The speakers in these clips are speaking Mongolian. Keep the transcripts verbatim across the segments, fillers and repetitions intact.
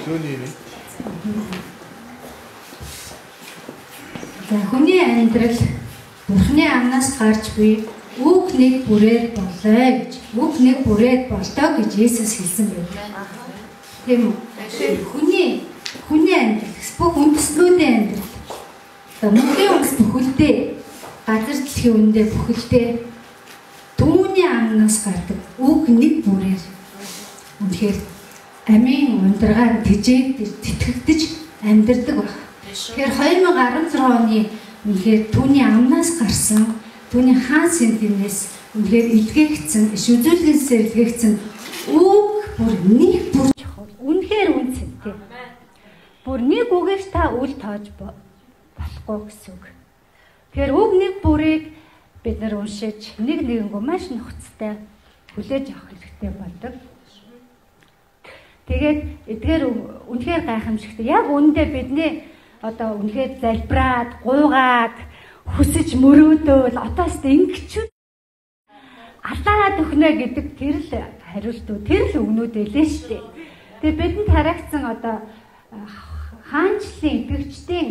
Түүний нэг. За хүний амьдрал Бурхны амнаас гарч буй үг нэг бүрээд болоо гэж үг нэг бүрээд болтоо гэж Есүс хэлсэн байна. Тийм үү? Хүний хүний амьдрал бүх үндэслүүдийн амьдрал. За мөнхийн үндэс бүхэлдээ газар дэлхийн үндэ бүхэлдээ түүний амнаас гардаг үг нэг бүрээр үнэхээр амийн ундраар тэжээгдэж тэтгэгдэж амьдардаг баг. Тэгэхээр хоёр мянга арван зургаан оны үнэхээр түүний амнаас гарсан түүний хаан сэнтинээс үнэхээр илгээгдсэн иш үзүүлгэнсээр илгээгдсэн үг бүр нэг бүр үнэхээр үнцэнтэй. Бүр нэг үгээр та үл тоож болохгүй гэсэн үг. Тэгэхээр үг нэг бүрийг бид нар уншиж нэг нэгэнгөө маш нөхцтэй хүлээж авах хэрэгтэй болдог. Тэгээд эдгээр үнэхээр гайхамшигтай. Яг үүндээ бидний одоо үнэхээр залбираад, гуйгаад, хүсэж мөрөөдөөл одоо ч ингэчүүд алдаад өгнө гэдэг тэр л хариултууд, тэр л өгнүүд байлээ шүү дээ. Тэгээд бидэнд харагдсан одоо хаанчлалын идэвхждийн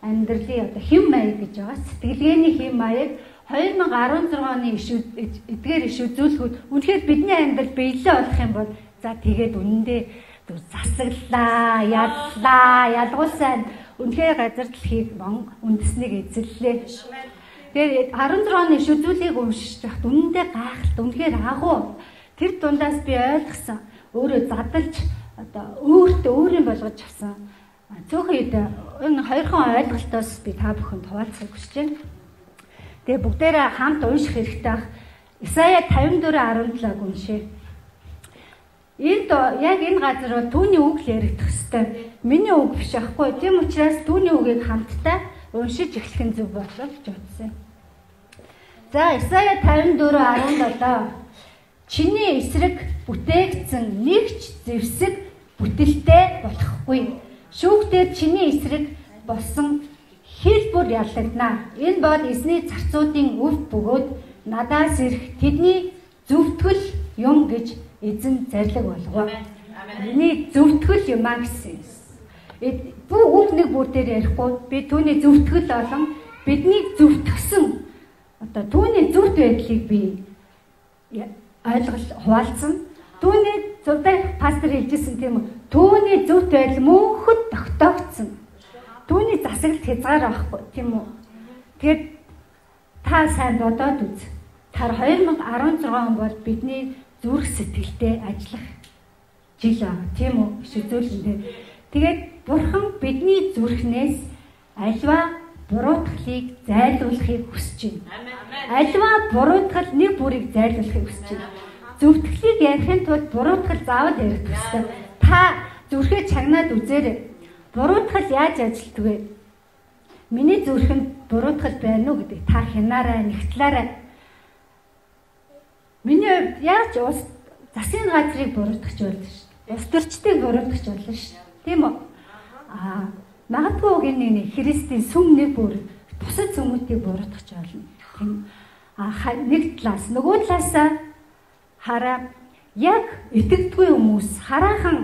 амьдралын одоо хэм маяг гэж байгаа. Сэтгэлгээний хэм маяг хоёр мянга арван зургаан оны эдгээр иш үзүүлгүүд үнэхээр бидний амьдрал биелээ болох юм бол за тэгээд үнэндээ засаглаа, ядлаа, ялгуулсан үнэхээр газар дэлхийг мон үндэснийг эзэллээ. Тэгээд арван зургаан оны иш үзүүлгийг уншиж байхад үнэндээ гайхалтай, үнэхээр агуу тэр дундаас би ойлгосон өөрөө задалж одоо өөртөө өөрийн болгож авсан цөөхөн үед энэ хоёрхан ойлголтоос би та бүхэнд хуваалцахыг хүсэж байна. Тэгээ бүгдээрээ хамт унших хэрэгтэй ах. Исая тавин дөрөв арван жилийг уншъя. Энд яг энэ газар бол түүний үг л яригдах ёстой. Миний үг биш аахгүй. Тийм учраас түүний үгийг хамтдаа уншиж эхлэх нь зөв болов гэж бодсон. За Исая тавин дөрөв арван долоо. Чиний эсрэг бүтээгдсэн нэгч зэвсэг бүтэлтэй болохгүй. Шүүгтээ чиний эсрэг болсон хэл бүр яллагдана. Энэ бол эзний зарцуудын өв бөгөөд надаас ирэх тэдний зөвтгөл юм гэж эзэн зарлиг болгоо. Миний зөвтгөл юм аа гэсэн. Бүх үг нэг бүр дээр ярихгүй би түүний зөвтгөл болон бидний зөвтгсөн одоо түүний зөвхт байдлыг би ойлгол хуваалцсан. Түүний зөвхөн пастор хэлжсэн тийм үү? Түүний зөвхт байдал мөнхөд тогтоогдсон. Түүний засаглалт хязгаар байхгүй тийм үү? Тэгэхээр та сайн бодоод үз. Тэр хоёр мянга арван зургаан бол бидний зүрх сэтгэлтэй ажиллах жил аа тийм үү? Иш үзүүлэндээ. Тэгээд Бурхан бидний зүрхнээс альва буруутгалыг зайлуулахыг хүсэж байна. Альва буруутгал нэг бүрийг зайлуулахыг хүсэж байна. Зөвтгөлийг ярихын тулд буруутгал заавал ярих ёстой. Та зүрхээ чагнаад үзээрэй. Буруутгал яаж ажилтдаг вэ? Миний зүрхэнд буруутгал байна уу гэдэг та хянаарай, нэгтлээрэй. Миний хувьд яаж ус засгийн газрыг буруутгах болно шүү дээ. Ус төрчдийг буруутгах болно шүү дээ. Тийм үү? Аа, магадгүй гинэ Христийн сүм нэг бүр бусад сүмүүдийг буруутгах болно. Тийм. Аа, нэг талаас нөгөө талаасаа хараа яг итгэдэггүй хүмүүс хараахан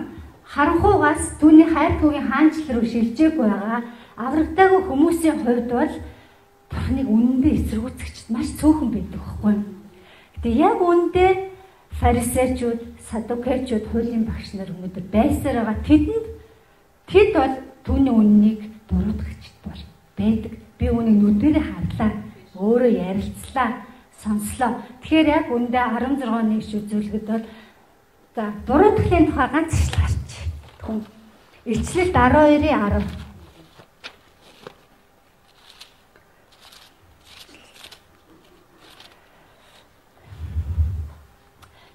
харанхуугаас түүний хайртуугийн хаанчлал руу шилжээгүй байгаа аврагдаагүй хүмүүсийн хувьд бол Бурхныг үнэндээ эсэргүүцэгчд маш цөөхөн байдаг байхгүй. Гэтэ яг үүндээ фарисеучуд, садукеучуд, хуулийн багш нар өнөөдөр байсаар байгаа тэдэнд тэд бол түүний үннийг буруутгагчд бол байдаг. Би үүнийг нүдэрээ харлаа, өөрөө ярилцлаа, сонслоо. Тэгэхээр яг үндэ арван зургааны иш үзүүлгэд бол за буруутгалын тухай ганц ишл гарч. Хүн Илчлэлт арван хоёрын арав.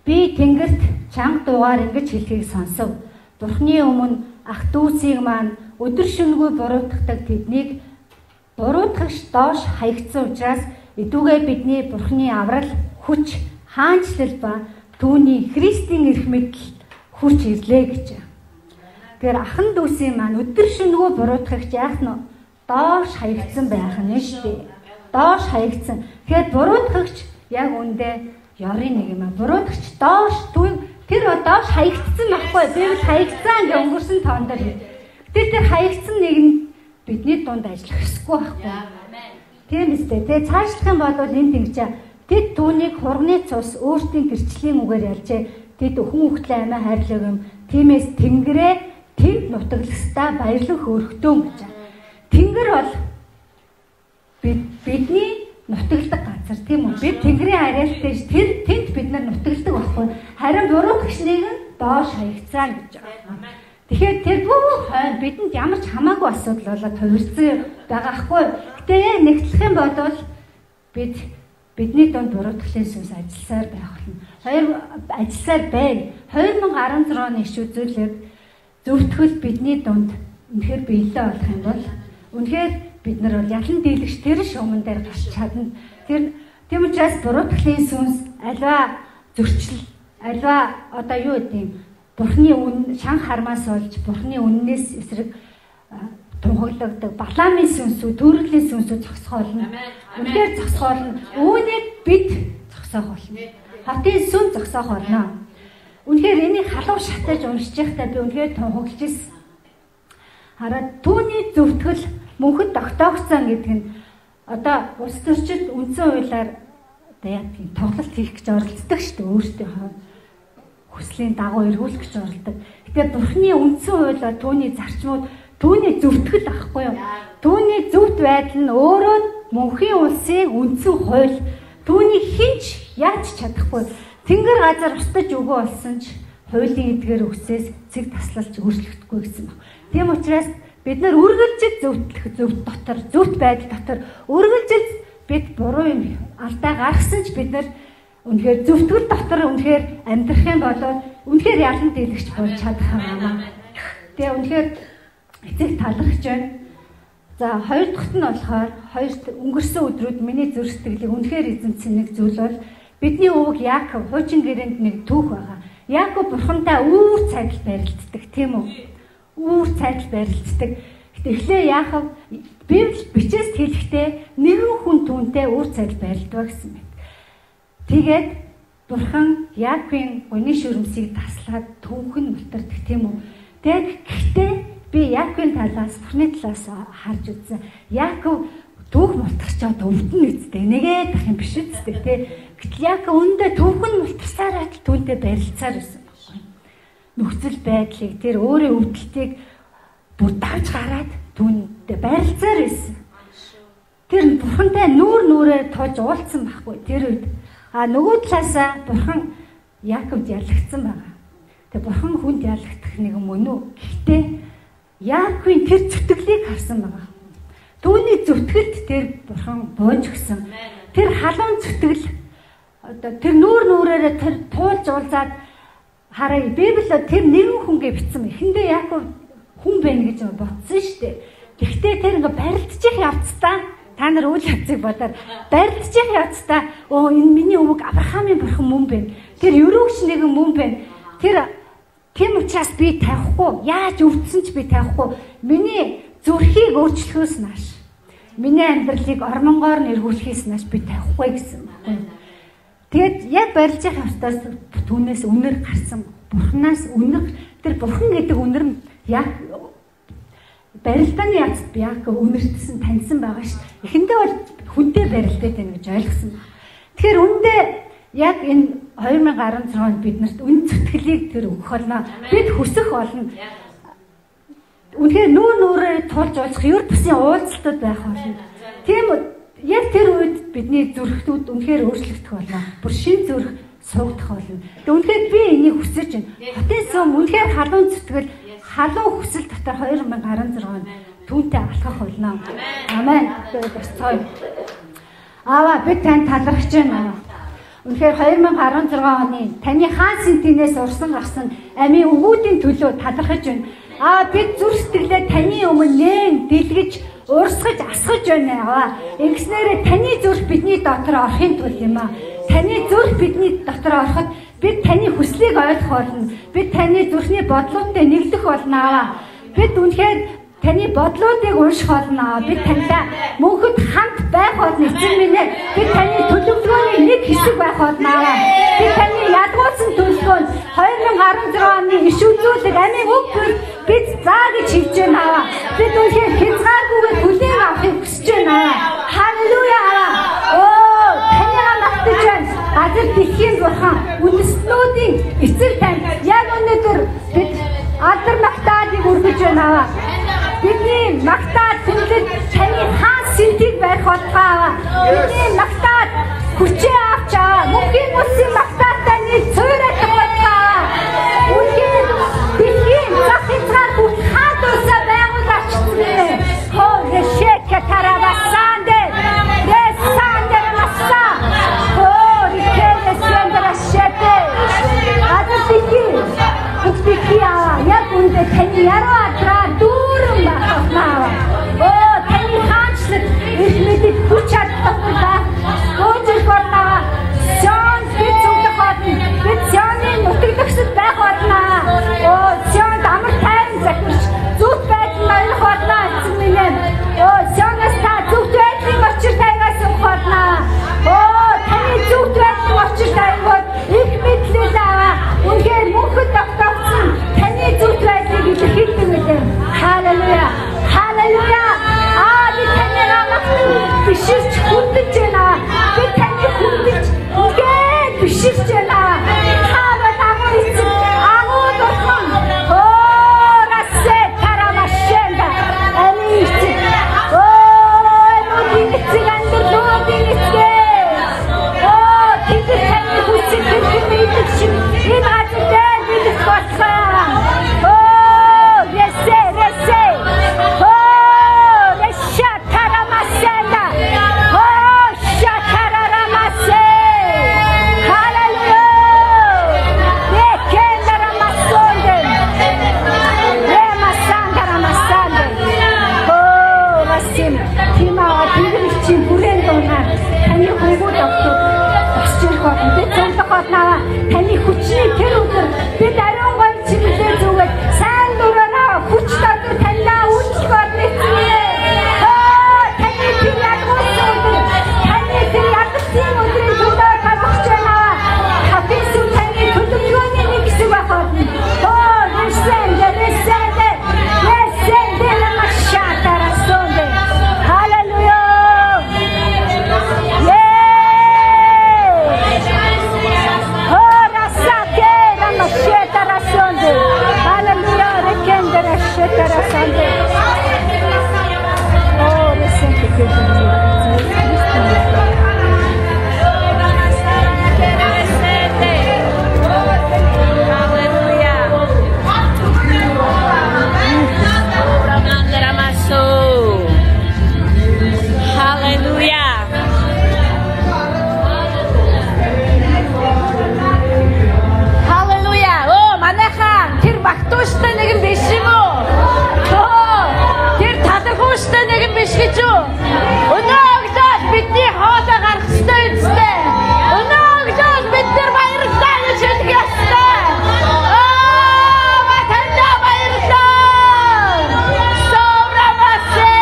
Би тэнгэрт чанга дуугаар ингэж хэлхийг сонсов. Бурхны өмнө ах дүүсийг маань өдөр шөнөгүй буруутгадаг тэднийг буруутгагч доош хаягдсан учраас эдүүгээ бидний Бурхны аврал, хүч, хаанчлал ба түүний Христийн эрх мэдэл хүрч ирлээ гэж. Тэгэхээр ахан дүүсийн маань өдөр шөнөгүй буруутгагч яах нь доош хаягдсан байх нь шүү дээ. Доош хаягдсан. Тэгэхээр буруутгагч яг үндэ ёрын нэг юм аа. Буруутгагч доош Тэр одоо хаягдсан байхгүй. Библи хаягдсан гэж өнгөрсөн тоон дээр. Тэр тэр хаягдсан нэг нь бидний дунд ажиллах ёсгүй байхгүй. Тийм үстэй. Тэгээ цаашлах юм бол энд ингэж тэд түүнийг хурганы цус өөртөө гэрчлийн үгээр ялжээ. Тэд хүн хөлтлөө амиа хайрлаг юм. Тиймээс Тэнгэрээ тэнд нутаглагсдаа баярлах өргөтөн гэж. Тэнгэр бол бид бидний нутагладаг газар тийм үү? Бид Тэнгэрийн харьяалтай ш тэр тэнд бид нар нутагладаг байхгүй. Харин буруулагчныг нь доош хаягцаа гэж байгаа. Тэгэхээр тэр бүх хойно бидэнд ямар ч хамаагүй асуудал болоод хувирсан байгаа хгүй. Гэтэ яг нэгтлэх юм бол бид бидний дунд буруутгалын сүнс ажилласаар байх болно. Хоёр ажилласаар байна. хоёр мянга арван зургийн оны иш үзүүлэг зөвтгөл бидний дунд үнэхээр биелээ болох юм бол үнэхээр бид нар бол ялан дийлэгч тэр шугамн дээр гарч чадна. Тэр тийм учраас буруутгалын сүнс альва зөрчил, альва одоо юу гэдэг юм Бурхны үн шан хармаас болж Бурхны үннээс эсрэг тунхаглагддаг Баламын сүнсүү, төрөлийн сүнсүү зогсох болно. Үнээр зогсох болно. Үүнийг бид зогсоох болно. Хотын сүн зогсоох болно. Үнээр энийг халуун шатаж уншиж байхдаа би үнээр тунхаглаж ирсэн. Хараад түүний зөвтгөл мөнхөд тогтоогцсон гэдэг нь одоо улс төрчид үндсэн хуулиар одоо яг тийм тоглолт хийх гэж оролддог шүү дээ өөртөө хүслийн дагуу эргүүлэх гэж оролдог. Тэгэхээр Бурхны үндсэн хуулиар түүний зарчмууд түүний зөвтгөл ахгүй юу? Түүний зөвхт байдал нь өөрөө мөнхийн улсын үндсэн хууль. Түүний хинч яаж чадахгүй. Тэнгэр газар устж өгөө болсон ч хуулийн эдгээр үгсээс цэг таслалж өөрчлөгдөхгүй гэсэн байна. Тийм учраас бид нар үргэлжил зөвтлөх зөвт дотор, зөвт байдал дотор үргэлжил бид буруу юм алдаа гаргасан ч бид нар үнэхээр зөвтгөл дотор үнэхээр амьдрах юм бол үнэхээр ялан дийлэгч болж чадах юм аа. Тэгээ үнэхээр эцэг талархаж байна. За хоёр дахьт нь болохоор хоёр өнгөрсөн өдрүүд миний зүрх сэтгэлийг үнэхээр эзэмсэн нэг зүйл бол бидний өвөг Яаков хуучин гэрээнд нэг түүх байгаа. Яаков бурхантай үүр цайдал барилддаг тийм үү? Үүр цайдал барилддаг. Эхлээ Яаков Библи бичээс хэлэхдээ нэгэн хүн түүнтэй үүр цайдал барилддаг гэсэн мэт. Тэгээд бурхан Яаковын гуны шүрмсийг таслаад түүхэн мултардаг тийм үү? Тэгээд гэхдээ би Яаковын талаас Бурхны талаас харж үзсэн. Яаков түүх мултарчаад өвдөн үсттэй. Нэгээд ах юм биш үсттэй тий. Гэтэл Яаков өндөө түүхэн мултарсараа л түүнтэй барилцаар байсан байхгүй. Нөхцөл байдлыг тэр өөрийн өвдөлтийг бүр давж гараад түүнтэй барилцаар байсан. Тэр бурхантай нүүр нүрээр тож уулзсан байхгүй. Тэр үед а нөгөө талаасаа бурхан Яаковд ялагдсан байгаа. Тэгээ бурхан хүнд ялагдах нэг юм үнэ. Гэхдээ Яаковын тэр зүтгэлийг харсан байгаа. Түүний зүтгэлд тэр бурхан бууж өгсөн. Тэр халуун зүтгэл одоо тэр нүүр нүрээрээ тэр туулж уулзаад хараа Библиэд тэр нэгэн хүнгээ бичсэн. Эхэндээ Яаков хүн байна гэж бодсон шүү дээ. Гэхдээ тэр ингээ барилдчих явцдаа та нар үйл явцыг бодоод барилдчих явцдаа оо энэ миний өвөг Авраамийн бурхан мөн байна. Тэр ерөөч нэгэн мөн байна. Тэр тийм учраас би тавихгүй. Яаж өвдсөн ч би тавихгүй. Миний зүрхийг өөрчлөхөөс нааш. Миний амьдралыг ормонгоор нэргүүлэхээс нааш би тавихгүй гэсэн байна. Тэгээд яг барилжих явцдаас түүнээс үнэр гарсан. Бурханаас үнэр тэр бурхан гэдэг үнэр нь яг барилдааны язд Яаков үнэртсэн таньсан байгаа ш. Эхэндээ бол хүнтэй барилдаад байна гэж ойлгосон. Тэгэхээр үндэ яг энэ хоёр мянга арван зургийн онд биднэрт үн зүтгэлийг тэр өгөх болно. Бид хүсэх болно. Үнэхээр нүүр нүрээр тулж уулзах ер бусын уулзалтууд байх болно. Тийм яг тэр үед бидний зүрхтүүд үнэхээр өөрчлөгдөх болно. Бүр шин зүрх суугдах болно. Тэгээ үнэхээр би энийг хүсэж байна. Хотын сүм үнэхээр халуун зүтгэл халуун хүсэл дотор хоёр мянга арван зургийн онд түүнтэй алхах болно. Амен. Тэгээд босцоо. Аваа бид танд талархаж байна. Үнэхээр хоёр мянга арван зургийн оны таны хаан сэнтинээс урсан гарсан амийн өвгүүдийн төлөө талархаж байна. Аа бид зүрх сэтгэлээ таны өмнө нээн дэлгэж урсгаж асгаж байна. Аа ингэснээрээ таны зүрх бидний дотор орохын тулд юм аа. Таны зүрх бидний дотор ороход бид таны хүслийг ойлгох болно. Бид таны зүрхний бодлуудтай нэглэх болно аа. Бид үнэхээр таны бодлуудыг унших болно. Бид тантай мөнхөд хамт байх болно. Эцэг минь ээ бид таны төлөвлөгөөний нэг хэсэг байх болно. Би таны ядгуулсан төлөвлөгөөнд two thousand sixteen оны иш үзүүлэг амийн үг хэл бид заа гэж хэлж байна. Бид үнэхээр хязгааргүйгээр хүлээн авахыг хүсэж байна. Халелуя. Оо, таньгаа магтаж байна. Газар дэлхийн бурхан үндэстнүүдийн эцэг тань яг өнөөдөр бид алдар магтаалыг өргөж байна. Бидний магтаад хүндэд таны хаан сэтгийг барих болтугай. Бидний магтаад хүчээ авч аваа. Мөнхийн үсийн магтаад таны цөөрэй болтугай. Үнэхээр дэлхийн зах хязгаар бүх хаан дусаа байгуул арчсан. Хоо решэк таравасанде. Ресандер масса. Хоо рекэсэндер ашэте. Адэр дэлхийн бүх дэлхий яг үндэ таны яруу адраа дүүрэн багтнаа. Оо таны хаанчлаг их мэдэд хүч чадвартай. Өөжил болнаа. Сон бид зүгт хатна. Бид сёны нутаглагсад байх болно. Оо сон амар тайван захирч зүгт байж маях болно эцэг минь. Оо сёнос та зүгт байдлын очир тайваас болно. Оо таны зүгт байдлын очир тайваад их мэдлэл аваа. Үнээр мөнхөд тогтоогдсон таны зүгт байдлыг илэрхийлдэг мэдээ. Халелуя. Халелуя. Аа би таньгаа магтан биширч хүндэж байна. Би таны хүндэж үнээр биширч байна. Хава намайг эцэг агуу дурхан. Оо расе тарамашенда. Ани эцэг. Оо нүдийн эцэг андэр нүдийн эцэг. Оо тэд таны хүчтэй хэлмэдэг шиг энэ газар дээр бидэх болсон. Оо ресе ресе. Оо реша тарамашенда. Оо шатарамасе. Халелуя. Рекендарамасонде. Ремасандарамасанде. Оо масим тимаа тэгэрчийн бүрэн дунаа таны хөвгүүд өгдөг. Босч ирэх болно. Бид зөвлөх болноо. Таны хүчний тэр өдөр бид ариун гол чимэлээ зүгээд сайн дураараа хүч дотор таньдаа үйлчлэх болно эцгээ. Аа таны тэр ядгуулсан өдөр таны тэр ядгуулсан өдрийн төлөө тавьж байна. Хатису таны төлөвлөгөөний нэг хэсэг байх болно. Оо ресэнде ресэнде ресэнде намашатарасонде. Халелуя. Багтууштай нэгэн биш юм уу? Оо, тэр талархууштай нэгэн биш гэж юу? Өнөө өглөө бидний хоолой гарах ёстой үстэй. Өнөө өглөө бид нар баярлалаа гэж хэлэх ёстой. Аа, батанда баярлалаа. Соврамасе.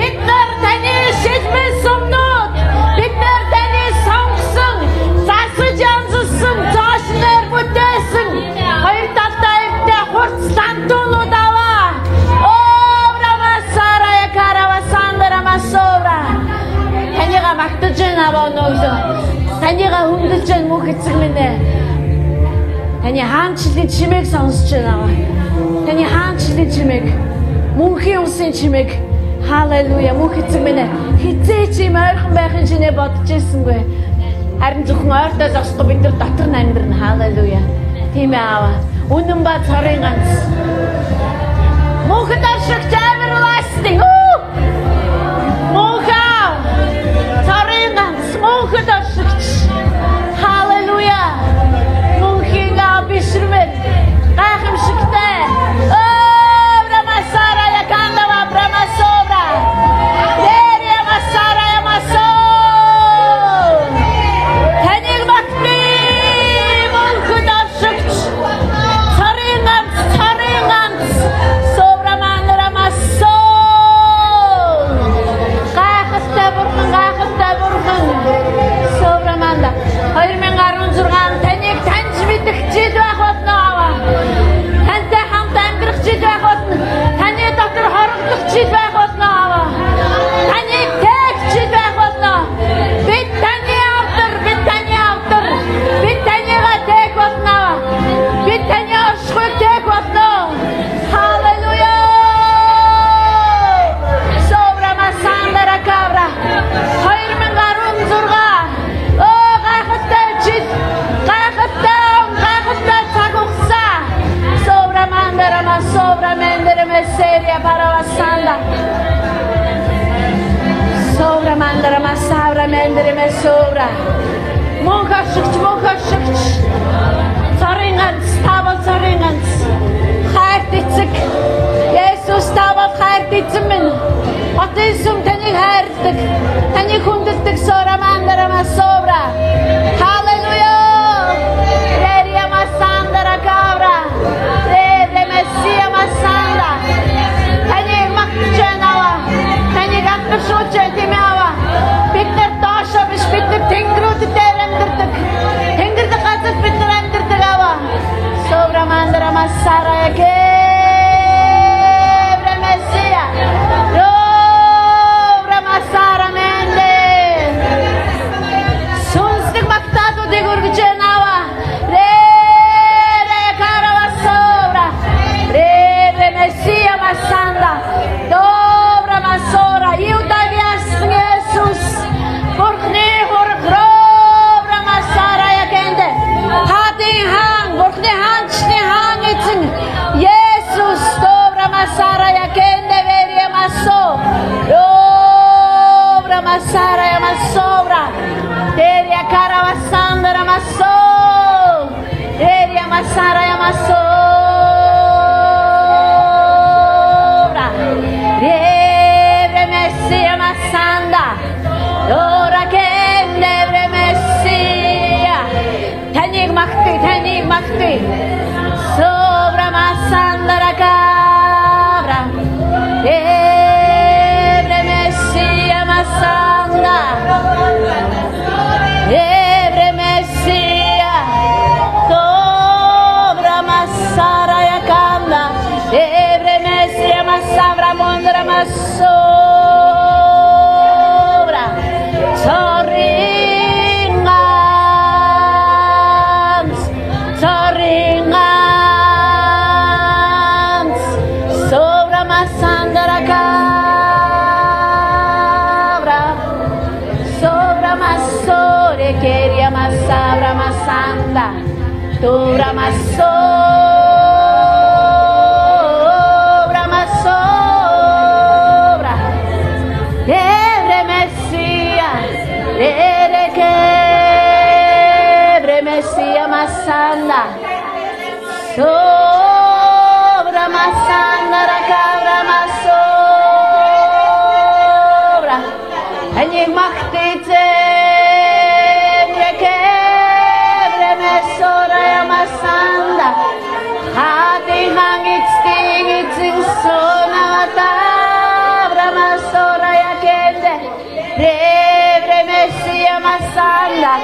Бид нар таны шилмэн сумнууд, бид нар таны сонгосон, засаж амжсан цаашнаар бүтээсэн. Хоёр талтай хурц лантуулууд аваа. Оо, рамасара я каравасандра масора. Таньгаа магтаж байна аваа нөглөө. Таньгаа хүндэлж байна мөнх эцэг минь ээ. Таны хаанчлалын чимээг сонсож байна аваа. Таны хаанчлалын чимээг, мөнхийн усын чимээг. Халелуя, мөнх эцэг минь ээ. Хизээ чи ойрхон байхын шинэ бодож ирсэнгүй. Харин зөвхөн ойртой зогсохгүй бид нар дотор нь амьдрна. Халелуя. Тийм ээ аваа. Үнэн ба цорын ганц. Мөнхөд ашигт everlasting. Мөнхөө. Цорын ганц. Мөнхөд ашигт. Халелуя. Мөнхийн абишрмэт. Гайхамшигтай. Оо, брамасара я кандава брамасобра. Дэрия масара я масо. Таныг багтны мөнхөд ашигт. Цорын ганц, цорын ганц. Собраманара масо. mandara masovra mendere messeria paravasanda. Sovra mandara masavra mendere mesovra. Мөнхөшигч мөнхөшигч царинганц тавал царинганц хайрт эцэг Есүс тавал хайрт эзэн минь Отээсүм таныг хайрладаг таныг хүндэлдэг сора мандара масовра халелуя Рерия масандара кавра Рерия мессия масанда таныг магтаж байна таныг амтшууч тэмээва бид нар доошо биш бид нар тэнгэрүүд дээр амьдардаг тэнгэр дэх газар бид нар амьдардаг аваа совра мандара масара яке бремесия ровра масара менде сүнслэг магтаадуудыг өргөж наваа ре карава совра ре бремесия масанда добра масора иудавиас Есүс Бурхны хоргров масара ягэнде хадин хаан Бурхны хаанчны хаан эзэн Есүс добра масара ягэнде верия масо добра масара масовра терия каравасандра масо терия масара масовра ревре мессия масанда Дора кэнэ бремесия таныг магтъя таныг магтъя совра масандара кавра бремесия масанда бремесия добра масара яканда бремесия масавра мондра масо Zoringans, Zoringans, Sovra masandara kavra, Sovra masore keria masavra masanda, Tora masovra masovra, Evre messia, Evre kebre messia masanda, Sovra masanda rakavra masovra, Tanig machtitsen, Kebre mesora masanda, Hati hangit stingit sing sona matavra masora yakende, Evre messia masanda,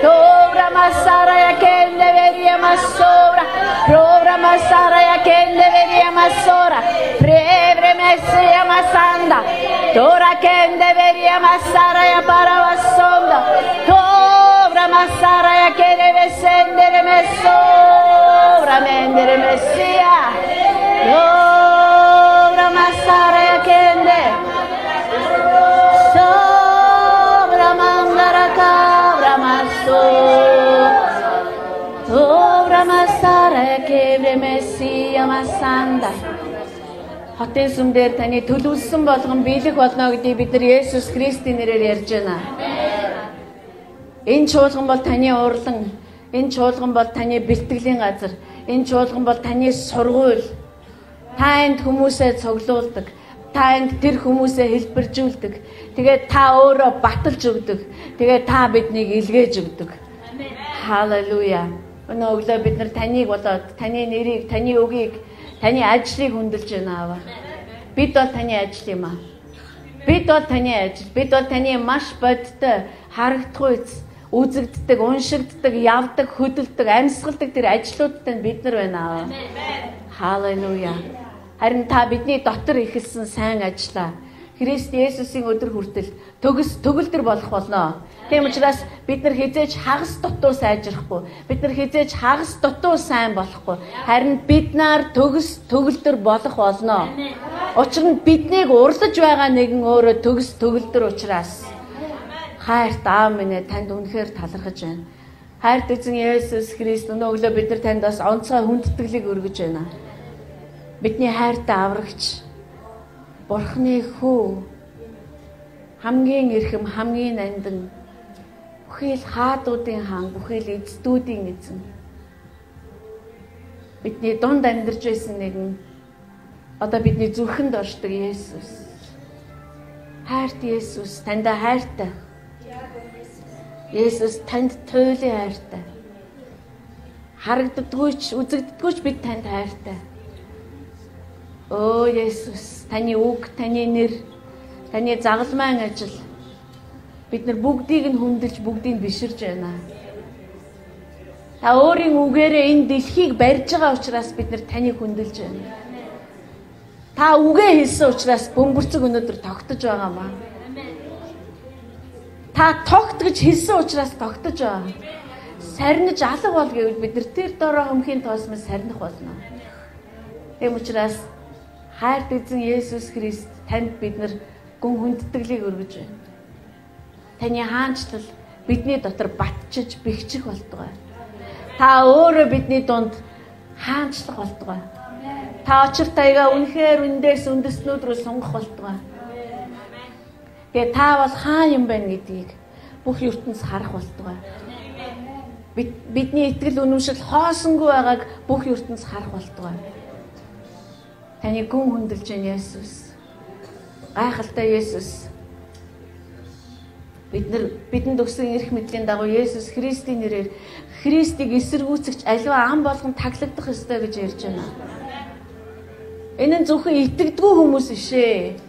Dobra masara yakende veria masora, Dobra masara yakende veria masora, Evre messia masanda, Dora kende veria masara ya paravasonda, Dobra masara yakende vesendere mesora, Mendere messia, Dobra masara yakende, Sobra mandara kavra maso, Sobra masara kebre messia masanda. Хотын сүмдэр таны төлөвлөсөн болгон биелэх болно гэдгийг бид нар Есүс Христийн нэрээр ярьж байна. Энэ чуулган бол таны урлан, энэ чуулган бол таны бэлтгэлийн газар, энэ чуулган бол таны сургууль. Та энд хүмүүсээ цуглуулдаг. Та энд тэр хүмүүсээ хэлбэржүүлдэг. Тэгээд та өөрөө баталж өгдөг. Тэгээд та биднийг илгээж өгдөг. Халелуя. Өнөө өглөө бид нар таныг болоод, таны нэрийг, таны үгийг, таны ажлыг хүндэлж байна аваа. Бид бол таны ажил юм аа. Бид бол таны ажил. Бид бол таны маш бодтой, харагдахгүй, үзэгддэг, уншигддаг, явдаг, хөдөлдөг, амьсгалдаг тэр ажлуудтай бид нар байна аваа. Халелуя. Харин та бидний дотор ихэлсэн сайн ажлаа Христ Есүсийн өдөр хүртэл төгс төгөлдөр болох болно. Тийм учраас бид нар хизээж хагас дутуу сайжрахгүй, бид нар хизээж хагас дутуу сайн болохгүй. Харин бид нар төгс төгөлдөр болох болно. Учир нь биднийг урлаж байгаа нэгэн өөрөө төгс төгөлдөр учраас. Хайрт аав минь танд үнэхээр талархаж байна. Хайрт эзэн Есүс Христ өнөө өглөө бид нар танд бас онцгой хүндэтгэлийг өргөж байна. Бидний хайртай аврагч Бурхны хүү хамгийн эрхэм, хамгийн нандин, бүхий л хаадуудын хаан, бүхий л эцдүүдийн эзэн. Бидний дунд амьдарч байсан нэгэн одоо бидний зүрхэнд оршдог Есүс. Хайрт Есүс, танд хайртай. Есүс танд туйлын хайртай. Харагддаггүйч, үзэгддэггүйч бид танд хайртай. Оо Есүс, таны үг, таны нэр, таны загалмайн ажил бид нар бүгдийг нь хүндэлж, бүгдийг нь биширж байна. Та өөрийн үгээрээ энэ дэлхийг барьж байгаа учраас бид нар таныг хүндэлж байна. Та үгээ хэлсэн учраас бөмбөрцөг өнөөдөр тогтож байгаамаа. Та тогт гэж хэлсэн учраас тогтож байгаа. Сарниж алга бол гэвэл бид нар тэр дороо хөмхийн тоосмол сарних болно. Тэм учраас хайрт эзэн Есүс Христ танд бид нар гүн хүндэтгэлийг өргөж байна. Таны хаанчлал бидний дотор батчиж бэхжих болтугай. Та өөрөө бидний дунд хаанчлах болтугай. Та очир таяга үнэхээр үндээс үндэснүүд рүү сунгах болтугай. Тэгээ та бол хаан юм байна гэдгийг бүх ертөнц харах болтугай. Бид бидний итгэл үнэмшил хоосонгүй байгааг бүх ертөнц харах болтугай. Таны гүн хүндэлж байна Есүс. Гайхалтай Есүс. Бид нар бидэнд өгсөн эрх мэдлийн дагуу Есүс Христийн нэрээр Христийг эсэргүүцэгч аливаа ам болгон таглагдах ёстой гэж ярьж байна. Энэ нь зөвхөн итгэдэггүй хүмүүс бишээ.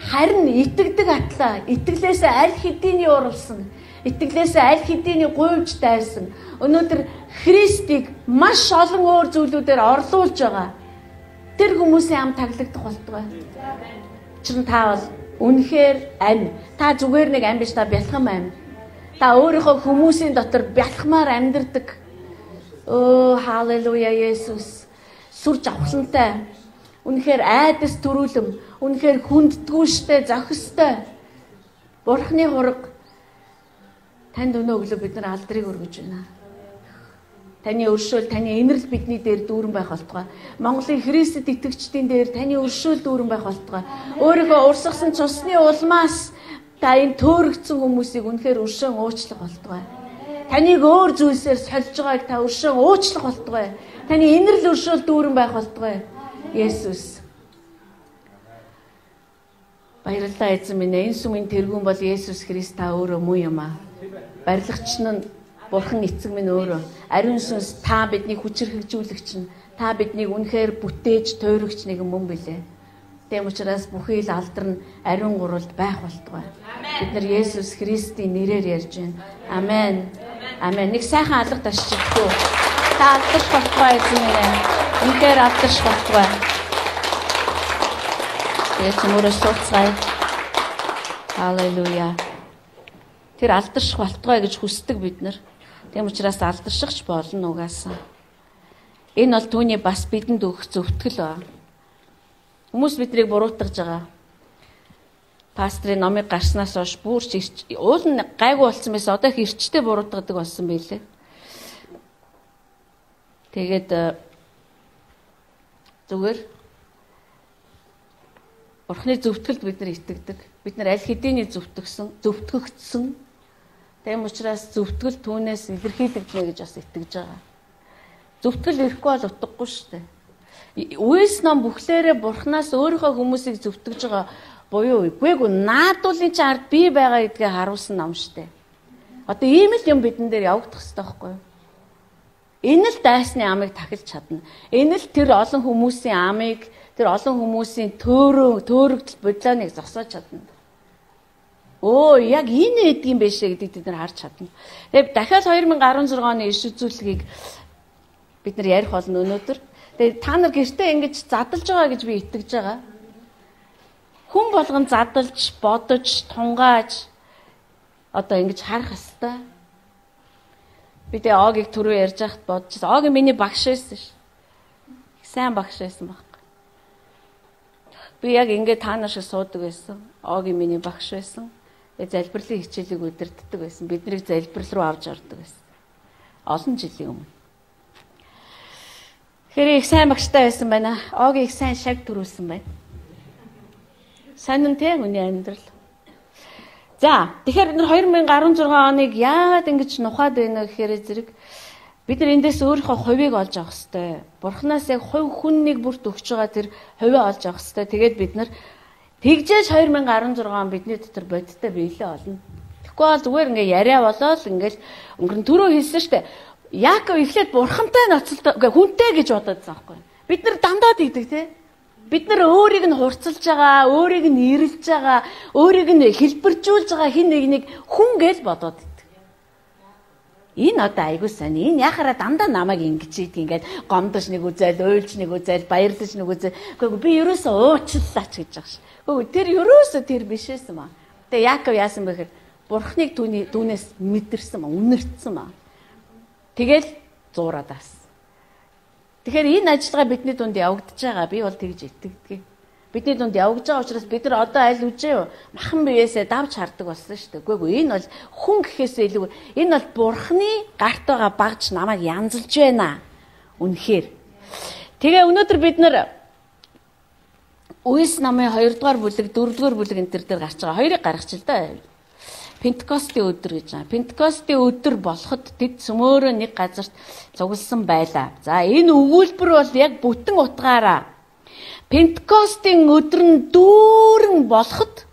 Харин итгэдэг атлаа, итгэлээсээ аль хэдийний уралсан, итгэлээсээ аль хэдийний гуйвж дайсан. Өнөөдөр Христийг маш олон өөр зүйлүүдээр орлуулж байгаа. Тэр хүмүүсийн ам таглагдах болтугай. Чин та бол үнэхээр амь. Та зүгээр нэг амь биш, та бялхам амь. Та өөрийнхөө хүмүүсийн дотор бялхмаар амьдардаг. Оо, халелуя Есүс. Сүр жавхлантай. Үнэхээр айдас төрүүлэм, үнэхээр хүнддгүүштэй, зохистой. Бурхны хураг танд өнөө өглөө бид нар алдрыг өргөж байна. Таны өршөөл, таны инэрл бидний дээр дүүрэн байх болтугай. Монголын Христэд итгэгчдийн дээр таны өршөөл дүүрэн байх болтугай. Өөрийнхөө урсгасан цусны улмаас та энэ төөрөгдсөн хүмүүсийг үнэхээр өршөөн уучлах болтугай. Таныг өөр зүйлсээр сольж байгааг та өршөөн уучлах болтугай. Таны инэрл өршөөл дүүрэн байх болтугай. Есүс. Баярлалаа эзэн минь. Энэ сүмийн тэргүүн бол Есүс Христ та өөрөө муу юм аа. Барилгач нь Бурхан эцэг минь өөрөө. Ариун сүнс та биднийг хүчрхэгжүүлэгч нь. Та биднийг үнэхээр бүтээж тойрогч нэгэн мөн билээ. Тэм учраас бүхий л алдар нь ариун гуралд байх болтугай. Бид нар Есүс Христийн нэрээр ярьж байна. Амен. Амен. Нэг сайхан алга ташчихгүй. Та алдарч болтугай эзэн минь. Үнэхээр алдарч болтугай. Яа чимээрээ сууцгаая. Халелуя. Тэр алдарч болтугай гэж хүсдэг бид нар. Тэм учраас алдаршигч болно угаасаа. Энэ бол түүний бас бидэнд өгөх зөвтгөл ба. Хүмүүс биднийг буруутгаж байгаа. Пастрын номыг гарснаас хойш бүрч уул нь гайгүй болсон байсан. Одоо их эрчтэй буруутгадаг болсон байлээ. Тэгээд зүгээр Бурхны зөвтгөлд бид нар итгэдэг. Бид нар аль хэдийний зөвтгсөн, зөвтгөгдсөн. Тэм учраас зөвтгөл түүнээс илэрхийлэгдэнэ гэж бас итгэж байгаа. Зөвтгөл ирэхгүй бол утгагүй шүү дээ. Үес ном бүхлээрээ Бурханаас өөрийнхөө хүмүүсийг зөвтгөж байгаа буюу үгүйгүй наадуулын чинь ард бий байгаа гэдгээ харуулсан ном шүү дээ. Одоо ийм л юм бидэн дээр явагдах хэрэгтэй байхгүй юу? Энэ л дайсны амыг тахилж чадна. Энэ л тэр олон хүмүүсийн амыг, тэр олон хүмүүсийн төөрөө, төөрөгдөл бодлооныг зогсоож чадна. Оо, яг энэ эдг юм биш гэдгийг бид нар харж чадна. Тэгээд дахиад две тысячи десять оны иш үзүүлэлгийг бид нар ярих болно өнөөдөр. Тэгээд та нар гэртээ ингэж задалж байгаа гэж би итгэж байгаа. Хүн болгон задалж, бодож, тунгааж одоо ингэж харах хэвээр. Би тэгээ Огийг түрүү ярьж байхад бодчихсон. Ог миний багш байсан ш. Сайн багш байсан байхгүй. Би яг ингэ та нар шиг суудаг байсан. Ог миний багш байсан. Тэгээ залбирлын хичээлийг удирддаг байсан. Биднийг залбирал руу авч ордог байсан. Олон жилийн өмнө. Тэгэхээр их сайн багштай байсан байна. Оог их сайн шаг төрүүлсэн байна. Сонин те үний амьдрал. За, тэгэхээр бид хоёр мянга арван зургаан оныг яагаад ингэж нухаад байна гэхээр зэрэг бид нар эндээс өөрийнхөө хувийг олж авах хэрэгтэй. Бурханаас яг хувь хүннийг бүрт өгч байгаа тэр хувийг олж авах хэрэгтэй. Тэгээд бид нар тэгжээж хоёр мянга арван зургаан бидний дотор бодиттой биелээ олно. Тэгэхгүй бол зүгээр ингээ яриа болоод ингээл өнгөрн түрүү хэлсэн штэ. Яаков эхлээд бурхантай ноцолтой хүнтэй гэж бодоод байгаа байхгүй. Бид нар дандаа тэгдэг те. Бид нар өөрийг нь хурцлж байгаа, өөрийг нь ирэлж байгаа, өөрийг нь хэлбэржүүлж байгаа хин нэгнийг хүн гэж бодоод идэг. Энэ одоо айгуу сайн. Энэ яхаараа дандаа намайг ингэж ийд ингээд гомдож нэг үзэл, уйлж нэг үзэл, баярлаж нэг үзэл. Гэхдээ би ерөөсөө уучлалаач гэж байгаа ш. Гэхдээ тэр ерөөсөө тэр биш байсан маа. Тэгээ Яаков яасан бэ гэхээр бурхныг түүний дүүнээс мэдэрсэн маа, үнэртсэн маа. Тэгэл зуураад аас. Тэгэхээр энэ ажиллагаа бидний дунд явагдаж байгаа. Би бол тэгж итгэдэг. Бидний дунд явагдаж байгаа учраас бид нар одоо аль үжээ махан биеэсээ давж хардаг болсон шүү дээ. Үгүй ээ энэ бол хүн гэхээсээ илүү энэ бол бурхны гарт байгаа багж намайг янзалж байна. Үнэхээр. Тэгээ өнөөдөр бид нар Үес намын хоёрдугаар бүлэг, дөрөвдүгээр бүлэг энэ төр дээр гарч байгаа. Хоёрыг гаргачих л да. Пентекостийн өдөр гэж байна. Пентекостийн өдөр болоход тэд цөмөөрөө нэг газарт цугласан байлаа. За энэ өгүүлбэр бол яг бүтэн утгаараа Пентекостийн өдөр нь дүүрэн болоход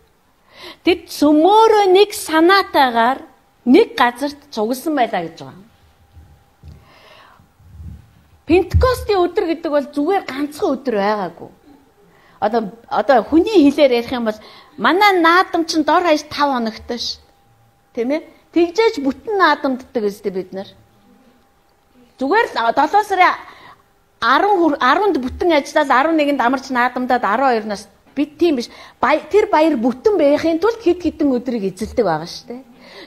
тэд цөмөөрөө нэг санаатаагаар нэг газарт цугласан байлаа гэж байгаа. Пентекостийн өдөр гэдэг бол зүгээр ганцхан өдөр байгаагүй. Одоо одоо хүний хэлээр ярих юм бол манай наадам чинь дор хаяж тавь хоногтой ш. Тийм ээ? Тэгжээж бүтэн наадамддаг өстэй бид нар. Зүгээр л долоо сарын арван арванд бүтэн ажиллаад арван нэгэнд амарч наадамдаад арван хоёроноос бид тийм биш. Тэр баяр бүтэн байхын тулд хэд хэдэн өдрийг эзэлдэг байгаа шүү дээ.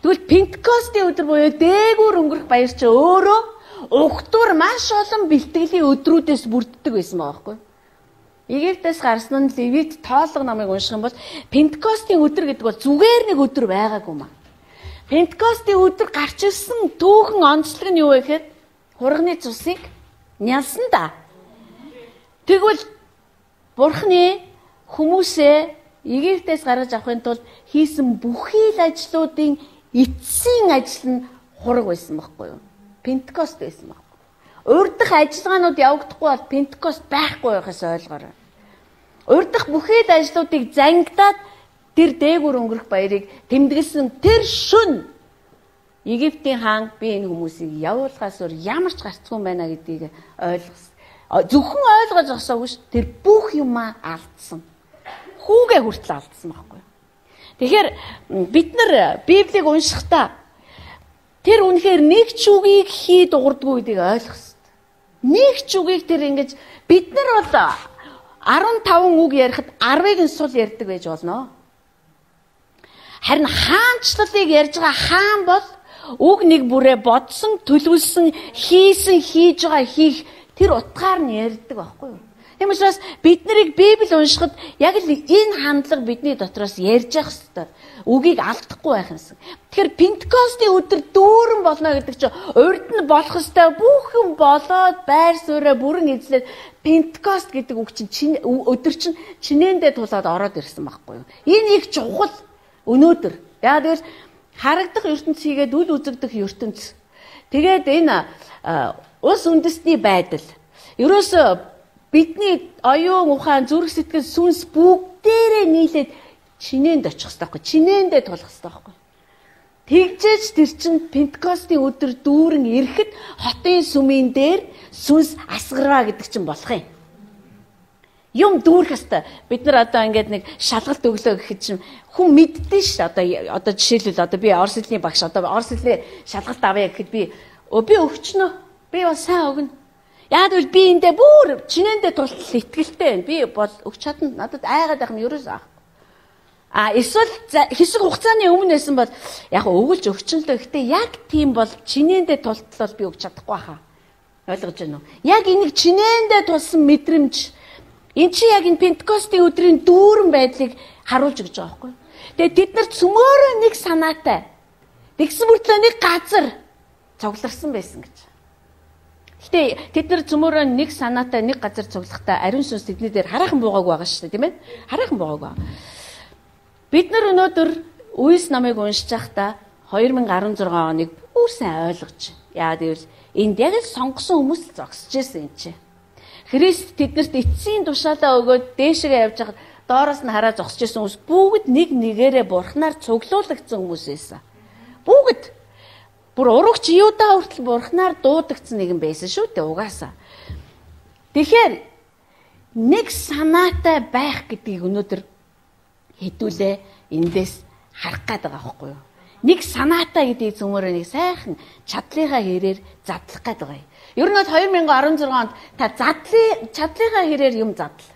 Тэгвэл Пентекостийн өдөр буюу дээгүүр өнгөрөх баяр чи өөрөө угтуур маш олон бэлтгэлийн өдрүүдээс бүрддэг байсан байгаа байхгүй юу? Египтээс гарсан нь Левит тоолго намыг унших юм бол Пентекостийн өдөр гэдэг бол зүгээр нэг өдөр байгаагүй маа. Пентекостийн өдөр гарч ирсэн түүхэн онцлог нь юу вэ гэхээр хурганы цусыг нялсан да. Тэгвэл Бурхны хүмүүсээ Египтээс гаргаж авахын тулд хийсэн бүхий л ажлуудын эцсийн ажил нь хураг байсан байхгүй юу? Пентекост байсан байхгүй. Урдах ажиллагаанууд явагдахгүй бол Пентекост байхгүй байхаас ойлгоорой. Урдах бүхий л ажлуудыг зангидаад тэр дээгүр өнгөрөх баярыг тэмдэглэсэн тэр шөнө Египтийн хаан би энэ хүмүүсийг явуулахаас өөр ямар ч гарцгүй байна гэдгийг ойлгосон. Зөвхөн ойлгож авсаагүй ш тэр бүх юмаа алдсан. Хүүгээ хүртэл алдсан байхгүй. Тэгэхээр бид нар Библийг уншихдаа тэр үнэхээр нэг ч үгийг хий дуурдгүй гэдгийг ойлгох хэрэгтэй. Нэг ч үгийг тэр ингэж бид нар бол арван таван үг ярихад арвыг нь сул ярьдаг байж болно. Харин хаанчлалыг ярьж байгаа хаан бол үг нэг бүрээ бодсон, төлөвлөсөн, хийсэн, хийж байгаа хийх тэр утгаар нь ярьдаг байхгүй юу? Тийм учраас бид нарыг Библи уншихад яг л энэ хандлага бидний дотроос ярьж явах хэрэгтэй. Үгийг алдахгүй байх юмсан. Тэгэхээр Пентекостийн өдөр дүүрэн болно гэдэг чинь урд нь болох ёстой бүх юм болоод байр суурьа бүрэн эзлээд Пентекост гэдэг үг чинь өдөр чинь чинээндээ тулаад ороод ирсэн байхгүй юу? Энэ их чухал өнөөдөр. Яа тэгвэл харагдах ертөнц хийгээд үл үзэгдэх ертөнц. Тэгээд энэ улс үндэстний байдал. Ерөөсөө бидний оюун ухаан, зүрх сэтгэл, сүнс бүгдээрээ нийлээд чинээнд очих хэрэгтэй байхгүй. Чинээндээ тулах хэрэгтэй байхгүй. Тэгжээч тэр чин Пентекостийн өдөр дүүрэн ирэхэд хотын сүмийн дээр сүнс асгараа гэдэг чинь болох юм. Юм дүүрэх хэвээр бид нар одоо ингээд нэг шалгалт өглөө гэхэд чинь хүн мэддэн ш. Одоо одоо жишээлбэл одоо би орос хэлний багш одоо орос хэлний шалгалт авъя гэхэд би өө би өгчнөө. Би бас сайн өгнө. Яг л би эндээ бүр чинээндээ тултал итгэлтэй байна. Би бол өгч чадна. Надад айгаад байх нь ерөөс аа. А эсвэл хэсэг хугацааны өмнө байсан бол яг өгүүлж өгчин л гэхдээ яг тийм бол чинээндээ тултал би өгч чадахгүй хаа. Ойлгож байна уу? Яг энийг чинээндээ тулсан мэдрэмж эн чи яг энэ Пентекостийн өдрийн дүүрэн байдлыг харуулж өгч байгаа байхгүй. Тэгээ тэд нар цөмөөрөө нэг санаатай. Тэгсэн мөртлөө нэг газар цугларсан байсан гэж. Гэтэ тэд нар цөмөрөө нэг санаатай нэг газар цуглахдаа ариун сүнс тэдний дээр хараахан буугааг байгаа шүү дээ, тийм ээ? Хараахан буугааг байгаа. Бид нар өнөөдөр Үес намыг уншиж байхдаа хоёр мянга арван зургаан оныг бүр сайн ойлгож. Яагаад гэвэл энд яг л сонгосон хүмүүс зогсож ирсэн юм чи. Христ тэднэрт эцсийн тушаалаа өгөөд дээшгээ явж байхад доороос нь хараа зогсож ирсэн хүмүүс бүгд нэг нэгээрээ бурхнаар цуглуулагдсан хүмүүс байсан. Бүгд бүр урагч Юда хүртэл бурхнаар дуудагдсан нэгэн байсан шүү дээ угаасаа. Тэгэхээр нэг санаатай байх гэдгийг өнөөдөр хэдүүлээ эндээс харах гээд байгаа байхгүй юу? Нэг санаатай гэдгийг цөмөрөө нэг сайхан чадлынхаа хэрээр задлах гээд байгаа юм. Ер нь бол хоёр мянга арван зургаан онд та задлын чадлынхаа хэрээр юм задл.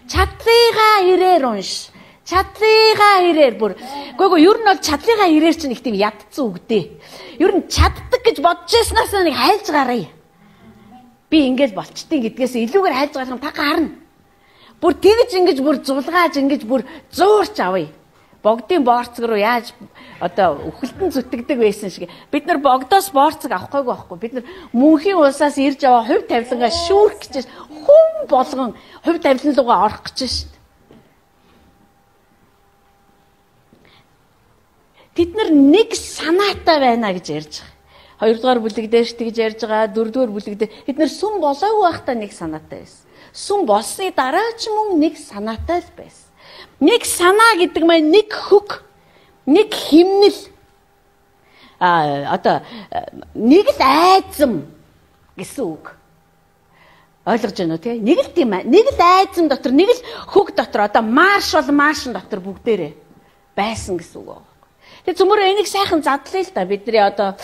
Чадлынхаа хэрээр унш. Чадлынхаа хэрээр бүр. Гэхдээ ер нь бол чадлынхаа хэрээр чинь их тийм ядцсан үг дээ. Ер нь чаддаг гэж бодож яснаас нэг хайлж гараа. Би ингэж болчтیں۔ Гэдгээс илүүгээр хайлж гарах юм та гарна. Бүр тэгж ингэж бүр зулгааж ингэж бүр зуурч авъя. Богдын боорцог руу яаж одоо үхэлтэн зүтгэдэг байсан шиг бид нар богдоос боорцог авахгүйгүй байхгүй. Бид нар мөнхийн улсаас ирж аваа хувь тавилангаа шүүрх гэж хүн болгон хувь тавилан руугаа орох гэж шít. Бид нар нэг санаатай байна гэж ярьж байгаа. Хоёрдугаар бүлэг дээр ч тэгж ярьж байгаа, дөрөвдүгээр бүлэг дээр бид нар сүм болоогүй байхдаа нэг санаатай байсан. Сүм болсны дараа ч мөн нэг санаатай л байсан. Нэг санаа гэдэг маань нэг хөг, нэг химнэл, а одоо нэг л айзам гэсэн үг. Ойлгож байна уу те? Нэг л тийм аа. Нэг л айзам дотор, нэг л хөг дотор одоо марш бол маршин дотор бүгдээрээ байсан гэсэн үг. Тэгээ цөмөрөө энийг сайхан задлаа л да. Бидний одоо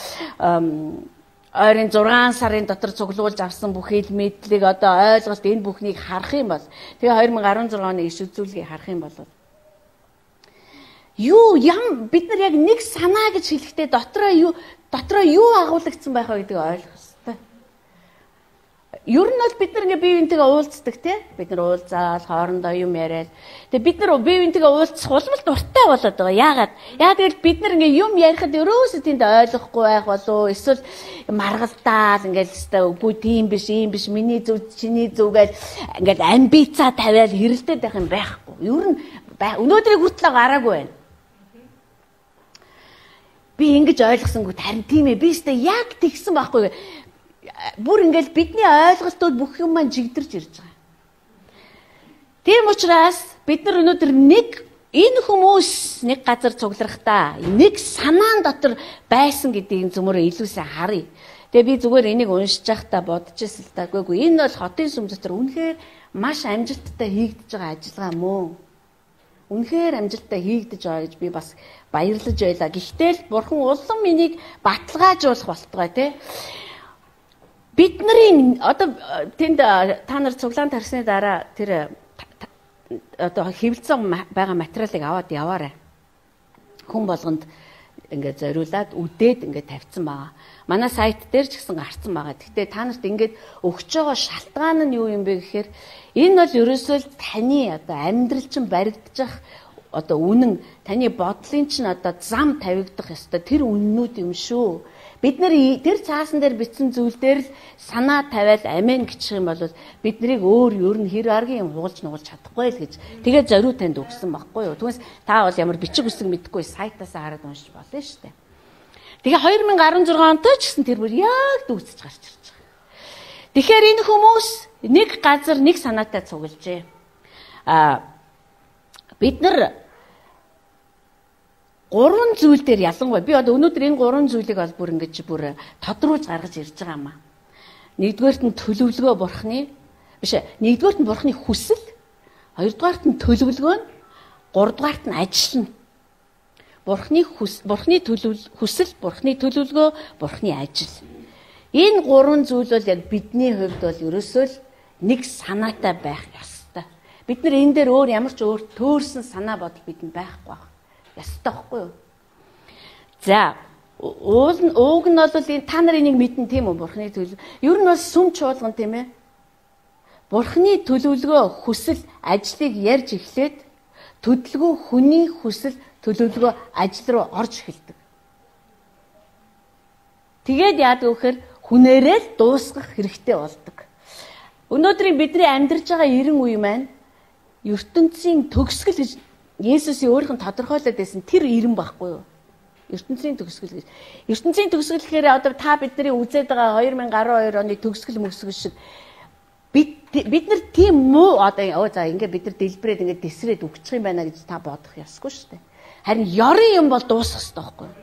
ойрын зургаан сарын дотор цуглуулж авсан бүх хэл мэдлэг одоо ойлголт энэ бүхнийг харах юм бол тэгээ хоёр мянга арван зургаан оны иш үзүүлгийг харах юм бол юу ям бид нар яг нэг санаа гэж хэлэхдээ дотроо юу дотроо юу агуулгдсан байх вэ гэдгийг ойлгох хэрэгтэй. Ер нь бол бид нар ингээ бие биентэйгээ уулздаг тий. Бид нар уулзаал хоорондоо юм яриад. Тэгээ бид нар бие биентэйгээ уулзах улмал дуртай болоод байгаа. Яагаад? Яагаад гэвэл бид нар ингээ юм ярихад ерөөсөө тэнд ойлгохгүй байх болов эсвэл маргалдаал ингээл үгүй тийм биш, ийм биш, миний зөв, чиний зөв гэж ингээл амбицаа тавиал хэрэлдээд байх юм байхгүй. Ер нь өнөөдрийг хүртэл гараагүй байна. Би ингэж ойлгосонгүй харин тийм ээ. Би өстө яг тэгсэн байхгүй. Бүр ингээл бидний ойлголтууд бүх юм маань жигдэрч ирж байгаа. Тийм учраас бид нар өнөөдөр нэг энэ хүмүүс нэг газар цугларахдаа нэг санаан дотор байсан гэдгийг зөвмөрөө илүү сайн харъя. Тэгээ би зүгээр энийг уншиж байхдаа бодож ирсэн л та. Үгүй энэ бол хотын сүм дотор үнэхээр маш амжилттай хийгдэж байгаа ажиллагаа мөн. Үнэхээр амжилттай хийгдэж байгаа гэж би бас баярлаж байлаа. Гэхдээ л бурхан улам энийг баталгаажуулах болтугай тий. Бидний одоо тэнд та нар цуглаан тарсны дараа тэр одоо хэвлэлцэн байгаа материалыг аваад яваарай. Хүн болгонд ингээд зориулаад үдээд ингээд тавьсан байгаа. Манай сайт дээр ч гэсэн гарсан байгаа. Гэхдээ та нарт ингээд өгч байгаа шалтгаан нь юу юм бэ гэхээр энэ бол ерөөсөө таны одоо амьдрал чинь баригдчих одоо үнэн таны бодлын чинь одоо зам тавигдах ёстой тэр үннүүд юм шүү. Бид нар тэр цаасан дээр бичсэн зүйл дээр л санаа тавиал амен гिचх юм бол бид нарыг өөр ер нь хэр аргийн юм хугалж нугалж чадахгүй л гэж тэгээд зориу танд өгсөн байхгүй юу. Түүнээс та бол ямар бичиг үсэг мэдхгүй сайтаас хараад уншиж болно шүү дээ. Тэгээ хоёр мянга арван зургаан онд ч гэсэн тэр бүр яг дүүцэж гарч ирж байгаа. Тэгэхээр энэ хүмүүс нэг газар нэг санаатай цуглжээ. А бид нар гурван зүйл дээр ялангуяа би одоо өнөөдөр энэ гурван зүйлийг бол бүр ингэж бүр тодруулж гаргаж ирж байгаа юм аа. Нэгдүгээрт нь төлөвлөгөө бурхны биш ээ. Нэгдүгээрт нь бурхны хүсэл, хоёрдугаарт нь төлөвлөгөө нь, гуравдугаарт нь ажил нь. Бурхны хүс, бурхны хүсэл, бурхны төлөвлөгөө, бурхны ажил. Энэ гурван зүйл бол яг бидний хувьд бол ерөөсөө л нэг санаатай байх ёстой. Бид нар энэ дээр өөр ямар ч өөр төөрсөн санаа бодол бидэнд байхгүй байна. Ястай байхгүй юу? За, уул нь ууг нь бол энэ та нар энийг мэднэ тийм үү? Бурхны төлөв. Ер нь бол сүм чуулган тийм ээ. Бурхны төлөвлөгөө, хүсэл, ажлыг ярьж эхлээд төлөвлөгөө хүний хүсэл, төлөвлөгөө ажил руу орж эхэлдэг. Тэгээд яадаг вэхээр хүнээрээ дуусгах хэрэгтэй болдог. Өнөөдрийн бидний амьдарч байгаа эрен үе маань ертөнцийн төгсгөл гэж Есүсийн өөрийнх нь тодорхойлоод байсан тэр эрен байхгүй юу? ертөнцийн төгсгөл гэж. ертөнцийн төгсгөл гэхээр одоо та бидний үзээд байгаа две тысячи twelve оны төгсгөл мөсгөл шиг бид бид нар тийм муу одоо оо за ингээ бид нар дэлбэрээд ингээ тесрээд өгчих юм байна гэж та бодох ёсгүй шүү дээ. Харин ёрын юм бол дуусах ёстой байхгүй юу?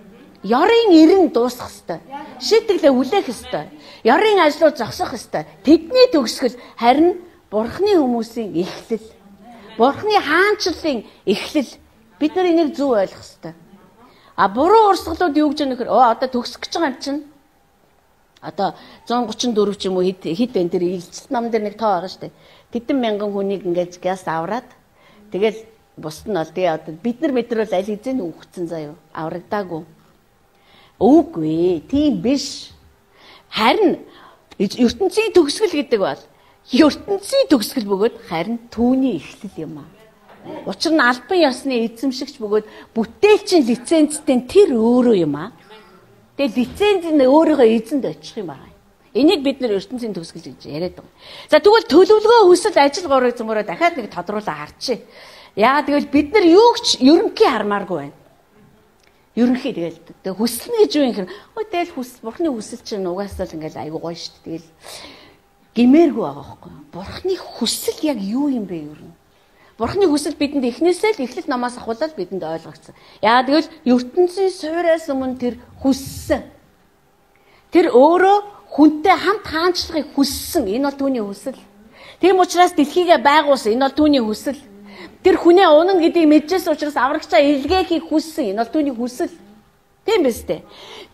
Ёрын эрен дуусах ёстой. Шийтгэлээ үлээх ёстой. Ёрын ажлууд зогсох ёстой. Тэдний төгсгөл харин Бурхны хүмүүсийн эхлэл. Бурхны хаанчлалын эхлэл. Бид нар энийг зөв ойлгох ёстой. А буруу урсгалууд юу гэж нөхөр оо одоо төгсөх гэж байгаа юм чинь. Одоо one thirty-four ч юм уу хэд хэд энэ тэр илчилт нам дээр нэг тоо байгаа шүү дээ. Тэдэн мянган хүнийг ингэж гяс авраад тэгэл бусд нь бол тэгээ одоо бид нар мэдэр бол аль хэзээ нь үхсэн заяа аврагдаагүй. Үгүй тийм биш. Харин ертөнцийн төгсгөл гэдэг бол ертөнцийн төгсгөл бөгөөд харин түүний эхлэл юм аа. Учир нь албан ёсны эзэмшигч бөгөөд бүтээлчийн лицензтэй тэр өөрөө юм аа. Тэгээ лиценз нь өөрийнхөө эзэнд очих юм байна. Энийг бид нэр ертөнцийн төгсгөл гэж яриад байгаа. За тэгвэл төлөвлөгөө хүсэл ажил горыг зөмөрөө дахиад нэг тодруулаа харчээ. Яагаад гэвэл бид нар юу ч ерөнхий хармааргүй байна. Ерөнхий тэгэл тэг хүсэлнэ гэж юу юм хэр өө тэгэл хүсэл бурхны хүсэл чинь угаасаа л ингээл айгуу гоё шүү дээ. Тэгэл гимээргүй байгаа байхгүй. Бурхны хүсэл яг юу юм бэ ер нь? Бурхны хүсэл бидэнд эхнээсээ л эхлэл намаас ахуулаад бидэнд ойлгогдсон. Яагаад гэвэл ертөнцийн суйраас өмнө тэр хүссэн. Тэр өөрөө хүнтэй хамт хаанчлахыг хүссэн. Энэ бол түүний хүсэл. Тийм учраас дэлхийгээ байгуулсан. Энэ бол түүний хүсэл. Тэр хүнээ унана гэдгийг мэдчихсэн учраас аврагчаа илгээхийг хүссэн. Энэ бол түүний хүсэл. Тийм биз дээ.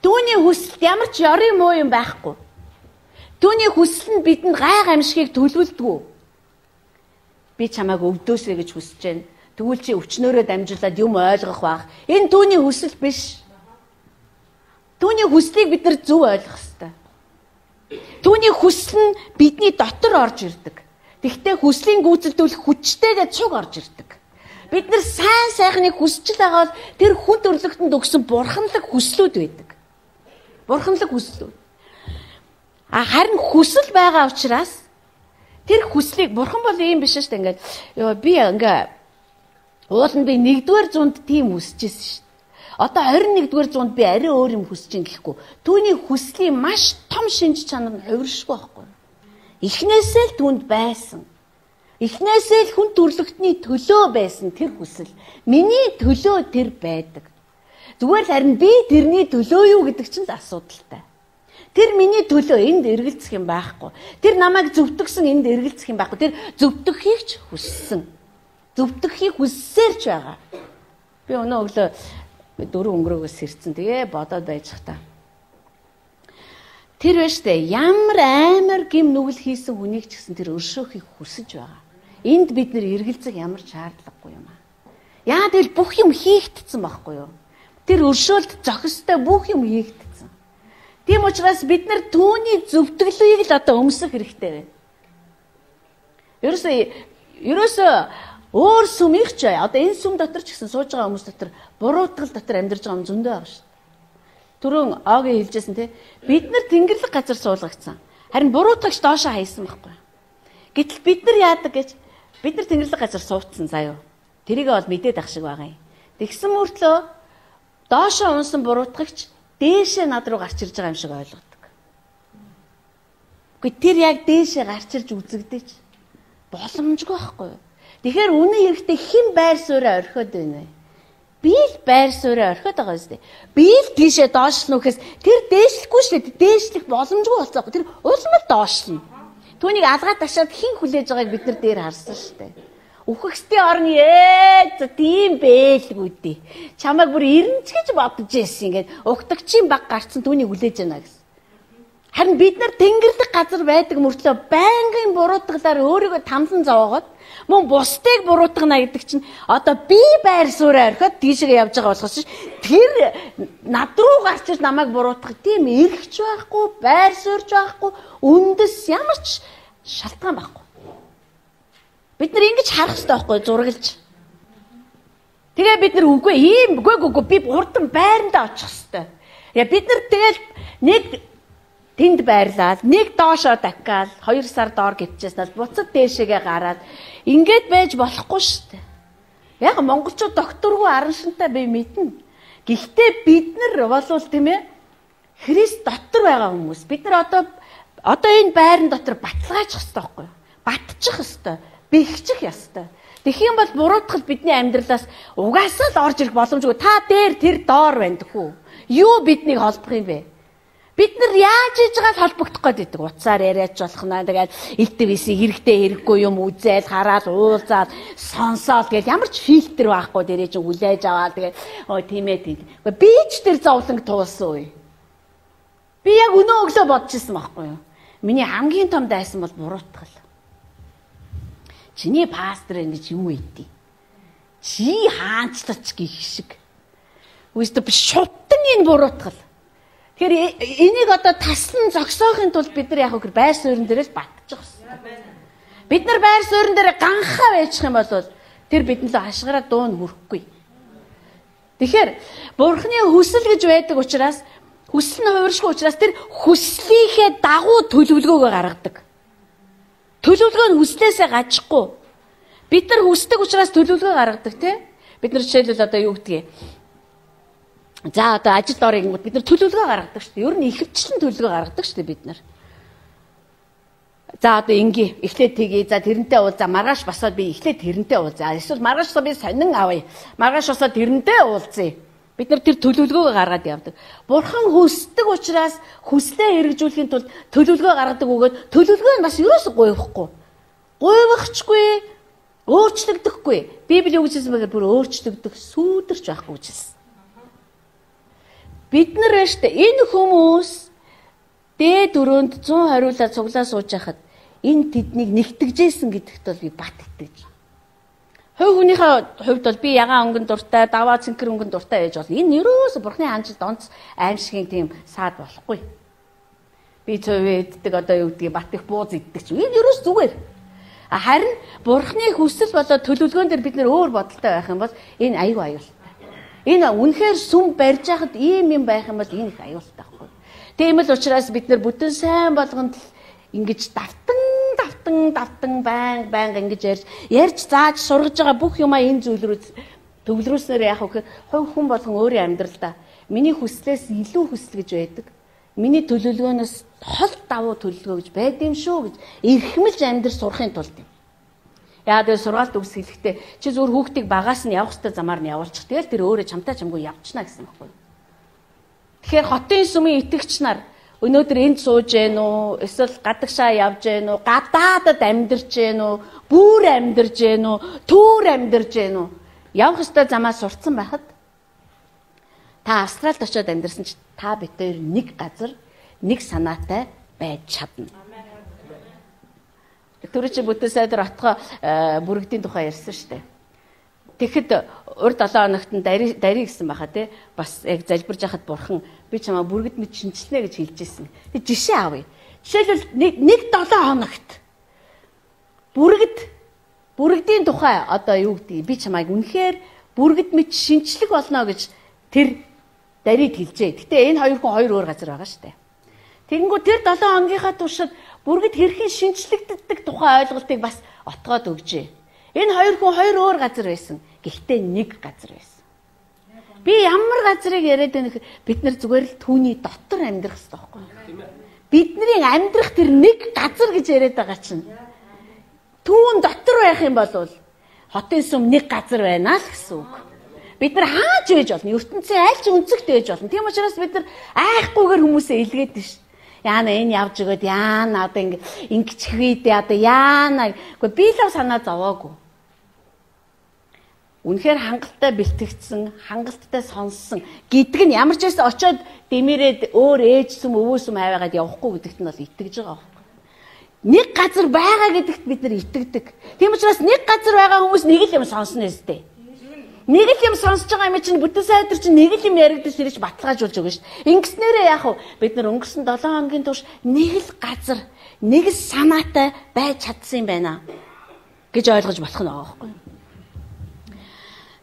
Түүний хүсэлд ямар ч ёрын муу юм байхгүй. Түүний хүсэл нь бидэнд гай гамшигыг төлөвлөдгөө. Би чамайг өвдөөсэй гэж хүсэж байна. Тэгвэл чи өвчнөөрөө дамжуулаад юм ойлгох байх. Энэ түүний хүсэл биш. Түүний хүслийг бид нар зөв ойлгох ёстой. Түүний хүсэл нь бидний дотор орж ирдэг. Тэгвэл хүслийн гүйцэлдүүлэх хүчтэйгээ цуг орж ирдэг. Бид нар сайн сайхныг хүсэж байгаа бол тэр хүн төрлөختөнд өгсөн бурханлаг хүслүүд байдаг. Бурханлаг хүслүүд. А харин хүсэл байгаа учраас тэр хүслийг бурхан бол ийм биш шүү дээ. Ингээд ёо би ингээ ууланд би нэгдүгээр зуунд тийм хүсэжсэн шүү дээ. Одоо twenty нэгдүгээр зуунд би арай өөр юм хүсэж ин гэхгүй. Түүний хүслийн маш том шинж чанар нь хувиршгүй байхгүй. Эхнээсээ л түнд байсан. Эхнээсээ л хүн төрлөختний төлөө байсан тэр хүсэл. Миний төлөө тэр байдаг. Зүгээр л харин би тэрний төлөө юу гэдэг чинь л асуудалтай. Тэр миний төлөө энд эргэлзэх юм байхгүй. Тэр намайг зөвтгсөн энд эргэлзэх юм байхгүй. Тэр зөвтгөхийг ч хүссэн. Зөвтгөхийг хүссээр ч байгаа. Би өнөө өглөө дөрөв өнгөрөөгөөс сэрцэн. Тэгээ бодоод байж хата. Тэр байж тээ ямар амар гим нүгэл хийсэн хүнийг ч гэсэн тэр өршөөхийг хүсэж байгаа. Энд бид нэр эргэлзэх ямар ч шаардлагагүй юм аа. Яа тэгэл бүх юм хийгдсэн байхгүй юу? Тэр өршөөлт зохистой бүх юм хийгдсэн. Тийм учраас бид нар түүний зөвтгөлийг л одоо өмсөх хэрэгтэй байна. Ерөөсөө ерөөсөө өөр сүм их ч бай. Одоо энэ сүм дотор ч гэсэн сууж байгаа хүмүүс дотор буруутгал дотор амьдарч байгаа юм зөндөө байгаа шүү дээ. Түрүүн Огийн хэлжсэн те бид нар тэнгэрлэг газар суулгагдсан. Харин буруутгагч доошоо хайсан байхгүй. Гэтэл бид нар яадаг гэж бид нар тэнгэрлэг газар суудсан заяо. Тэрийг бол мэдээд ах шиг байгаа юм. Тэгсэн мөртлөө доошоо унсан буруутгагч дээшээ над руу гарч ирж байгаа юм шиг ойлгодог. Гэхдээ тэр яг дээшээ гарч ирж үзэгдэж боломжгүй байхгүй юу? Тэгэхээр үнэн хэрэгтээ хэн байр сууриа орхиод байна вэ? Би л байр сууриа орхиод байгаа юм зү. Би л тийшээ доошлно гэхээс тэр дээшлэхгүй шүү дээ. Дээшлэх боломжгүй болцоогүй. Тэр улам л доошлно. Түүнийг алгаад ташаад хэн хүлээж байгааг бид нар дээр харсан шүү дээ. Үхэгсдийн орны ээ тийм бэлгүй дээ. Чамайг бүр ирнэ ч гэж бодож байсан. Ингээд угтагчийн баг гарцсан түүнийг хүлээж байна гэсэн. Харин бид нар тэнгэрлэг газар байдаг мөртлөө байнгын буруутгалаар өөрийгөө тамлан зовоогоод мөн бусдыг буруутгана гэдэг чинь одоо би байр сууриа орхиод тийшээ явж байгаа болохоос тэр над руу гарч ир намайг буруутгах тийм эрхч байхгүй, байр суурьч байхгүй, үндэс ямар ч шалтгаан байхгүй. Бид нар ингэж харах хэрэгтэй байхгүй зураглаж. Тэгээ бид нар үгүй ийм үгүй үгүй би урдан байрандаа очих хэрэгтэй. Я бид нар тэгэл нэг тэнд байрлаад нэг доошоо дахиад хоёр сар доор гівчээснээс буцад дээшээгээ гараад ингээд байж болохгүй шүү дээ. Яг монголчууд докторгүй аран шинтэй бие мэднэ. Гэхдээ бид нар болвол тийм ээ Христ дотор байгаа хүмүүс. Бид нар одоо одоо энэ байран дотор баталгаачих хэрэгтэй байхгүй юу? Батчих хэрэгтэй. Бэхжих ёстой. Тэгэх юм бол буруутгал бидний амьдралаас угаасаа л орж ирэх боломжгүй. Та дээр тэр доор байна гэхүү. Юу биднийг холбох юм бэ? Бид нар яаж хийж байгааг холбогдох гээд байдаг. Уцаар яриач болох наа. Тэгээд элтвэсийг хэрэгтэй хэрэггүй юм үзэл, хараад, уулзаад, сонсоод гэж ямар ч фильтр байхгүй дээрээ чи хүлээж аваад тэгээд өө тийм ээ тийм. Би ч тэр зовлонг туулсан үе. Би яг өнөө өглөө бодож ирсэн байхгүй юу? Миний хамгийн том дайсан бол буруутгал. Чиний пастор ингэж юу ийдий? Чи хаанчлаач гих шиг. Үстэ би шутан энэ буруутгал. Тэгэхээр энийг одоо таслан зогсоохын тулд бид нар яг хөө байр суурин дээрээс батчих хэрэгтэй. Бид нар байр суурин дээр ганхаа байчих юм бол тэр бидэнд л хашгираа дуун хүрэхгүй. Тэгэхээр Бурхны хүсэл гэж байдаг учраас хүсэл нь хувиршгүй учраас тэр хүслийнхээ дагуу төлөвлөгөөгөө гаргадаг. Төлөвлөгөө нь хүслээсээ гажихгүй. Бид нар хүсдэг учраас төлөвлөгөө гаргадаг тийм. Бид нар жишээлбэл одоо юу гэдгийг за одоо ажилд орё гингүүд бид нар төлөвлөгөө гаргадаг шүү дээ. Ер нь ихэвчлэн төлөвлөгөө гаргадаг шүү дээ бид нар. За одоо инги эхлээд тгий. За тэрнтэй уул. За маргааш басаад би эхлээд тэрнтэй уул. За эсвэл маргааш би сонин авъя. Маргааш басаад тэрнтэй уулзъя. Бид нар тэр төлөвлөгөөгөө гаргаад явдаг. Бурхан хүсдэг учраас хүслээ хэрэгжүүлэхийн тулд төлөвлөгөө гаргадаг өгөөд төлөвлөгөө нь бас ерөөсөө гуйвахгүй. Гуйвахчгүй, өөрчлөгдөхгүй. Библи юу гэж хэлсэн бэ гэхээр бүр өөрчлөгдөх, сүйдэрч байхгүй гэж хэлсэн. Бид нар штэ энэ хүмүүс дээд өрөөнд зүүн хариулаад цуглаа сууж байхад энэ тэднийг нэгтгэжсэн гэдэгт бол би бат итгэж. Хувь хүнийхээ хувьд бол би ягаан өнгөн дуртай, даваа цэнхэр өнгөн дуртай байж бол энэ ерөөсө Бурхны хаанчлалд онц аимшигын тийм саад болохгүй. Би цовэддэг одоо юу гэдгийг бат их бууз иддэг ч энэ ерөөс зүгээр. Харин Бурхны хүсэл болоод төлөвлөгөөн дээр бид нэр өөр бодолтой байх юм бол энэ аюу аюул. Энэ үнэхээр сүм барьж яхад ийм юм байх юм бол энэ их аюултай байхгүй. Тийм л учраас бид нар бүтэн сайн болгонд ингэж давтан давтан давтан байн байн ингэж ярьж ярьж зааж сургаж байгаа бүх юмаа энэ зүйлрүү төвлөрүүлснээр яах вэ гэхээр хувь хүн болгон өөрийн амьдралдаа миний хүслээс илүү хүсэл гэж байдаг. Миний төлөвлөгөөнөөс хол давуу төлөвлөгөө гэж байд юм шүү гэж эрхэмлж амьдрал сурахын тулд юм. Яа дээр сургаалт үгс хэлэхдээ чи зүгээр хүүхдийг багаас нь явах хэрэгтэй замаар нь явуулчих. Тэгэл тэр өөрөө чамтай чамгүй явчихна гэсэн байхгүй. Тэгэхээр хотын сүмийн итгэгч нар өнөөдөр энд сууж гэн үү, эсвэл гадагшаа явж гэн үү, гадаадад амьдарч гэн үү, бүр амьдарч гэн үү, түүр амьдарч гэн үү. Явах ёстой замаа сурцсан байхад та Австралид очиод амьдарсан ч та битээр нэг газар, нэг санаатай байж чадна. Түрүү чи бүтэн сайдар отгоо бүрэгдийн тухай ярьсан шүү дээ. Тэгэхэд урд долоо хоногт нь дари дари гэсэн байхаа тий. Бас яг залбирж яхад бурхан би чамаа бүргэд мэд шинжилнэ гэж хэлж ирсэн. Тэг жишээ авъя. Жишээлбэл нэг нэг долоо хоногт бүргэд бүрэгдийн тухай одоо юу гэдгийг би чамайг үнэхээр бүргэд мэд шинжлэх болно гэж тэр дарид хэлжээ. Гэтэ энэ хоёр хүн хоёр өөр газар байгаа шүү дээ. Тэгэнгүүт тэр долоо хоногийнхаа туршид бүргэд хэрхэн шинжлэгддэг тухай ойлголтыг бас отгоод өгжээ. Энэ хоёр хүн хоёр өөр газар байсан. Гэхдээ нэг газар байсан. Би ямар газрыг яриад байна гэхээр бид нар зүгээр л түүний дотор амьдрах хэрэгтэй байхгүй юу? Бидний амьдрах тэр нэг газар гэж яриад байгаа чинь түүн дотор байх юм бол хотын сүм нэг газар байна л гэсэн үг. Бид нар хааж байж болно? ертөнцийн аль ч өнцөгт байж болно. Тийм учраас бид нар айхгүйгээр хүмүүсээ илгээд байна шүү. Яана энэ явж өгöd яана одоо ингэ ингэчихвээ одоо яана үгүй би л санаа зовоогүй. Үнэхээр хангалттай бэлтгэгдсэн, хангалттай сонссон гэдэг нь ямар ч байсан очиод дэмэрээд өөр ээжсэм өвөөсөм аваагаад явахгүй гэдэгт нь бол итгэж байгаа байхгүй. Нэг газар байгаа гэдэгт бид нар итгэдэг. Тийм учраас нэг газар байгаа хүмүүс нэг л юм сонсно өстэй. Нэг л юм сонсож байгаа юм чинь бүтэн сайдар чинь нэг л юм яригдаж ирж баталгаажуулж өгнө шүү дээ. Ингэснээрээ яах вэ? Бид нар өнгөрсөн долоо хоногийн турш нэг л газар, нэг л санаатай байж чадсан юм байна гэж ойлгож болох нь байгаа байхгүй.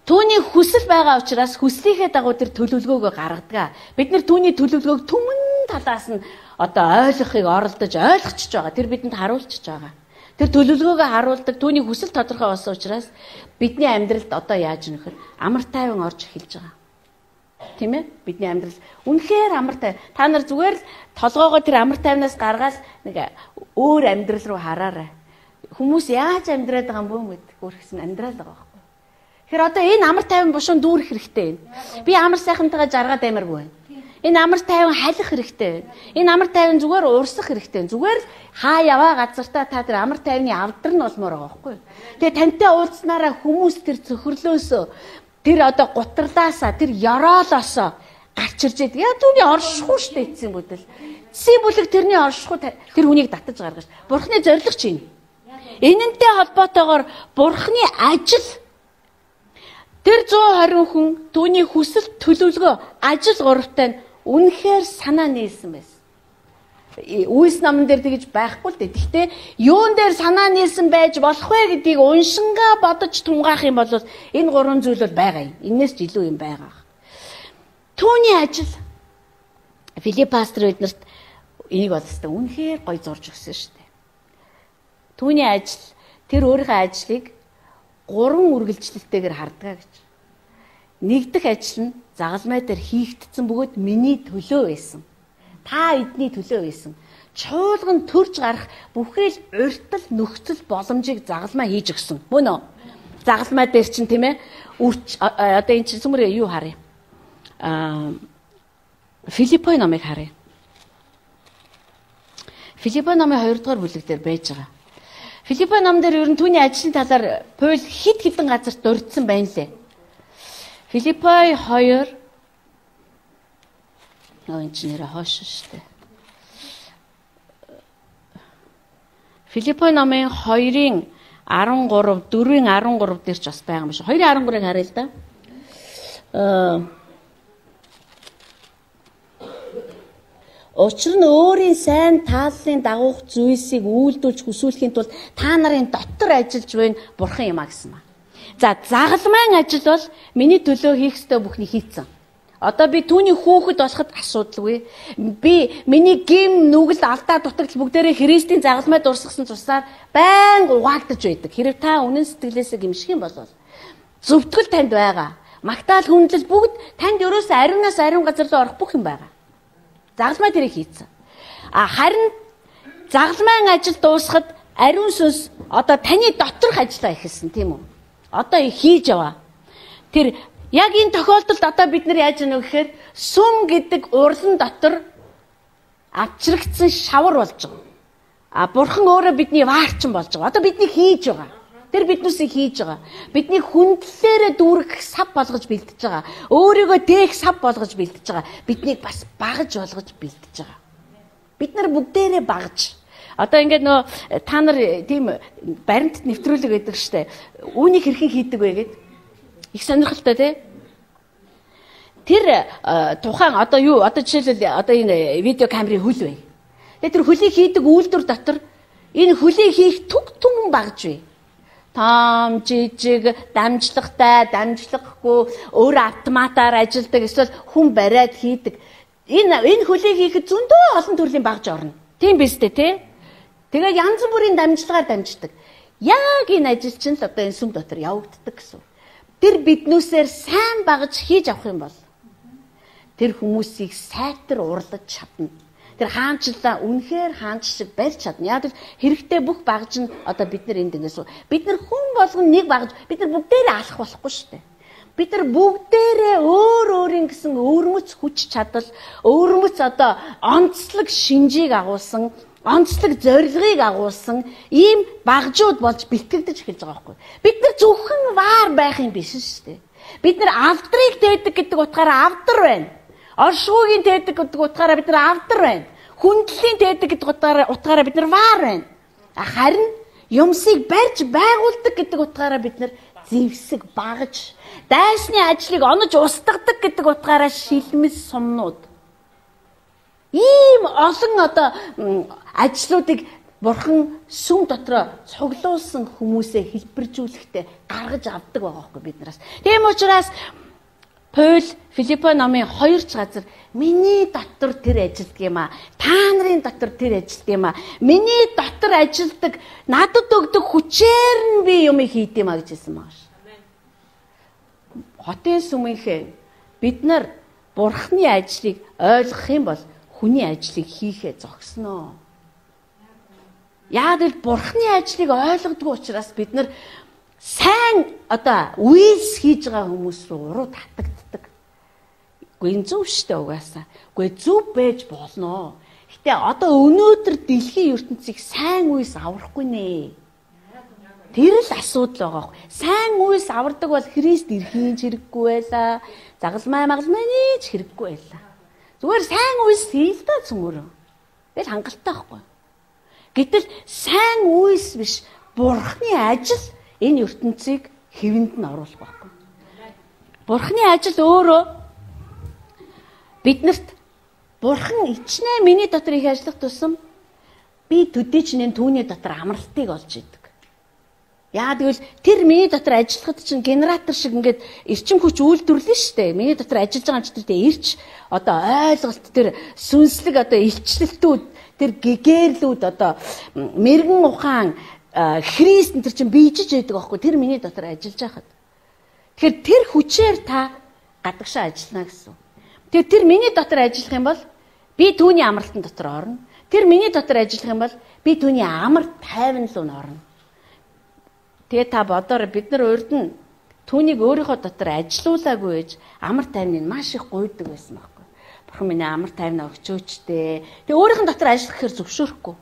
Түүний хүсэл байгаа учраас хүслийнхээ дагуу тэр төлөвлөгөөгөө гаргадаг. Бид нар түүний төлөвлөгөөг түмэн талаас нь одоо ойлгохыг оролдож ойлгочихж байгаа. Тэр бидэнд харуулчихж байгаа. Тэр төлөвлөгөөгөө харуулдаг, түүний хүсэл тодорхой болсон учраас бидний амьдралд одоо яаж нөхөр амар тайван орж эхэлж байгаа. Тийм ээ? Бидний амьдрал үнэхээр амар тайван. Та нар зүгээр л толгоогоо тэр амар тайвнаас гаргаад нэг өөр амьдрал руу хараарай. Хүмүүс яаж амьдраад байгаа юм бөө гэдэг өөрхсөн амьдраад байгаа байхгүй. Тэгэхээр одоо энэ амар тайван бушуун дүүрэх хэрэгтэй юм. Би амар сайхантайгаа жаргаад аймаргүй байна. Энэ амар тайван халих хэрэгтэй байна. Энэ амар тайван зүгээр урсах хэрэгтэй байна. Зүгээр л хаа яваа газартаа та тэр амар тайвны авдар нь болмоор байгаа байхгүй. Тэгээ тантай уулзнараа хүмүүс тэр цөхрлөөсөө тэр одоо гутралаасаа тэр ёроолоосоо гарч ирж байдаг. Яа түүний оршихуй штэ эцсийн бүдэл. Эцсийн бүлэг тэрний оршихуй тэр хүнийг татаж гаргаж. Бурхны зориг чинь. Энэнтэй холбоотойгоор Бурхны ажил тэр зуун хорин хүн түүний хүсэл төлөвлөгөө ажил гуравтай нь үнэхээр санаа нийлсэн байсан. Үйлс номон дээр тэгж байхгүй л дээ. Гэхдээ юун дээр санаа нийлсэн байж болох вэ гэдгийг уншингаа бодож тунгаах юм бол энэ гурван зүйл бол байгаа юм. Энээс ч илүү юм байгаа. Түүний ажил Филипп пастор эднэрт энийг болстой үнэхээр гой зурж өгсөн шүү дээ. Түүний ажил тэр өөрийнхөө ажлыг гурван үргэлжлэлтэйгээр хардгаа гэж. Нэгдэх ажил нь загалмай дээр хийгдсэн бөгөөд миний төлөө байсан. Та эдний төлөө байсан. Чуулган төрж гарах бүхэл уртл нөхцөл боломжийг загалмай хийж өгсөн. Мөн үү? Загалмай дээр чинь тийм ээ үрч одоо энэ чинь сүмрээ юу харъя? Аа Филиппой номыг харъя. Филиппой номын хоёр дахь бүлэг дээр байж байгаа. Филиппой ном дээр ер нь түүний ажлын талаар Паул хит хитэн газарт дурдсан байна лээ. Филиппой хоёр нөө энэ ч нэрээ хоош штэ. Филиппой номын хоёрын арван гурав, дөрвийн арван гурав дээр ч бас байгаа юм шиг. хоёрын арван гурвыг харъя л да. Аа Учир нь өөрийн сайн тааллын дагуух зүйлсийг үйлдүүлж хүсүүлэхийн тулд та нарын дотор ажиллаж байна Бурхан юм а гэсэн ба. За загалмайн ажил бол миний төлөө хийх ёстой бүхнийг хийцэн. Одоо би түүний хүүхэд болоход асуудалгүй. Би миний гим нүгэл алдаа дутагдал бүгдээрээ Христийн загалмайд урсгасан тусаар байнга угаагдаж байдаг. Хэрэг та үнэн сэтгэлээсээ гимших юм бол зөвтгөл танд байгаа. Магтаал хүндлэл бүгд танд ерөөсөө ариунаас ариун газар руу орох бүх юм байгаа. Загалмай тэрийг хийцэн. А харин загалмайн ажил дуусахад ариун сүнс одоо таны доторх ажиллаа эхэлсэн тийм үү? Одоо хийж яваа. Тэр яг энэ тохиолдолд одоо бид нар яаж яах вэ гэхээр сүм гэдэг урлан дотор авчрагдсан шавар болж байгаа. А Бурхан өөрөө бидний ваарчин болж байгаа. Одоо бидний хийж байгаа. Тэр биднүүсийг хийж байгаа. Бидний хүндлэлээрээ дүүрэх сав болгож бэлдэж байгаа. Өөрийгөө дээх сав болгож бэлдэж байгаа. Биднийг бас багаж болгож бэлдэж байгаа. Бид нар бүгдээрээ багаж. Одоо ингээд нөө та нар тийм баримтат нэвтрүүлэг гэдэг штэ. Үүнийг хэрхэн хийдэг вэ гэд их сонирхолтой тий. Тэр тухайн одоо юу одоо жишээлбэл одоо энэ видео камерын хөл бай. Тэгээ тэр хөлийг хийдэг үйлдвэр дотор энэ хөлийг хийх түг түн багж бай. Том жижиг дамжлагтай дамжлаггүй өөр автоматаар ажилдаг эсвэл хүн бариад хийдэг энэ энэ хөлийг хийхэд зөндөө олон төрлийн багж орно. Тийм биз дээ тий. Тэгээ янз бүрийн дамжлагаар дамждаг. Яг энэ ажил чинь л одоо энэ сүм дотор явагддаг гэсэн. Тэр биднүүсээр сайн багж хийж авах юм бол тэр хүмүүсийг сайтар урлаж чадна. Тэр хаанчлаа үнэхээр хаанч шиг барьж чадна. Яг л хэрэгтэй бүх багж нь одоо бид нар энд ингээс бид нар хүн болгон нэг багж бид нар бүгдээрээ алах болохгүй шүү дээ. Бид нар бүгдээрээ өөр өөрийн гэсэн өвөрмөц хүч чадал, өвөрмөц одоо онцлог шинжийг агуулсан, онцлог зорилгыг агуулсан ийм багжууд болж бэлтгэгдэж эхэлж байгаа байхгүй. Бид нар зөвхөн ваар байх юм биш шүү дээ. Бид нар авдрыг дээдэг гэдэг утгаараа авдар байна. Оршуугийн дээдэг гэдэг утгаараа бид нар авдар байна. Хүндлийн дээдэг гэдэг утгаараа утгаараа бид нар ваар байна. Харин юмсыг барьж байгуулдаг гэдэг утгаараа бид нар зэвсэг багаж, дайсны ажлыг онож устгадаг гэдэг утгаараа шилмэс сумнууд. Ийм олон одоо ажлуудыг Бурхан сүм дотроо цуглуулсан хүмүүсээ хэлбэржүүлэхдээ гаргаж авдаг байгаа байхгүй биднээс. Тийм учраас Паул Филиппо номын хоёр ч газар миний дотор тэр ажилдаг юм а. Та нарын дотор тэр ажилдаг юм а. Миний дотор ажилдаг надад өгдөг хүчээр нь би юм хийд юм а гэж хэлсэн байгаа ш. Хотын сүмийнхээ бид нар Бурхны ажлыг ойлгох юм бол хүний ажлыг хийхээ зогсноо. Яг л Бурхны ажлыг ойлгодог учраас бид нар сайн одоо үйлс хийж байгаа хүмүүс рүү уруу татагддаг. Үгүй энэ зөв штэ угаасаа. Үгүй зөв байж болно. Гэтэ одоо өнөөдөр дэлхийн ертөнцийг сайн үйлс аврахгүй нэ. Тэр л асуудал байгаа. Сайн үйлс авардаг бол Христ ирхийн хэрэггүй байлаа. Загалмай магалмайны ч хэрэггүй байлаа. Зүгээр сайн үйлс хийл та цөмөрөө. Тэгэл хангалттай байхгүй. Гэтэл сайн үйлс биш Бурхны ажил энэ ертөнцийг хэвэнд нь оруулах байхгүй. Бурхны ажил өөрөө биднэрт Бурхан ичнээ миний дотор их ажиллах тусам би төдийчнээ түүний дотор амралтыг олж идэг. Яа тэгвэл тэр миний дотор ажиллахад чинь генератор шиг ингээд эрчим хүч үйлдвэрлэн штэ. Миний дотор ажиллаж байгаа юм ч тэр ирч одоо ойлголт тэр сүнслэг одоо илчлэлтүүд тэр гэгэрлүүд одоо мэрэгэн ухаан Христ энэ чинь бийжиж байдаг аахгүй тэр миний дотор ажиллаж байхад. Тэгэхээр тэр хүчээр та гадагшаа ажиллана гэсэн. Тэгэхээр тэр миний дотор ажиллах юм бол би түүний амралтын дотор орно. Тэр миний дотор ажиллах юм бол би түүний амар тайван руу орно. Тэгээ та бодоорой бид нар урд нь түүнийг өөрийнхөө дотор ажилуулаагүй гэж амар тайвныг маш их гуйдаг байсан байхгүй. Бурхан миний амар тайвнаа өгчөөч дээ. Тэгээ өөрийнх нь дотор ажиллах гэхээр зөвшөөрөхгүй.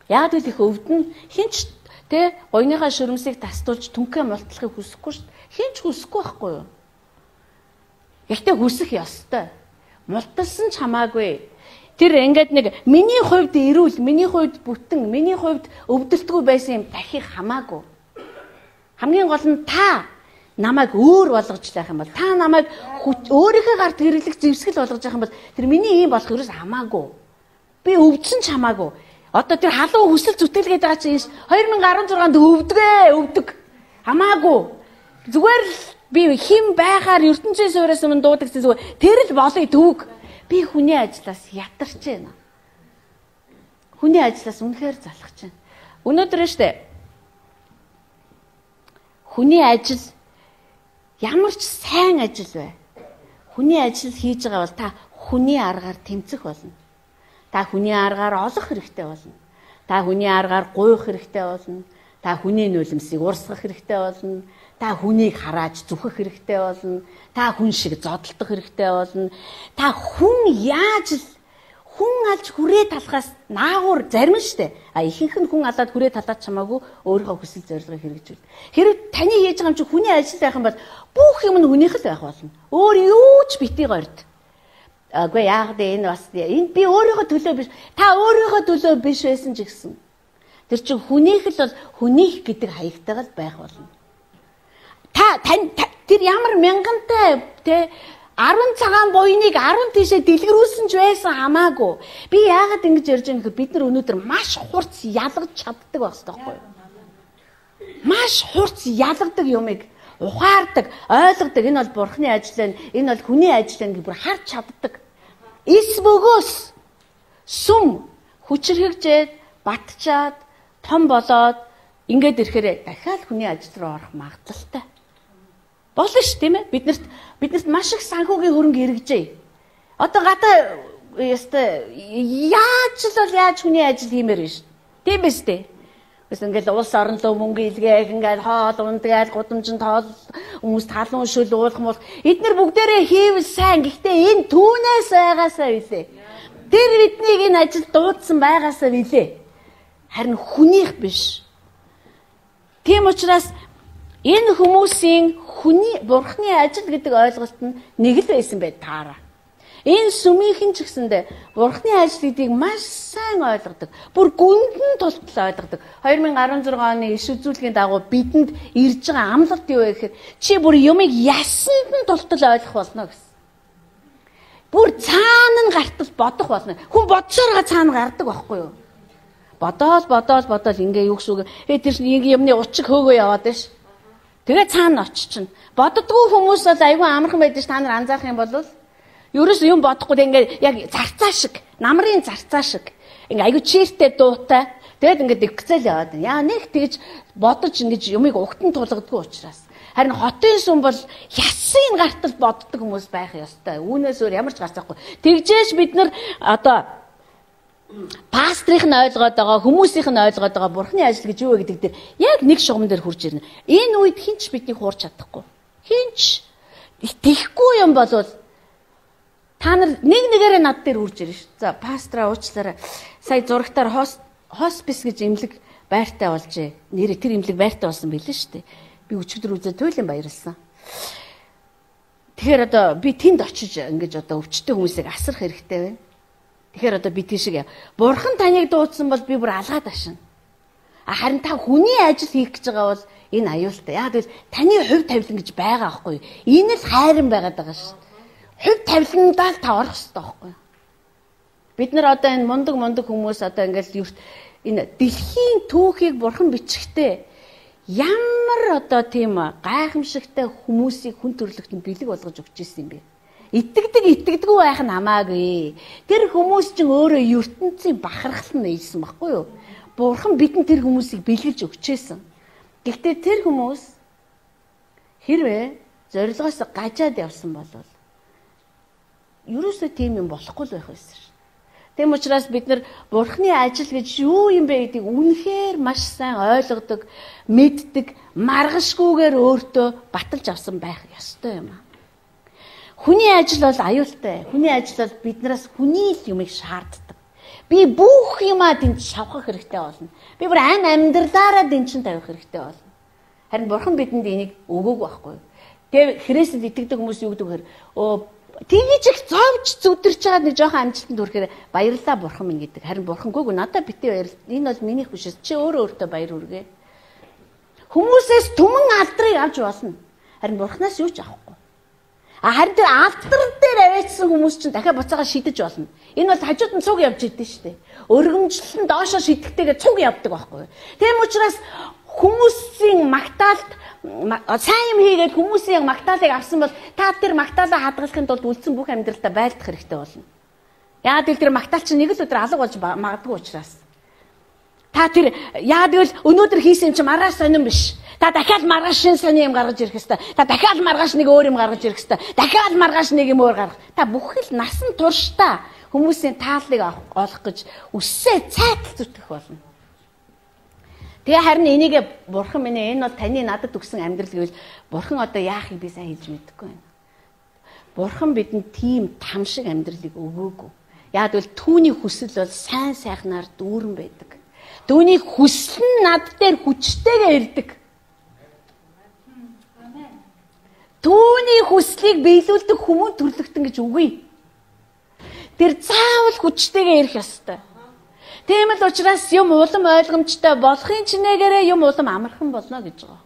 Яг л их өвдөн хинч тэ гойныхаа шөрөмсийг тастуулж түнхээ мултлахыг хүсэхгүй шүү дээ. Хинч хүсэхгүй байхгүй юу? Гэхдээ хүсэх ёстой. Мулталсан ч хамаагүй. Тэр ингээд нэг миний хувьд эрүүл, миний хувьд бүтэн, миний хувьд өвдөлтгүй байсан юм дахих хамаагүй. Хамгийн гол нь та намайг өөр болгож байх юм бол та намайг өөрийнхөө гарт хэрэглэх зэвсгэл болгож байх юм бол тэр миний юм болох ерөөс хамаагүй. Би өвдсөн ч хамаагүй. Одоо тэр халуун хүсэл зүтгэлгээд байгаа чинь хоёр мянга арван зургаанд өвдгөө, өвдөг. Хамаагүй. Зүгээр л би хим байгаар ертөнцийн суурьас өмнө дуудагсан зүгээр тэр л болоё төвг. Би хүний ажлаас ятарч байна. Хүний ажлаас үнэхээр залхаж байна. Өнөөдөр нь штэ хүний ажил ямар ч сайн ажил бай. Хүний ажил хийж байгаа бол та хүний аргаар тэмцэх болно. Та хүний аргаар олох хэрэгтэй болно. Та хүний аргаар гуйх хэрэгтэй болно. Та хүний нулимсыг урсгах хэрэгтэй болно. Та хүнийг харааж зүхэх хэрэгтэй болно. Та хүн шиг зодтолдох хэрэгтэй болно. Та хүн яаж л хүн алж хүрээ талхаас наагур зарим штэ. А ихэнх нь хүн алаад хүрээ талаад чамаагүй өөрийнхөө хүсэл зорилгыг хэрэгжүүл. Хэрвээ таны хийж байгаа юм чи хүний ажил байх юм бол бүх юм нь хүнийх л байх болно. Өөр юу ч битгий горд. Агүй яах вэ энэ бас энэ би өөрийнхөө төлөө биш. Та өөрийнхөө төлөө биш байсан ч гэсэн. Тэр чинь хүнийх л бол хүнийх гэдэг хаягтайгаар байх болно. Та тань тэр ямар мянгантай те арван цагаан буйныг арван тишээ дэлгэрүүлсэн ч байсан хамаагүй. Би яагаад ингэж ярьж байгаа нөхөр бид нар өнөөдөр маш хурц ялгаж чаддаг байх хэрэгтэй байхгүй юу? Маш хурц ялгадаг юмыг ухаардаг, ойлгодог. Энэ бол Бурхны ажил байна. Энэ бол хүний ажил байна гэж бүр харж чаддаг. Эс бөгөөс сүм хүчрхэгжээд, батчаад, том болоод ингээд ирэхээр дахиад хүний ажил руу орох магадлалтай. Болно ш тийм ээ биднэрт биднэрт маш их санхүүгийн хөрөнгө хэрэгжээ. Одоо гадаа яста яаж л бол яаж хүний ажил хиймээр биш. Тийм биз дээ. Бас ингээл улс орон лөө мөнгө илгээх ингээл хоол ундгаад гудамжинд тоол хүмүүс талуун шүл уулах мол эдгээр бүгдээрээ хийвэл сайн. Гэхдээ энэ түүнээс байгаасаа билээ. Тэр биднийг энэ ажил дуудсан байгаасаа билээ. Харин хүнийх биш. Тийм учраас энэ хүмүүсийн хүний Бурхны ажил гэдэг ойлголт нь нэг л байсан бай таараа. Энэ сүмийнхэн ч гэсэндээ Бурхны ажил гэдгийг маш сайн ойлгодог. Бүр гүндэн тултал ойлгодог. хоёр мянга арван зургаан оны иш үзүүлгийн дагуу бидэнд ирж байгаа амлалт юу вэ гэхээр чи бүр юмыг ясанд нь тултал ойлгох болно гэсэн. Бүр цаана нь гартал бодох болно. Хүн бодсоороо цаана гардаг байхгүй юу? Бодоол бодоол бодоол ингээ юу гэсэн үг. Ээ тэр чинь юмны учиг хөөгөө яваад байна ш. Тэгээ цаана очична. Боддгоо хүмүүс бол айгүй амархан байдаг ш та нар анзаарах юм бол ерөөс юм бодохгүй ингээд яг зарцаа шиг, намрын зарцаа шиг. Ингээ айгүй чиртэй дуутай. Тэгээд ингээд дэгцэл яваад. Яа нэг тэгж бодож ингэж юмыг угтан тулгадгүй учраас. Харин хотын сүм бол ясын гартал боддог хүмүүс байх ёстой. Үүнээс өөр ямар ч гарцахгүй. Тэгжээж бид нар одоо пастрих нь ойлгоод байгаа, хүмүүсийнх нь ойлгоод байгаа бурхны ажил гэж юу вэ гэдэг дээр яг нэг шугам дээр хурж ирнэ. Энэ үед хинч биднийг хуурч чадахгүй. Хинч тэхгүй юм бол та нар нэг нэгээрээ над дээр хурж ирнэ шүү. За пастраа уучлаарай. Сая зурагтаар хоспис гэж имлэг байртай болжээ. Нэрээ тэр имлэг байртай болсон билээ шүү дээ. Би өчигдөр үзээ туйлын баярлсан. Тэгэхээр одоо би тэнд очиж ингэж одоо өвчтөе хүмүүсийг асрах хэрэгтэй байна. Тэгэхээр одоо би тийшээ бурхан таныг дуудсан бол би бүр алгаад ашина. Харин та хүний ажил хийх гэж байгаа бол энэ аюултай. Яг л таны хувь тавилан гэж байгаа байхгүй юу? Энэ л хайран байгаад байгаа шүү. Хувь тавиландаа л та орох хэрэгтэй байхгүй юу? Бид нар одоо энэ мундаг мундаг хүмүүс одоо ингээл энэ дэлхийн түүхийг бурхан бичихтэй ямар одоо тийм гайхамшигтай хүмүүсийг хүн төрлөختөнд бэлэг болгож өгч ирсэн юм бэ? Итгэдэг итгэдэггүй байх нь хамаагүй. Тэр хүмүүс чинь өөрөө ертөнцийн бахархал нь ийсэн баггүй юу? Бурхан бидэнд тэр хүмүүсийг бэлгэлж өгчээсэн. Гэхдээ тэр хүмүүс хэрвээ зорилгоос гажаад явсан бол ерөөсөө тийм юм болохгүй л байх байсан шин. Тэм учраас бид нар бурхны ажил гэж юу юм бэ гэдгийг үнэхээр маш сайн ойлгодог, мэддэг, маргашгүйгээр өөртөө баталж авсан байх ёстой юм аа. Хүний ажил бол аюултай. Хүний ажил бол биднээс хүний л юмыг шаарддаг. Би бүх юмаа тэнд шавхах хэрэгтэй болно. Би бүр ам амьдралаараа дэнчин тавих хэрэгтэй болно. Харин бурхан бидэнд энийг өгөөг байхгүй. Тэгээ Христэд итгэдэг хүмүүс юу гэдэг вэ? Өө тэгж их зовж зүдэрч байгаа нэг жоохон амжилтанд хүрэхээр баярлалаа бурхан минь гэдэг. Харин бурхан гүйг надад битээ баяр. Энэ бол минийх биш. Чи өөрөө өөртөө баяр хүргээ. Хүмүүсээс түмэн алдрыг авч болно. Харин бурханаас юу ч авахгүй. А харин тэр алдар дээр аваачсан хүмүүс чинь дахиад буцаага шидэж болно. Энэ бол хажууд нь цуг явж идэв шүү дээ. Өргөмжлөл нь доошоо шидэхтэйгээ цуг явдаг байхгүй. Тийм учраас хүмүүсийн магтаалт сайн юм хийгээд хүмүүсийн магтаалыг авсан бол та тэр магтаалаа хадгалахын тулд үлдсэн бүх амьдралдаа байлдах хэрэгтэй болно. Яагаад гэвэл тэр магтаал чинь нэг л өдөр алга болж магадгүй учраас. Та тэр яагаад гэвэл өнөөдөр хийсэн юм чинь маргааш сонирн биш. Та дахиад маргааш шин сони юм гаргаж ирэх хэвээр. Та дахиад маргааш нэг өөр юм гаргаж ирэх хэвээр. Дахиад маргааш нэг юм өөр гаргах. Та бүхэл насан туршдаа хүмүүсийн тааллыг олох гэж үсээ цайтал зүтгэх болно. Тэгээ харин энийг бурхан минь энэ бол таны надад өгсөн амьдрал гэвэл бурхан одоо яахыг би сайн хэлж мэдэхгүй байна. Бурхан бидэнд тийм там шиг амьдралыг өгөөгүй. Яг л түүний хүсэл бол сайн сайхнаар дүүрэн байдаг. Түүний хүсэл нь над дээр хүчтэйгээ ирдэг. Түүний хүслийг биелүүлдэг хүмүүн төрлөختөн гэж үгүй. Тэр заавал хүчтэйгээ ирэх ёстой. Тийм л учраас юм улам ойлгомжтой болохын чинээгээрээ юм улам амархан болно гэж байгаа.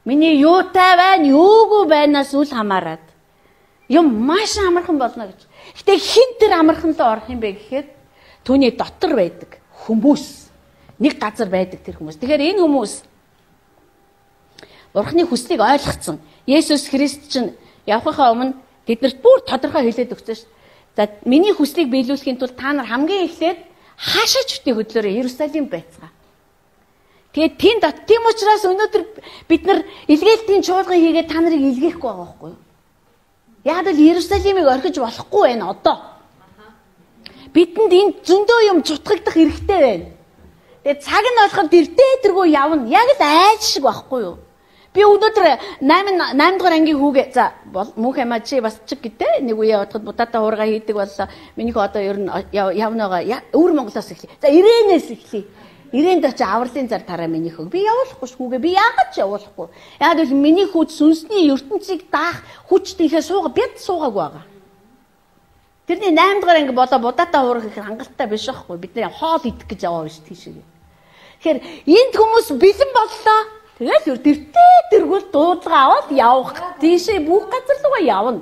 Миний юутай байна, юугүй байнаас үл хамааран юм маш амархан болно гэж. Гэтэ хин тэр амархан руу орох юм бэ гэхээр түүний дотор байдаг хүмүүс. Нэг газар байдаг тэр хүмүүс. Тэгэхээр энэ хүмүүс Бурхны хүслийг ойлгоцсон. Есүс Христ чинь явхахаа өмнө тэднэрт бүр тодорхой хэлээд өгсөн шүү. За миний хүслийг биелүүлэхийн тулд та нар хамгийн эхлээд хаашаа ч үтэй хөдлөөрэй, Иерусалим байцгаа. Тэгээд тийм дот тийм учраас өнөөдөр бид нар илгээлтийн чуулган хийгээд та нарыг илгээхгүй байгаа байхгүй юу? Яг л Иерусалимыг орхиж болохгүй байна одоо. Бидэнд энэ зөндөө юм чутгагдах хэрэгтэй байна. Тэгээд цаг нь болоход эрдээ тэргүй явна. Яг л айж шиг байхгүй юу? Би өнөөдөр восемь дугаар ангийн хүүгээ за мөнх амаа чи бас чиг гэдэг нэг үе явахад будаатай хуурга хийдэг боллоо. Минийх одоо ер нь явнаагаа өвөр Монголоос эхлэе. За Ирээнээс эхлэе. Ирээнд очи авралын зар тараа минийх. Би явуулахгүй ш хүүгээ. Би яагаад ч явуулахгүй. Яг л миний хүүд сүнсний ертөнцийг даах хүч тийхээ сууга бяд суугаагүй байгаа. Тэрний восемь дугаар анги болоо будаатай хуурга их хангалттай биш байхгүй. Бид нэр хоол идэх гэж яваа биш тийшээ. Тэгэхээр энд хүмүүс бэлэн боллоо. Тэгэл тэртээ тэргүүл дуудлага аваад явах. Тийшээ бүх газар руугаа явна.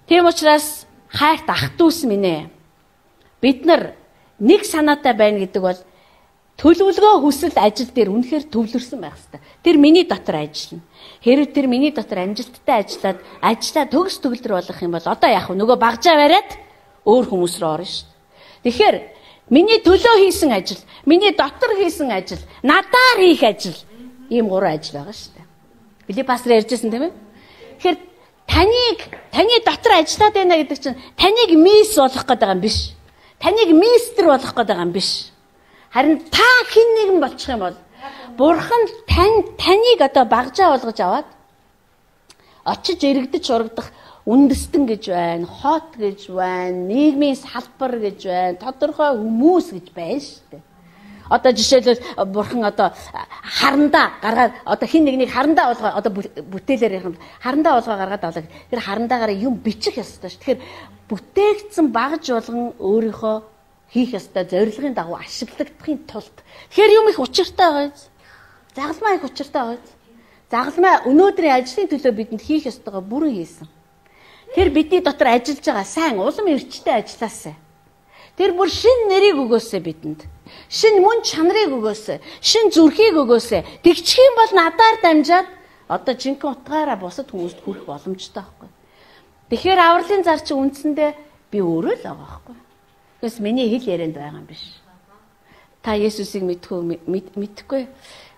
Тийм учраас хайрт ах дүүс минь ээ. Бид нар нэг санаатай байна гэдэг бол төлөвлөгөө хүсэл ажил дээр үнэхээр төвлөрсөн байх хэрэгтэй. Тэр миний дотор ажиллана. Хэрвээ тэр миний дотор амжилттай ажиллаад ажлаа төгс төгөлдөр болгох юм бол одоо яах вэ? Нөгөө багжаа бариад өөр хүмүүс рүү орно шүү дээ. Тэгэхээр миний төлөө хийсэн ажил, миний дотор хийсэн ажил, надаар хийх ажил, ийм гурван ажил байгаа шүү дээ. Билий пастор ярьжсэн тийм ээ? Тэгэхээр таныг таны дотор ажиллаад байна гэдэг чинь таныг мисс болгох гэдэг юм биш. Таныг мистер болгох гэдэг юм биш. Харин та хэн нэгэн болчих юм бол Бурхан тань таныг одоо багжаа болгож аваад очиж иргэдэж урагдах үндэстэн гэж байна, хот гэж байна, нийгмийн салбар гэж байна, тодорхой хүмүүс гэж байна шүү дээ. Одоо жишээлбэл Бурхан одоо харандаа гаргаад одоо хин нэгнийг харандаа болгоо одоо бүтээлээр ярих юм харандаа болгоо гаргаад авлаа. Тэр харандаагаар юм бичих ёстой шүү. Тэгэхээр бүтээгдсэн багж болгон өөрийнхөө хийх ёстой зорилгын дагуу ашиглагдахын тулд тэгэхээр юм их учиртай байгаа биз. Загалмай их учиртай байгаа биз. Загалмай өнөөдрийн ажлын төлөө бидэнд хийх ёстойгоо бүрэн хийсэн. Тэр бидний дотор ажиллаж байгаа сайн улам эрчтэй ажилласаа. Тэр бүр шин нэрийг өгөөсэй бидэнд. Шин мөн чанарыг өгөөсэй. Шин зүрхийг өгөөсэй. Тэгчих юм бол надаар дамжаад одоо жинхэнэ утгаараа бусад хүмүүст хүрэх боломжтой байхгүй. Тэгэхээр авралын зар чи үндсэндээ би өөрөө л байгаа байхгүй. Гэвч миний хэл ярианд байгаа юм биш. Та Есүсийг мэдгүй мэдхгүй.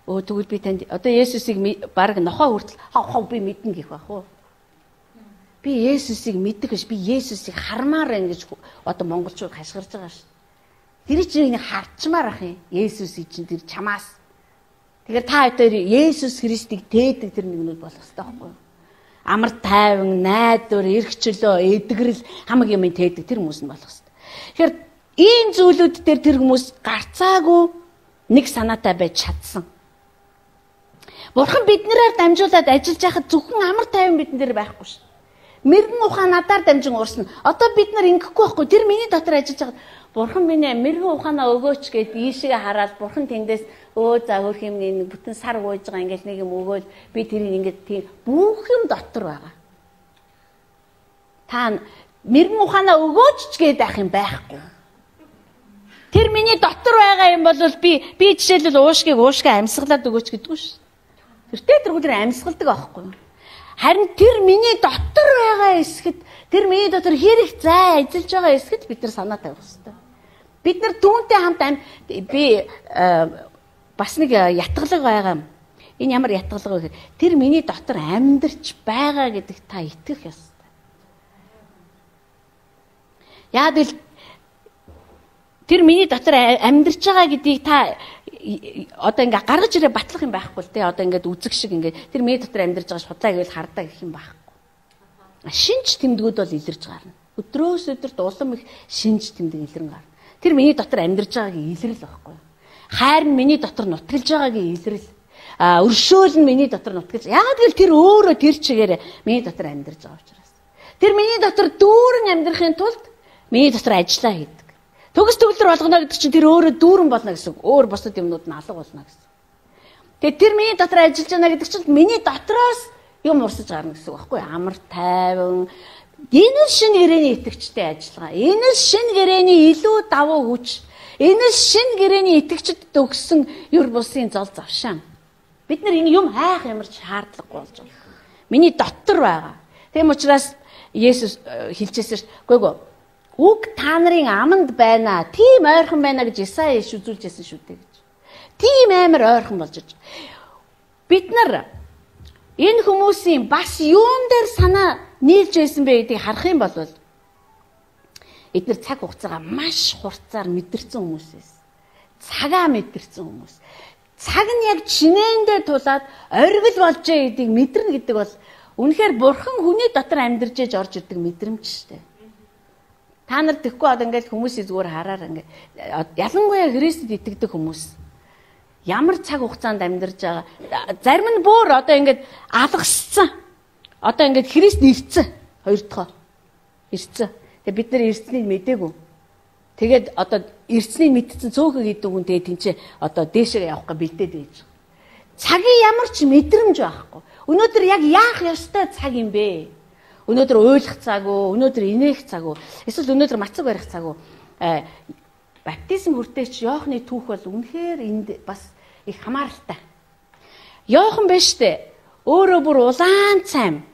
Өө тэгвэл би танд одоо Есүсийг баг нохоо хүртэл хав хав би мэднэ гэх байх уу? Би Есүсийг мэддэг биш. Би Есүсийг хармаар байна гэж одоо монголчууд хашгирж байгаа шүү. Тэр чинь харчмаар ах юм. Есүсийг чинь тэр чамаас. Тэгэхээр та одоо Есүс Христийг тээдэг тэр нэгнүүд болох хэрэгтэй байхгүй юу? Амар тайван, найдвар, эрх чөлөө, эдгэрэл хамаг юм тээдэг тэр хүмүүс нь болох хэрэгтэй. Тэгэхээр ийм зүйлүүд дээр тэр хүмүүс гарцаагүй нэг санаатай байж чадсан. Бурхан биднэрээр дамжуулаад ажиллаж байхад зөвхөн амар тайван бидэн дээр байхгүй шүү. Мэргэн ухаан надаар дамжин уурсна. Одоо бид нар ингэхгүй байхгүй. Тэр миний дотор ажиллаж байхад Бурхан минь мэргэн ухаанаа өгөөч гэд ийшээ хараад Бурхан тэндээс өө за хөрх юм нэг бүтэн сар гуйж байгаа ингээл нэг юм өгөөл би тэрийг ингээд тийм бүх юм дотор байгаа. Та мэргэн ухаанаа өгөөч ч гээд байх юм байхгүй. Тэр миний дотор байгаа юм бол би би жишээлбэл уушгийг уушгаа амьсгалаад өгөөч гэдэг үү шүү. Тэртээ тэр хүлэр амьсгалдаг аахгүй юу? Харин тэр миний дотор байгаа эсгэд тэр миний дотор хэрэг зай ажиллаж байгаа эсгэд бид нар санаа тавих хэрэгтэй. Бид нар түүнтэй хамт би бас нэг ятгалаг байгаа юм. Энэ ямар ятгалаг вэ гэхээр тэр миний дотор амьдарч байгаа гэдэг та итгэх ёстой. Яа тэл тэр миний дотор амьдарч байгаа гэдгийг та одоо ингээ гаргаж ирээ батлах юм байхгүй л те одоо ингээд үзэг шиг ингээд тэр миний дотор амьдарч байгаа шудлаа гэвэл хардаа гэх юм байхгүй. Шинж тэмдгүүд бол илэрж гарна. Өдрөөс өдөрт улам их шинж тэмдэг илэрэн гарна. Тэр миний дотор амьдарч байгаагийн илрэл байхгүй. Хайр нь миний дотор нутгалж байгаагийн илрэл. А өршөөл нь миний дотор нутгалж. Яг л тэр өөрөө тэр чигээр миний дотор амьдарч байгаа учраас. Тэр миний дотор дүүрэн амьдрахын тулд миний дотор ажиллаа хийдэг. Төгс төгөлдөр болгоно гэдэг чинь тэр өөрөө дүүрэн болно гэсэн. Өөр бусад юмнууд нь алга болно гэсэн. Тэгээд тэр миний дотор ажиллаж байна гэдэг чинь миний дотроос юм урсаж гарна гэсэн үг байхгүй амар тайван. Энэ л шинэ гэрээний итгэгчтэй ажиллагаа. Энэ л шинэ гэрээний илүү давуу хүч. Энэ л шинэ гэрээний итгэгчдэд өгсөн юр бусын зол завшаан. Бид нар энэ юм хайх ямар ч шаардлагагүй болж байгаа. Миний дотор байгаа. Тийм учраас Есүс хэлчихсэн шүү. Үгүй ээ. Үг та нарын аманд байна. Тийм ойрхон байна гэж Исая иш үзүүлжсэн шүү дээ гэж. Тийм амар ойрхон болж байгаа. Бид нар энэ хүмүүсийн бас юун дээр санаа нийлж байсан бэ гэдгийг харах юм бол эдгээр цаг хугацаагаа маш хурцаар мэдэрсэн хүмүүс байсан. Цагаа мэдэрсэн хүмүүс. Цаг нь яг чинээндээ тулаад оргил болжээ гэдгийг мэдэрнэ гэдэг бол үнэхээр Бурхан хүний дотор амьдарч ээж орж ирдэг мэдрэмж шүү дээ. Та нар тэгэхгүй одоо ингээд хүмүүсийн зүгээр хараар ингээд ялангуяа Христэд итгэдэг хүмүүс ямар цаг хугацаанд амьдарч байгаа. Зарим нь бүр одоо ингээд алгассан. Одоо ингээд Христ ирцэн. Хоёр дахь ирцэн. Тэгээ бид нар ирцнийг мэдээгүй. Тэгээд одоо ирцнийг мэдсэн цөөхөг идэг хүн тэгээ тэнцээ одоо дээшээ явах гэж бэлдээд байж байгаа. Цагийн ямар ч мэдрэмж байхгүй. Өнөөдөр яг яах ёстой цаг юм бэ? Өнөөдөр уйлах цаг уу, өнөөдөр инээх цаг уу, эсвэл өнөөдөр мацаг барих цаг уу? баптизм хүртээч Иохны түүх бол үнэхээр энд бас их хамааралтай. Иохан биш үү? Өөрөө бүр улаан цайм.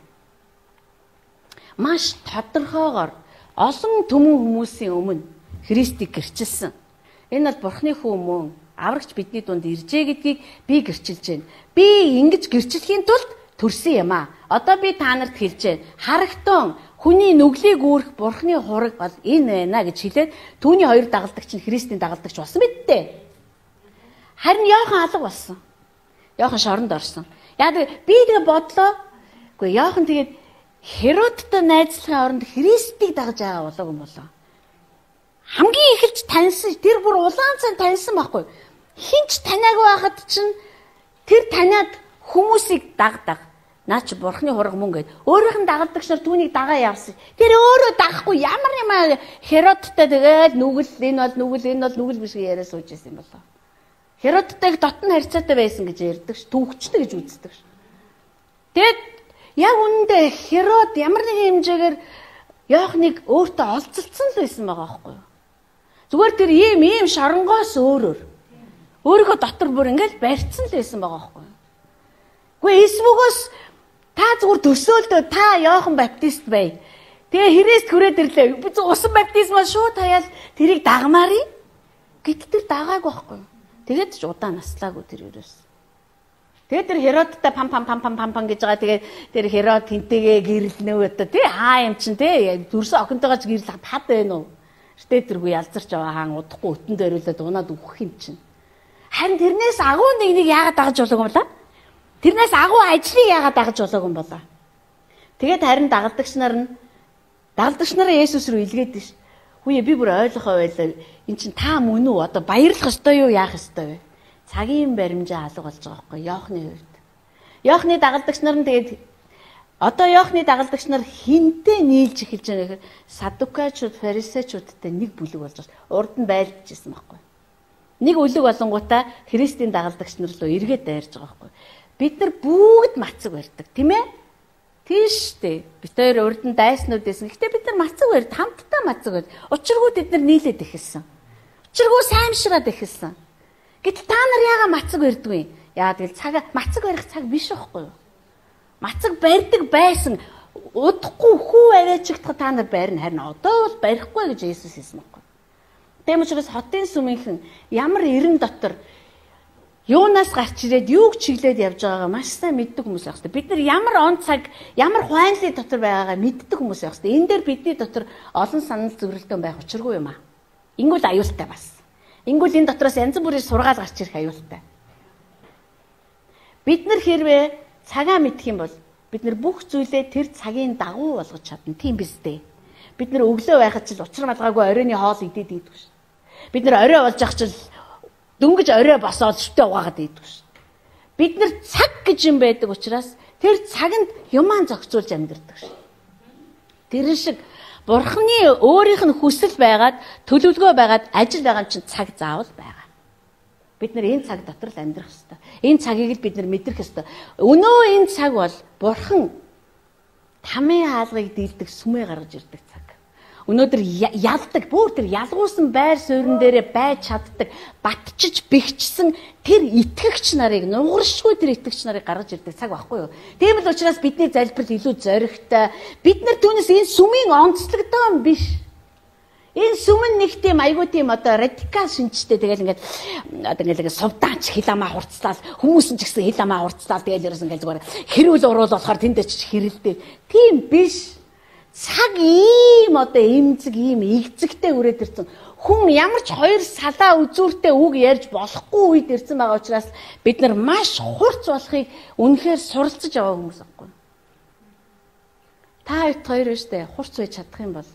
Маш тодорхойгоор олон түмэн хүмүүсийн өмнө Христийг гэрчилсэн. Энэ бол Бурхны хүү мөн аврагч бидний дунд иржээ гэдгийг би гэрчилж байна. Би ингэж гэрчлэхийн тулд төрсөн юм аа. Одоо би та нарт хэлж байна. Харагтун хүний нүглийг үүрэх Бурхны хураг бол энэ байна гэж хэлээд түүний хоёр дагалдагч нь Христийн дагалдагч болсон мэт дээ. Харин Иохан алга болсон. Иохан шоронд орсон. Яа тэгээ би тэгээ бодлоо. Үгүй Иохан тэгээд Херодтой найзлахын оронд Христийг дагаж байгаа болоог юм болоо. Хамгийн эхэлж таньсан тэр бүр улаан цан таньсан байхгүй. Хинч таниагүй байхад чинь тэр таниад хүмүүсийг дагдаг. Наа чи Бурхны хураг мөн гэд. Өөрийнх нь дагалдагч нар түүнийг дагаа явсан. Тэр өөрөө дагахгүй ямар юм аа Херодтой тэгээд нүгэл энэ бол нүгэл энэ бол нүгэл биш яриа сууж байсан юм болоо. Херодтойг дотн харьцаатай байсан гэж ярьдаг ш. Түүхчтэй гэж үздэг ш. Тэгээд яг үүндээ Херод ямар нэгэн хэмжээгээр Иохныг өөртөө олзолцсон л байсан байгаа байхгүй юу? Зүгээр тэр ийм ийм шоронгоос өөрөөр өөрийнхөө дотор бүр ингээл барьцсан л байсан байгаа байхгүй юу? Гэхдээ эсвүгөөс та зүгээр төсөөлдөө та Иохан баптист бай. Тэгээ Христ хүрээд ирлээ. Би усан баптизмаа шууд хаяал тэрийг дагмаарий. Гэт тэр дагаагүй байхгүй юу? Тэгээд ч удаан наслаагүй тэр ерөөс. Тэгээд тэр Херодтой пам пам пам пам пам гэж байгаа. Тэгээд тэр Херод хинтэйгээ гэрэлнэ одоо тий хаа юм чин тий дүрсэн охинтойгоо ч гэрэл хад байна уу? Эртээ тэргүй ялзарч аваа хаан удахгүй өтөн дөрөөлөд унаад өгөх юм чин. Харин тэрнээс агуу нэг нэг яагаад дагаж болоог юм болоо? Тэрнээс агуу ажлыг яагаад дагаж болоог юм болоо? Тэгээд харин дагалдагч нар нь дагалдагч нараа Есүс рүү илгээд ш. Хүүе би бүр ойлгохоо байлаа. Эн чин та мөн үү? Одоо баярлах ёстой юу, яах ёстой вэ? Цагийн баримжаа алга болж байгаа байхгүй Иохны хувьд. Иохны дагалдагч нар нь тэгээд одоо Иохны дагалдагч нар хинтээ нийлж эхэлж байгаа гэхээр садукачууд, фарисеучудтай нэг бүлэг болж байгаа. Урд нь байлдчихсан байхгүй. Нэг үлэг болонгуудаа Христийн дагалдагч нар руу эргээд дайрж байгаа байхгүй. Бид нар бүгд мацаг барьдаг, тийм ээ? Тийш дээ. Бид хоёр урд нь дайснууд байсан. Гэхдээ бид нар мацаг барьд, хамтдаа мацаг барьд. Учиргүй бид нар нийлээд эхэлсэн. Учиргүй саймшраад эхэлсэн. Гэтэл та нар яага мацаг барьдгүй? Яа тэгэл цаг мацаг барих цаг биш байхгүй юу? Мацаг барьдаг байсан. Удахгүй хүү аваачигдах та нар байрна. Харин одоо бол барихгүй гэж Есүс хэлсэн байхгүй. Тэм учраас хотын сүмийнхэн ямар эрен дотор юунаас гарч ирээд юуг чиглээд явж байгаагаа маш сайн мэддэг хүмүүс байх хэрэгтэй. Бид нар ямар он цаг, ямар хуанлын дотор байгаагаа мэддэг хүмүүс байх хэрэгтэй. Энэ дээр бидний дотор олон санал зөвлөлтөө байх учиргүй юм аа. Ингүүл аюултай бас. Ингүүл энэ дотроос янз бүрийн сургаал гарч ирэх аюултай. Бид нар хэрвээ цагаа мэдэх юм бол бид нар бүх зүйлээ тэр цагийн дагуу болгож чадна. Тийм биз дээ. Бид нар өглөө байхад ч учир малгаагүй оройны хоол идээд идэх шүү. Бид нар орой болж ах ч дөнгөж орой босоод шүтээ угаагаад идэх шүү. Бид нар цаг гэж юм байдаг учраас тэр цаганд юман зохицуулж амьдэрдэг шүү. Тэр шиг Бурхны өөрийнх нь хүсэл байгаад төлөвлөгөө байгаад ажил байгаа чинь цаг заавал байгаа. Бид нар энэ цаг дотор л амьдрах ёстой. Энэ цагийг л бид нар мэдрэх ёстой. Өнөө энэ цаг бол Бурхан тамийн хаалгыг дийлдэг сүмээ гаргаж ирдэг цаг. Өнөөдөр ялдаг, бүр тэр ялгуусан байр суурин дээрээ байж чаддаг, батчиж бэхжсэн тэр итгэгч нарыг, нугаршгүй тэр итгэгч нарыг гаргаж ирдэг цаг байхгүй юу? Тийм л учраас бидний залбирал илүү зоригтой. Бид нар түүнээс энэ сүмийн онцлогдоо юм биш. Энэ сүм нь нэг тийм айгүй тийм одоо радикал шинжтэй тэгэл ингээд одоо ингээд сувдаач хил амаа хурцлал, хүмүүс нь ч гэсэн хил амаа хурцлал тэгэл ерөөс ингээд зүгээр хэрүүл уруул болохоор тэндээ ч хэрэлдээ. Тийм биш. Цаг ийм одоо эмзэг ийм игзэгтэй үрээд ирсэн. Хүн ямар ч хоёр салаа үзүүртэй үг ярьж болохгүй үед ирсэн байгаа учраас бид нар маш хурц болохыг үнэхээр суралцж аваа хүмүүс аахгүй. Та хэд хоёр өштэй хурц байж чадах юм бол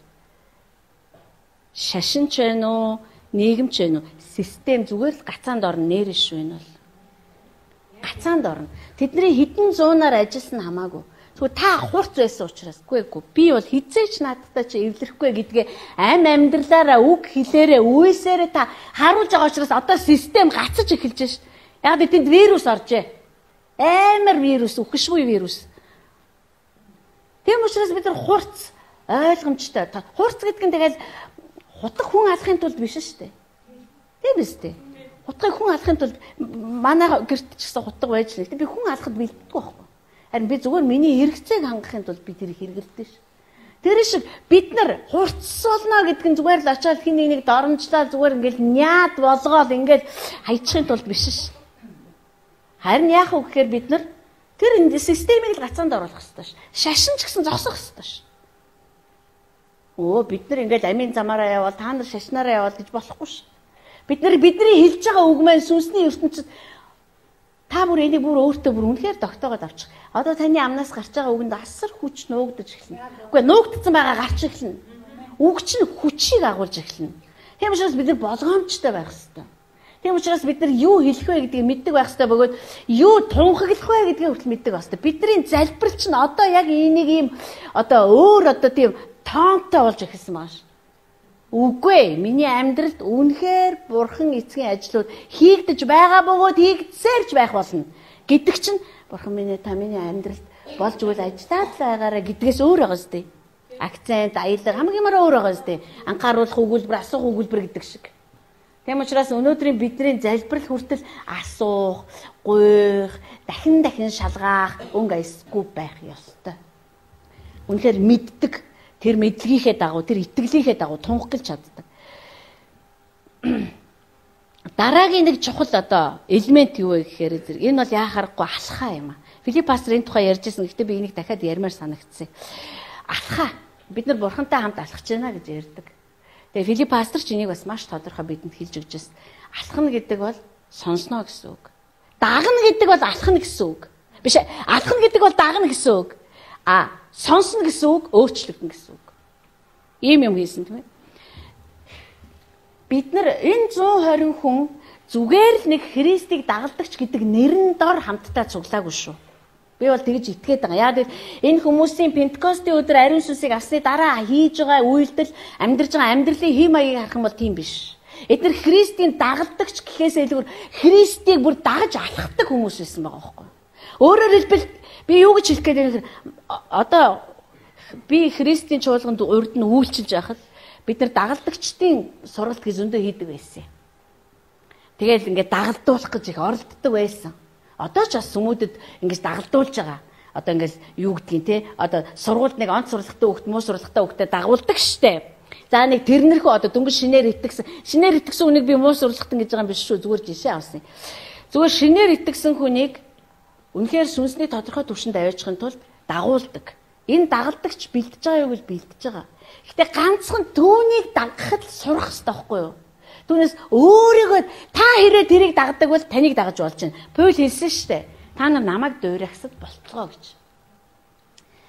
шашин ч байна уу, нийгэм ч байна уу, систем зүгээр л гацаанд орно нэрш байна бол. Гацаанд орно. Тэдний хэдэн зуунаар ажилласан хамаагүй. Тэгвэл та хурц байсан учраас үгүй би бол хизээч наадтай чи эвлэрэхгүй гэдгээ ам амьдралаараа үг хэлээрээ үйсээрээ та харуулж байгаа учраас одоо систем гацаж эхэлж шв. Яг тэнд вирус оржээ. Амар вирус, үхшгүй вирус. Тийм учраас бид нар хурц ойлгомжтой. Хурц гэдэг нь тэгэл хутаг хүн алахын тулд биш шүү дээ. Тийм биз дээ. Хутгыг хүн алахын тулд манай гэрт ч гэсэн хутга байж л. Би хүн алахад бэлддэг байхгүй. Харин би зүгээр миний хэрэгцээг хангахын тулд би тэрийг хэрэглэдэг ш. Тэр шиг бид нар хурцсуулна гэдэг нь зүгээр л очиад хин нэг нэг доромжлаа зүгээр ингээл няад болгоол ингээл хайчихын тулд биш ш. Харин яах вэ гэхээр бид нар тэр энэ системийг л гацаанд оруулах хэрэгтэй ш. Шашин ч гэсэн зогсох хэрэгтэй ш. Оо бид нар ингээл амийн замаараа явал та нар шашнаараа явал гэж болохгүй ш. Бид нар бидний хэлж байгаа үг маань сүнсний ертөнцид та бүр энийг бүр өөртөө бүр үнэхээр тогтоогоод авчих. Одоо таны амнаас гарч байгаа үгэнд асар хүч нуугдаж эхэлнэ. Үгүй нуугдсан байгаа гарч эхэлнэ. Үг чинь хүчийг агуулж эхэлнэ. Тийм учраас бид нар болгоомжтой байх хэрэгтэй. Тийм учраас бид нар юу хэлэх вэ гэдгийг мэддэг байх хэрэгтэй бөгөөд юу тунхаглах вэ гэдгийг хүртэл мэддэг байх хэрэгтэй. Бидний залбирал чинь одоо яг энийг ийм одоо өөр одоо тийм тоонтой болж эхэлсэн байна ш. Үгүй миний амьдралд үнэхээр бурхан эцгийн ажлууд хийгдэж байгаа бөгөөд хийгдсээрч байх болно гэдэг чинь бурхан минь та миний амьдралд болж үйл ажиллаад байгаараа гэдгээс өөр байгаа зү. Акцент, аялал хамгийн мөр өөр байгаа зү. Анхааруулах өгүүлбэр, асуух өгүүлбэр гэдэг шиг. Тийм учраас өнөөдрийн бидний залбирал хүртэл асуух, гуйх, дахин дахин шалгаах өнгө аясгүй байх ёстой. Үнэхээр мэддэг тэр мэдлэгийнхээ дагуу, тэр итгэлийнхээ дагуу тунхаглаж чаддаг. Дараагийн нэг чухал одоо элемент юу вэ гэхээр энэ бол яхаарахгүй алхаа юм аа. Филипп пастор энэ тухай ярьжсэн. Гэхдээ би энийг дахиад ярмаар санагдсан. Алхаа. Бид нар бурхантай хамт алхаж байна гэж ярьдаг. Тэгээ Филипп пастор ч энийг бас маш тодорхой бидэнд хэлж өгч байсан. Алхна гэдэг бол сонсно гэсэн үг. Дагна гэдэг бол алхна гэсэн үг. Биш ээ. Алхна гэдэг бол дагна гэсэн үг. А сонсно гэсэн үг өөрчлөгдөн гэсэн үг. Ийм юм хийсэн тийм ээ. Бид нар энэ зуун хорин хүн зүгээр л нэг Христийг дагалдагч гэдэг нэрэн дор хамтдаа цуглаагүй шүү. Би бол тэгж итгээд байгаа. Яагаад энэ хүмүүсийн Пентекостийн өдөр ариун сүнсийг авсны дараа хийж байгаа үйлдэл, амьдарч байгаа амьдралын хэм маягийг харах юм бол тийм биш. Эдгээр Христийн дагалдагч гэхээс илүүр Христийг бүр дагаж алхахдаг хүмүүс байсан байгаа байхгүй юу? Өөрөөр хэлбэл би юу гэж хэлэх гээд байна вэ? Одоо би Христийн чуулганд урд нь үйлчилж байхад бид нар дагалдагчдын сургалт гэж зөндөө хийдэг байсан. Тэгэл ингээд дагалдуулах гэж их оролддог байсан. Одоо ч бас хүмүүдэд ингэж дагалдуулж байгаа. Одоо ингээд юу гэдгийг те одоо сургуульд нэг онц сурлагатай хүүхд муу сурлагатай хүүхдэд дагуулдаг штэ. За нэг тэрнэрхүү одоо дөнгөж шинээр итгэсэн. Шинээр итгэсэн хүнийг би муу сурлагатан гэж байгаа юм биш шүү. Зүгээр жишээ авсан. Зүгээр шинээр итгэсэн хүнийг үнэхээр сүнсний тодорхой түвшинд аваачхын тулд дагуулдаг. Энэ дагалдагч бэлдэж байгаа юу гэж бэлдэж байгаа. Гэтэ ганцхан түүнийг дагахад сурах хэрэгтэй байхгүй юу? Түүнээс өөрийгөө та хэрэг тэрийг дагдаг бол таныг дагаж болж байна. Паул хэлсэн шүү дээ. Та нар намайг дуурайхсад болтгоо гэж.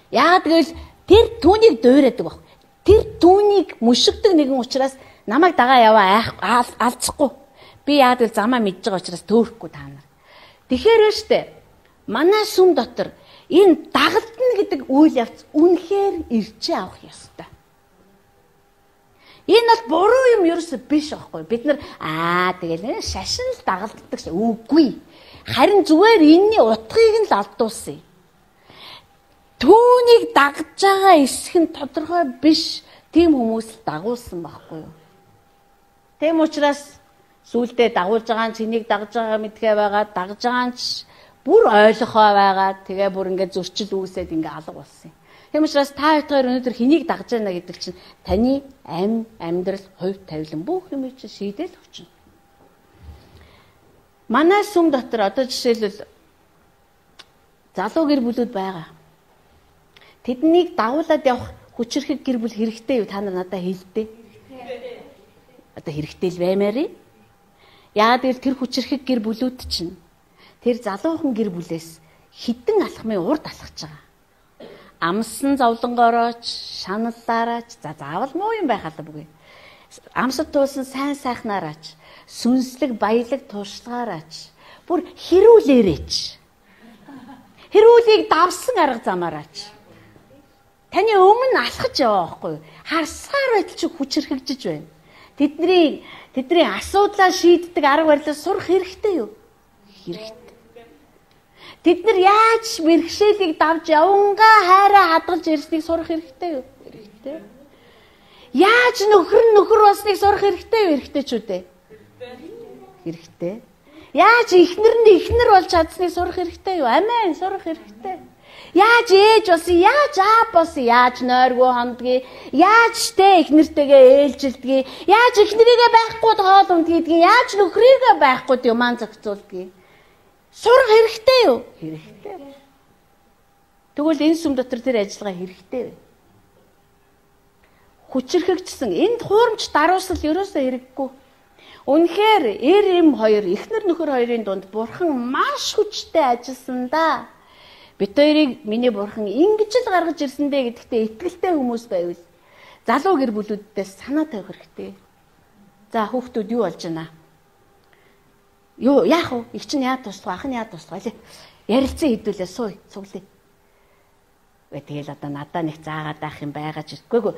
Яагаад гэвэл тэр түүнийг дуурайдаг баг. Тэр түүнийг мөшгдөг нэгэн учраас намайг дагаа яваа алцахгүй. Би яагаад гэвэл замаа мэдж байгаа учраас төөрөхгүй та нар. Тэгэхээр шүү дээ. Манай сүм дотор энэ дагалтна гэдэг үйл явц үнэхээр ирчээ авах ёстой. Энэ бол буруу юм ерөөсөө биш аахгүй. Бид нар аа тэгэл шашин л дагалддаг үгүй. Харин зүгээр энэний утгыг нь л алдуулсан. Түүнийг дагж байгаа эсэх нь тодорхой биш. Тийм хүмүүс л дагуулсан байхгүй юу? Тэм учраас сүулдэ дагуулж байгаа нь чинийг дагж байгаа мэдхээ байгаа, дагж байгаа нь бүр ойлгохоо байгаа. Тэгээ бүр ингээд зөрчил үүсээд ингээд алга болсон юм. Тийм учраас та хоёроор өнөөдөр хэнийг дагж байна гэдэг чинь таны амь, амьдрал, хувь тавилан бүх юм чинь шийдэл өгч байна. Манай сүм дотор одоо жишээлбэл залуу гэр бүлүүд байгаа. Тэднийг дагуулад явах хүчирхэг гэр бүл хэрэгтэй юу? Та нар надад хэлдэ. Одоо хэрэгтэй л баймаарэ. Яагаад гэвэл тэр хүчирхэг гэр бүлүүд чинь тэр залуухан гэр бүлээс хідэн алхмын урд алхаж байгаа. Амсан зовлонгоорооч, шаналлаараач, за заавал муу юм байх албагүй. Амсад туулсан сайн сайхнаараач, сүнслэг баялаг туршлагаараач, бүр хэрүүлээрээч. Хэрүүлийг давсан арга замаараач. Таны өмнө алхаж яваа байхгүй юу? Харсаар байтал чи хүчирхэгжиж байна. Тэдний тэдний асуудлаа шийддэг арга барилаа сурах хэрэгтэй юу? Хэрэгтэй. Тэд нар яаж мэрэгшээлийг давж явангаа хайраа хадгалж ирснийг сурах хэрэгтэй юу? Хэрэгтэй. Яаж нөхөр нөхөр болсныг сурах хэрэгтэй юу? Хэрэгтэй ч үү дээ. Хэрэгтэй. Яаж ихнэр нь ихнэр болж чадсныг сурах хэрэгтэй юу? Амен, сурах хэрэгтэй. Яаж ээж болсон, яаж аав болсон, яаж нойргүй хондгийг, яаж тэ ихнэртэйгээ ээлжилдгийг, яаж ихнэрийгээ байхгүй хоол ундгийг, яаж нөхрийгээ байхгүй юман зохицуулдгийг. Сурах хэрэгтэй юу? Хэрэгтэй. Тэгвэл энэ сүм дотор тэр ажиллагаа хэрэгтэй вэ? Хүчрхэгдсэн энд хуурамч даруусал ерөөсөө хэрэггүй. Үнэхээр эр эм хоёр эхнэр нөхөр хоёрын дунд бурхан маш хүчтэй ажилласан да. Бид хоёрыг миний бурхан ингэж л гаргаж ирсэн дээ гэдэгтээ итгэлтэй хүмүүс байвал залуу гэр бүлүүддээс санаа тавих хэрэгтэй. За хүүхдүүд юу болж байна? Юу яах вэ? Их чинь яа туслах, ах нь яа туслах лээ. Ярилцсан хэдүүлээ сууй, цуглая. Вэ тэгэл одоо надаа нэг заагаад авах юм байгаа ч үгүй.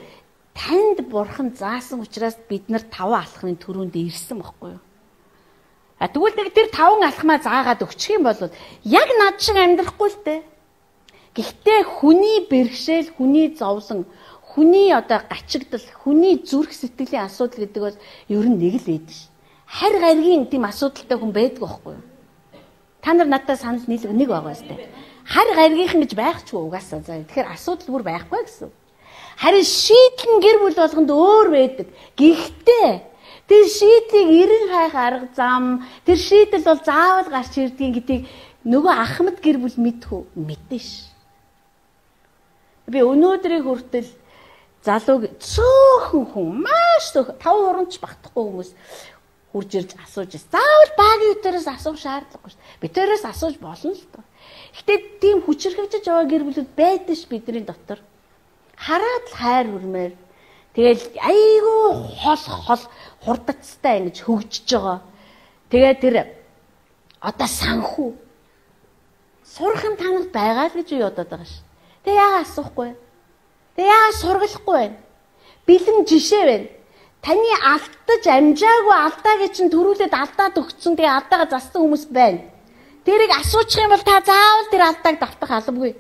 Танд бурхан заасан учраас бид нар таван алхмын төрөнд ирсэн байхгүй юу? А тэгвэл нэг тэр таван алхмаа заагаад өгчих юм бол яг над шиг амьдрахгүй л дээ. Гэхдээ хүний бэрхшээл, хүний зовлон, хүний одоо гачигдал, хүний зүрх сэтгэлийн асуудал гэдэг бол ер нь нэг л байдаг ш. Харь гаригийн тийм асуудалтай хүн байдаг байхгүй юу? Та нар надад санал нийлэг нэг байгаа сте. Харь гаригийнхан гэж байхчгүй угаасаа. За тэгэхээр асуудал бүр байхгүй гэсэн. Харин шийдэл нь гэр бүл болгонд өөр байдаг. Гэхдээ тэр шийдлийг эрен хайх арга зам, тэр шийдэл бол заавал гарч ирдгийг гэдгийг нөгөө ахмад гэр бүл мэдхүү? Мэдэн ш. Би өнөөдрийн хүртэл залууг цөөхөн хүн маш цөөхөн тав хурамч багтахгүй хүмүүс хурж ирж асууж байна. Заавал багийн өтөрөөс асуух шаардлагагүй ш. Битээрээс асууж болно л доо. Гэхдээ тийм хүчрхэгжиж байгаа гэр бүлүүд байдаг ш бидний дотор. Хараад л хайр хүрмээр тэгэл айгүй хол хол хурдацтай ингэж хөгжиж байгаа. Тэгээ тэр одоо санхүү сурхан танах байгаа л гэж юу бодоод байгаа ш. Тэгээ яагаад асуухгүй вэ? Тэгээ яагаад сургалахгүй вэ? Бэлэн жишээ байна. Таны алдаж амжаагүй алдаагийн чинь төрүүлээд алдаад өгсөн. Тэгээ алдаага зассан хүмүүс байна. Тэрийг асуучих юм бол та заавал тэр алдааг давтах албагүй.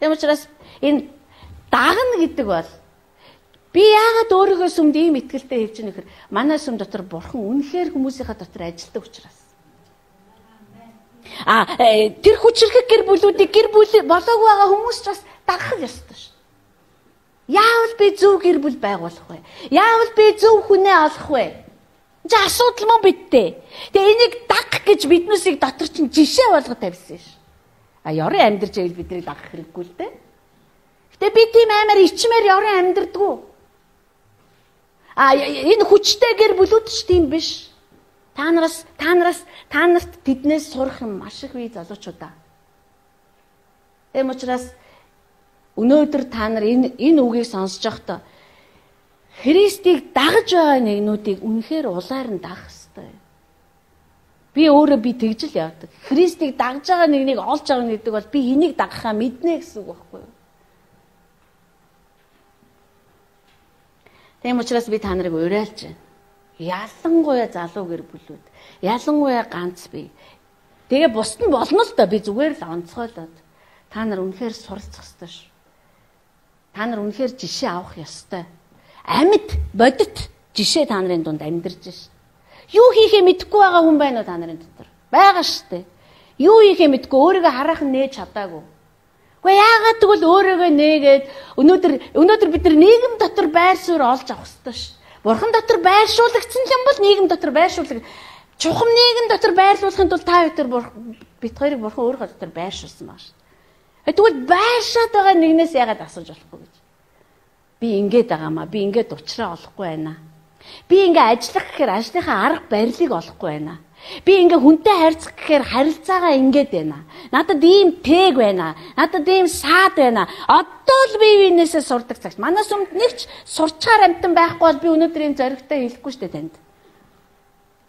Тийм учраас энэ дагна гэдэг бол би яагаад өөрийгөө сүмд ийм итгэлтэй хэлж байгаа нөхөр манай сүм дотор бурхан үнэхээр хүмүүсийнхаа дотор ажилтдаг учраас. А тэр хүчрхэг гэр бүлүүдийг гэр бүл болоогүй байгаа хүмүүс ч бас дагах ёстой ш. Яавал би зөв гэр бүл байгуулах вэ? Яавал би зөв хүнээ олох вэ? Чи асуудал мөн бидтэй. Тэгээ энийг дагах гэж биднээсийг дотор чинь жишээ болгоод тавьсан ш. А ёрын амьдрж байвал биднийг дагах хэрэггүй л дээ. Гэтэ би тийм амар ичмээр ёрын амьдрдаггүй. А энэ хүчтэй гэр бүлүүд ч тийм биш. Та нараас та нараас та нарт тэднээс сурах юм маш их бий залуучуудаа. Эм учраас өнөөдөр та нар энэ энэ үгийг сонсож байхдаа Христийг дагаж байгаа нэгнүүдийг үнэхээр улаар нь дагах ёстой. Би өөрөө би тэгж л явдаг. Христийг дагаж байгаа нэгнийг олж байгаа гэдэг бол би энийг дагахаа мэднэ гэсэн үг байхгүй юу? Тийм учраас би та нарыг уриалж байна. Ялангуяа залуу гэр бүлүүд, ялангуяа ганц бие. Тэгээ бусд нь болно л доо би зүгээр л онцгойлоод та нар үнэхээр суралцах ёстой ш. Та нар үнэхээр жишээ авах ёстой. Амьд бодит жишээ та нарын дунд амьдарч ш. Юу хийхээ мэдэхгүй байгаа хүн байна уу та нарын дотор? Байгаа штэ. Юу хийхээ мэдэхгүй өөрийгөө хараахан нээж чадаагүй. Гэхдээ яагаад тэгвэл өөрийгөө нээгээд өнөөдөр өнөөдөр бид нар нийгэм дотор байр суурь олж авах ёстой ш. Бурхан дотор байршуулагдсан юм бол нийгэм дотор байршуулдаг. Чухам нийгэм дотор байрлуулахын тулд та хоёр бид хоёрыг бурхан өөрөө дотор байршуулсан байна ш. Тэгвэл байршаад байгаа нэгнээс яагаад асууж болохгүй гэж. Би ингэж байгаамаа. Би ингэж уучраа олохгүй байна. Би ингэ ажиллах гэхээр ажлынхаа арга барилыг олохгүй байна. Би ингээ хүнтэй харьцах гэхээр харилцаагаа ингээд байна. Надад ийм тэг байна. Надад ийм саад байна. Одоо л би биенээсээ сурдаг цагт. Манай сүмд нэгч сурчаар амтан байхгүй бол би өнөөдөр энэ зоригтой хэлэхгүй шүү дээ танд.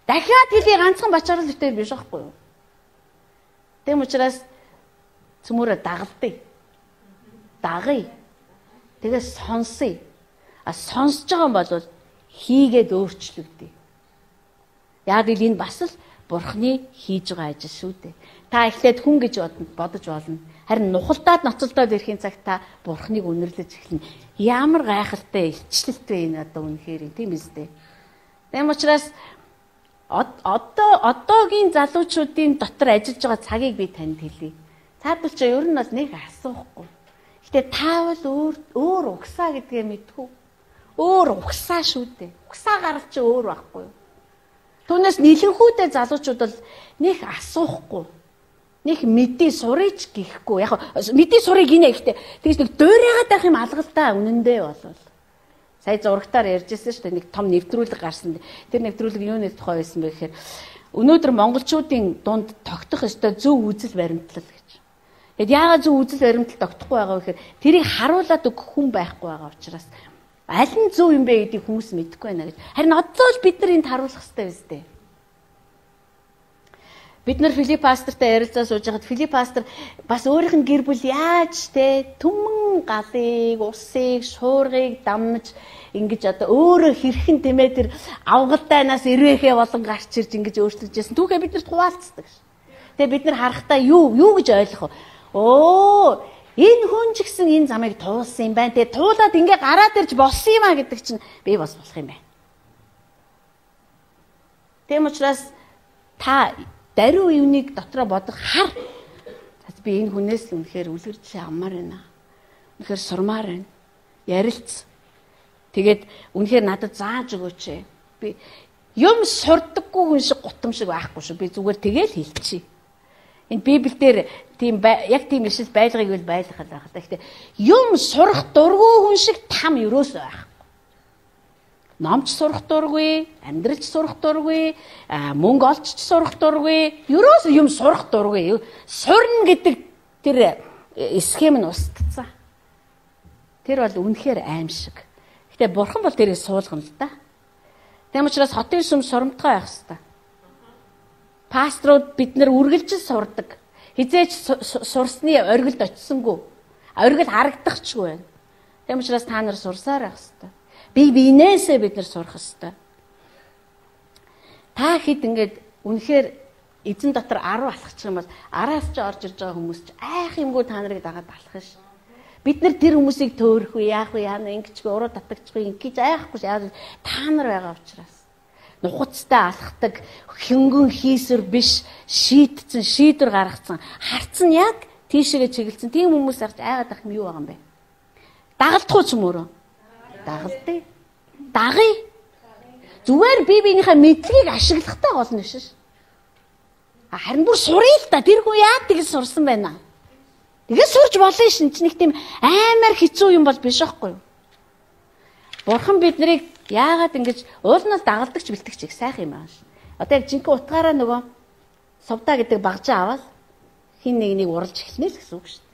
Дахиад хэлий ганцхан бачаарал өтер биш байхгүй юу? Тэм учраас цөмөрө дагалдъя. Дагъя. Тэгээ сонсъё. А сонсож байгаа юм бол хийгээд өөрчлөгдөе. Яг л энэ бас л Бурхны хийж байгаа ажил шүү дээ. Та эхлээд хүн гэж бодож болно. Харин нухалдаад ноцолдоод ирэхин цагт та Бурхныг үнэрлэж эхэлнэ. Ямар гайхалтай илчлэлт вэ энэ одоо үнэхээр тийм биз дээ. Тийм учраас одоо одоогийн залуучуудын дотор ажиллаж байгаа цагийг би танд хэлье. Цаадвал чи ер нь бол нэг асуухгүй. Гэтэ таавал өөр өөр угсаа гэдгээ мэдхүү. Өөр угсаа шүү дээ. Угсаа гарал чи өөр байхгүй юу? Түүнээс нэлэнхүүдээ залуучууд бол нэг асуухгүй. Нэг мэдээ сурыч гэхгүй. Яг мэдээ сурыг гинэ гэхдээ тэгж нэг дуурайгаад байх юм алгалтаа үнэндээ болвол. Сая зурагтаар ярьжсэн шүү дээ. Нэг том нэвтрүүлэг гарсан. Тэр нэвтрүүлэг юуны тухай байсан бэ гэхээр өнөөдөр монголчуудын дунд тогтох ёстой зөв үзэл баримтлал гэж. Тэгэд яагаад зөв үзэл баримтлал тогтохгүй байгаа вэ гэхээр тэрийг харуулад өгөх хүн байхгүй байгаа учраас аль нь зөв юм бэ гэдгийг хүмүүс мэдэхгүй байна гэж. Харин одоо л бид нар энд харуулах хэрэгтэй биз дээ. Бид нар Филипп пастортай ярилцаа сууж байхад Филипп пастор бас өөрийнх нь гэр бүл яаж те түмэн галыг, усыг, шуургыг дамж ингэж одоо өөрөө хэрхэн тэмээ тэр авгалтайнаас ирвэхээ болон гарч ирж ингэж өөрчлөж байсан. Түүхээ бид нарт хуваалцдаг ш. Тэгээ бид нар харахтаа юу юу гэж ойлгох вэ? Оо, энэ хүн ч гэсэн энэ замыг туулсан юм байна. Тэгээ туулаад ингээ гараад ирж болсон юм а гэдэг чинь би бас болох юм байна. Тэм учраас та даруй юуныг дотроо бодох хар. Би энэ хүнээс л үнэхээр үлгэрж аммаар байна. Үнэхээр сурмаар байна. Ярилц. Тэгээд үнэхээр надад зааж өгөөч. Би юм сурдаггүй хүн шиг гутам шиг байхгүй шүү. Би зүгээр тэгэл хэлчихье. Энэ Библиэлд тийм яг тийм ишл байлгыг бол байлгах байх л да. Гэхдээ юм сурах дургүй хүн шиг там ерөөсөө байхгүй. Номч сурах дургүй, амьдралч сурах дургүй, мөнгө олч сурах дургүй, ерөөсөө юм сурах дургүй. Сурна гэдэг тэр схем нь устдсан. Тэр бол үнэхээр аимшиг. Гэтэ бурхан бол тэрийг суулгана л да. Тэм учраас хотын сүм соромтгой байх хэвээр. Пасторууд бид нар үргэлж сурдаг. Хизээч сурсны оргилд очисонгүй. Оргил харагдахчгүй байна. Тэм учраас та нар сурсаар байх хэвээр. Би биенээсээ бид нар сурах хэвээр. Та хэд ингээд үнэхээр эзэн дотор арав алхачих юм бол араас ч орж ирж байгаа хүмүүс ч айх юмгүй та нарыг дагаад алхах ш. Бид нар тэр хүмүүсийг төөрөх үү, яах вэ, яана ингэчгүй, уруу татагчгүй ингэж айхгүй ш. Яа та нар байгаа учраас. Нухацтай алхдаг, хөнгөн хийсвэр биш, шийтцэн, шийдвэр гаргацсан, харцсан яг тийшээгээ чиглэлсэн. Тийм хүмүүс арч айгаад ах юм юу байгаа юм бэ? Дагалдах уу ч юм өөрөө? Дагалдъя. Дагъя. Зүгээр би биенийхээ мэдлэгийг ашиглахтай болно биш. Харин бүр суръя л та. Тэр хүн яа тэгж сурсан байна. Тэгээ сурж болно шин ч нэг тийм аймаар хэцүү юм бол биш байхгүй юу? Бурхан биднийг яагаад ингэж уулнаас дагалдагч бэлтгэж их сайхан юм аа. Одоо яг жинхэнэ утгаараа нөгөө совдаа гэдэг багжаа аваад хин нэг нэг уралж эхлэнэ л гэсэн үг шүү дээ.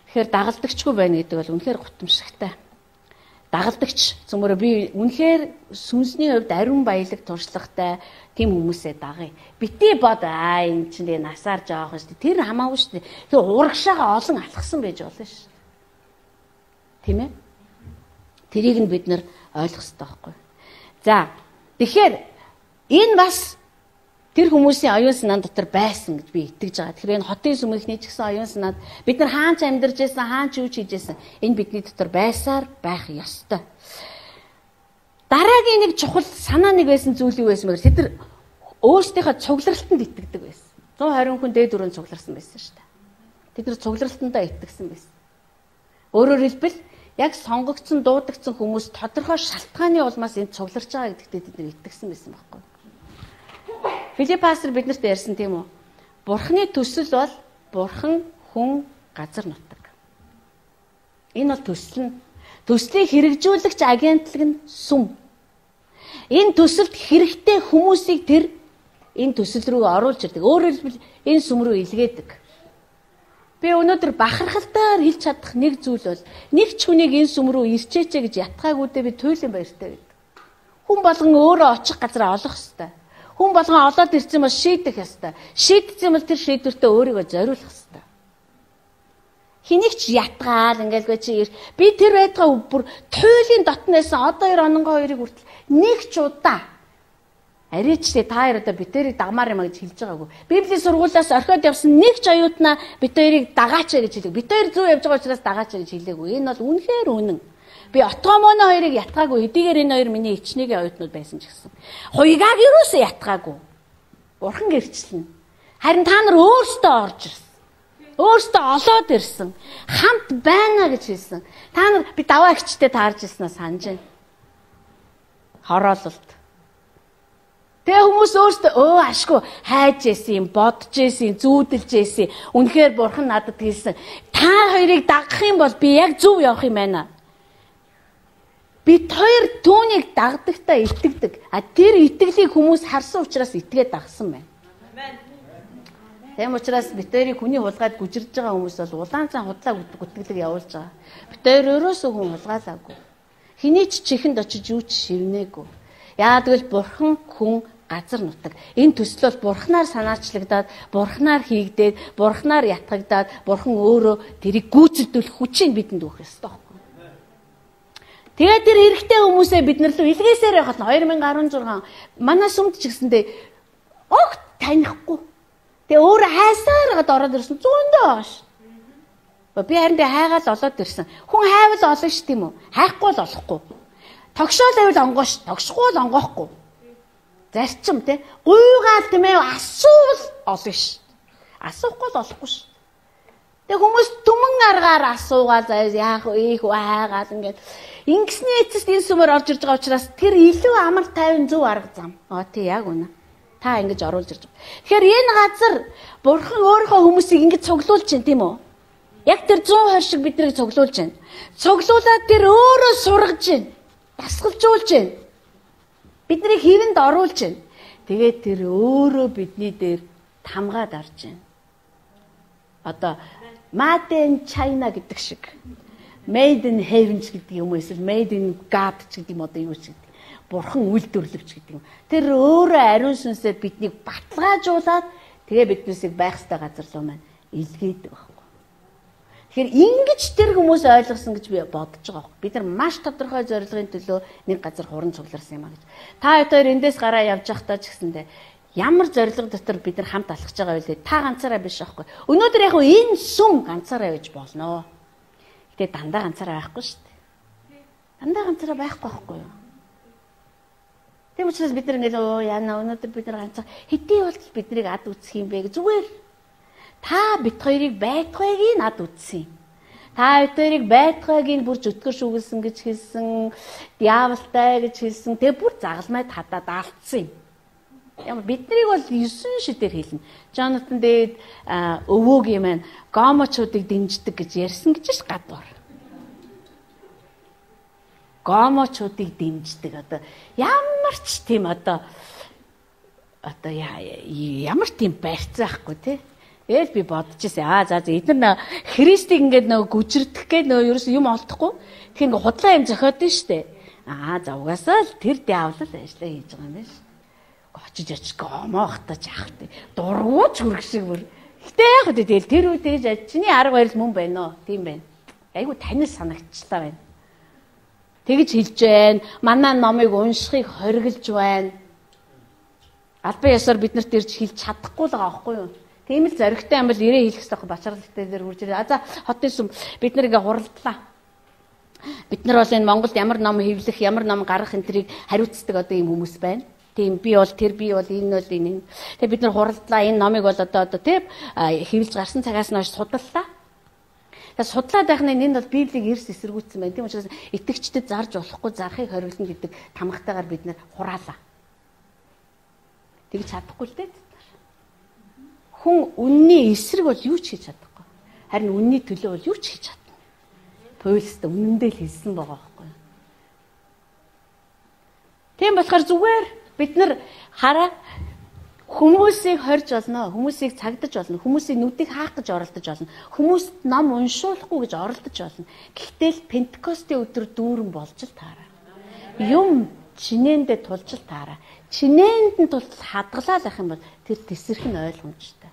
Тэгэхээр дагалдагчгүй байна гэдэг бол үнэхээр гутамшигтай. Дагалдагч зөвмөр би үнэхээр сүнсний хувьд ариун баялаг туршлагатай тийм хүмүүсээ дагъя. Бити бод аа энэ чинь насаар жоох шүү дээ. Тэр хамаагүй шүү дээ. Тэгээ урагшаага олон алхсан байж болно шүү. Тийм ээ? Тэрийг нь бид нар ойлгох хэрэгтэй байхгүй. За, тэгэхээр энэ бас тэр хүмүүсийн оюун санаан дотор байсан гэж би итгэж байгаа. Тэгэхээр энэ хотын сүмийнхний ч гэсэн оюун санаад бид нар хаанч амьдарч байсан, хаанч юу ч хийж байсан. Энэ бидний дотор байсаар байх ёстой. Дараагийн нэг чухал санаа нэг байсан зүйл юу байсан бэ? Тэд нар өөрсдийнхөө цугларалтанд итгэдэг байсан. one twenty хүн дээд өрөөнд цугларсан байсан шүү дээ. Тэд нар цугларалтандаа итгэсэн байсан. Өөрөөр хэлбэл яг сонгогдсон, дуудагдсан хүмүүс тодорхой шалтгааны улмаас энд цугларч байгаа гэдэгт тэд нар итгэсэн байсан байхгүй. Филипп пастор биднэрт ярьсан тийм үү? Бурхны төсөл бол бурхан, хүн, газар нутаг. Энэ бол төсөл нь. Төслийг хэрэгжүүлэгч агентлаг нь сүм. Энэ төсөлд хэрэгтэй хүмүүсийг тэр энэ төсөл рүү оруулж ирдэг. Өөрөөр хэлбэл энэ сүм рүү илгээдэг. Би өнөөдөр бахархалтаар хэлж чадах нэг зүйл бол нэг ч хүнийг энэ сүм рүү ирчээч гэж ятгаагүйдээ би туйлын баяртай гэдэг. Хүн болгон өөрөө очих газар олох ёстой. Хүн болгон олоод ирсэн бол шийдэх ёстой. Шийдсэн бол тэр шийдвэртээ өөрийгөө зориулах ёстой. Хэнийг ч ятгаал ингээл чи би тэр байтгаа бүр туйлын дотноос одоо хоёр ононгоо хоёрыг хүртэл нэг ч удаа аричтэй та хоёр одоо битэрийг дагмаар юм а гэж хэлж байгаагүй. Библийн сургуулиас орхиод явсан нэг ч оюутнаа бит хоёрыг дагаач гэж хэлэв. Бит хоёр зүв явж байгаа учраас дагаач гэж хэлээгүй. Энэ бол үнэхээр үнэн. Би отомоно хоёрыг ятгаагүй. Хэдийгээр энэ хоёр миний ичнийгийн оюутнууд байсан ч гэсэн. Хуйгааг юусоо ятгаагүй. Бурхан гэрчлэн. Харин та нар өөрсдөө орж ирсэн. Өөрсдөө олоод ирсэн. Хамт байна гэж хэлсэн. Та нар би даваа ихчтэй таарж ирсэнаа санаж байна. Хороололт. Тэгээ хүмүүс өөрсдөө өө ашгүй хайж ийсэн юм, бодож ийсэн, зүүдэлж ийсэн. Үнэхээр бурхан надад хэлсэн. Та хоёрыг дагах юм бол би яг зөв явах юм байна. Бид хоёр түүнийг дагдагтаа итгэдэг. А тэр итгэлийг хүмүүс харсан учраас итгээд дагсан байна. Тэм учраас бид хоёрыг хүний хулгайд гүжирж байгаа хүмүүс бол улаан цан худлаа гүтгэлэг явуулж байгаа. Бид хоёр өрөөсөө хүн хулгайлаагүй. Хэний ч чихэнд очиж юу ч шивнээгүй. Яа тэгвэл бурхан хүн газар нутаг. Энэ төсөл бол бурхнаар санаачлагдаад, бурхнаар хийгдээд, бурхнаар ятгагдаад, бурхан өөрөө тэрийг гүйцэлдүүлэх хүчийг бидэнд өгөх ёстой байхгүй. Тэгээд тэр хэрэгтэй хүмүүсээ бид нар л илгээсээр явахад хоёр мянга арван зургаан манай сүмд ч гэсэндээ огт танихгүй. Тэгээ өөрөө хайсаар гад ороод ирсэн зүүндээ байгаа ш. Би харин тэ хайгаал олоод ирсэн. Хүн хайвал олно ш тийм үү? Хайхгүй л олохгүй. Тогшоол байвал онгоо ш. Тогшгүй л онгоохгүй. Зарчим те. Гуйгаал тийм ээ асуувал олно ш. Асуухгүй л олохгүй ш. Тэгээ хүмүүс түмэн аргаар асуугаал заяа яах вэ? Их хайгаал ингээд ингэсний эцэст энэ сүмээр орж ирж байгаа учраас тэр илүү амар тайван зөв арга зам. Аа тий яг үнэ. Та ингэж оруулж ирж байгаа. Тэгэхээр энэ газар бурхан өөрийнхөө хүмүүсийг ингэж цуглуулж чинь тийм үү? Яг тэр зүүн хойш шиг биднийг цуглуулж байна. Цуглуулад тэр өөрөө сургаж байна. Дасгалжуулж байна. Биднийг хэвэнд оруулж байна. Тэгээд тэр өөрөө бидний дээр тамгаад арж байна. Одоо Made in China гэдэг шиг. Made in Heaven гэдэг юм уу эсвэл Made in God гэдэг юм одоо юу ч гэдэг. Бурхан үйлдвэрлэгч гэдэг юм. Тэр өөрөө ариун сүнсээр биднийг баталгаажуулаад тэгээ биднээсийг байх ёстой газар руу маань илгээдэг байхгүй. Тэгэхээр ингэж тэр хүмүүс ойлгосон гэж би бодож байгаа байхгүй. Бид нар маш тодорхой зорилгын төлөө нэг газар хуран цугларсан юм а гэж. Та хоёр эндээс гараа явж явахдаа ч гэсэндээ ямар зорилго дотор бид нар хамт алхаж байгаа вэ? Та ганцаараа биш байхгүй. Өнөөдөр яг энэ сүм ганцаараа байж болно. Гэтэ дандаа ганцаараа байхгүй шүү дээ. Дандаа ганцаараа байхгүй байхгүй юу? Тийм учраас бид нар ингээд оо яана өнөөдөр бид нар ганцаа хэдий болтол биднийг ад үсэх юм бэ? Зүгээр та бит хоёрыг байтгайг нь ад үтсэн. Та бит хоёрыг байтгайг нь бүр зүтгэр шүглсэн гэж хэлсэн, диаволтай гэж хэлсэн. Тэгээ бүр загалмай хадаад алдсан юм. Ямар биднийг бол есөн шидээр хэлнэ. Jonathan Dade өвөөгийн маань гомочуудыг дэмждэг гэж ярьсан гэж гадуур. Гомочуудыг дэмждэг одоо ямар ч тийм одоо одоо ямар тийм барьцаахгүй тий. Ээл би бодож ирсэн. Аа за за эдгээр Христийг ингээд нөгөө гүжирдэх гээд нөгөө ерөөс юм олдохгүй. Тэгэхээр ингээд худлаа юм зохиод нь штэ. Аа за угаасаа л тэр диавол ажиллаа хийж байгаа юм байна ш. Очиж очиж гомоохтаж яах вэ? Дургууч хүрэх шиг бүр. Гэтэ яг үү тэгэл тэр үед тэгж чиний арга барил мөн байна оо. Тийм байна. Айгу танил санагчлаа байна. Тэгж хэлж байна. Манай номыг уншихыг хориглож байна. Албан ёсоор бид нарт ирж хэлж чадахгүй л байгаа байхгүй юу? Тийм л зоригтой юм бол ирээ хэлэх хэрэгтэй бачаарлалтай дээр хурж ирээ. А за хотын сүм бид нар ингээ хуралдлаа. Бид нар бол энэ Монголд ямар ном хэвлэх, ямар ном гаргах энтрийг хариуцдаг одоо ийм хүмүүс байна. Тийм би бол тэр би бол энэ бол энэ. Тэгээ бид нар хуралдлаа. Энэ номыг бол одоо одоо тийм хэвлж гарсан цагаас нь хойш судаллаа. Тэгээ судлаад байх нь энэ бол Библийг эрс эсэргүүцсэн байна. Тийм учраас итгэгчдэд зарж болохгүй зарахыг хориглоно гэдэг тамгатайгаар бид нар хураалаа. Тэгж чадахгүй л дээ. Хүн үнний эсрэг бол юу ч хийж чадахгүй. Харин үнний төлөө бол юу ч хийж чадна. Паулс үнэндээ л хэлсэн байгаа байхгүй юу? Тийм болохоор зүгээр бид нар хараа хүмүүсийг хорж болно, хүмүүсийг цагдаж болно, хүмүүсийн нүдийг хаах гэж оролдож болно, хүмүүст ном уншуулахгүй гэж оролдож болно. Гэхдээ л Пентекостийн өдөр дүүрэн болж л таараа. Юм чинээндээ тулж л таараа. Чинээнд нь тултал хадгалаа байх юм бол тэр тесрэх нь ойлгомжтой.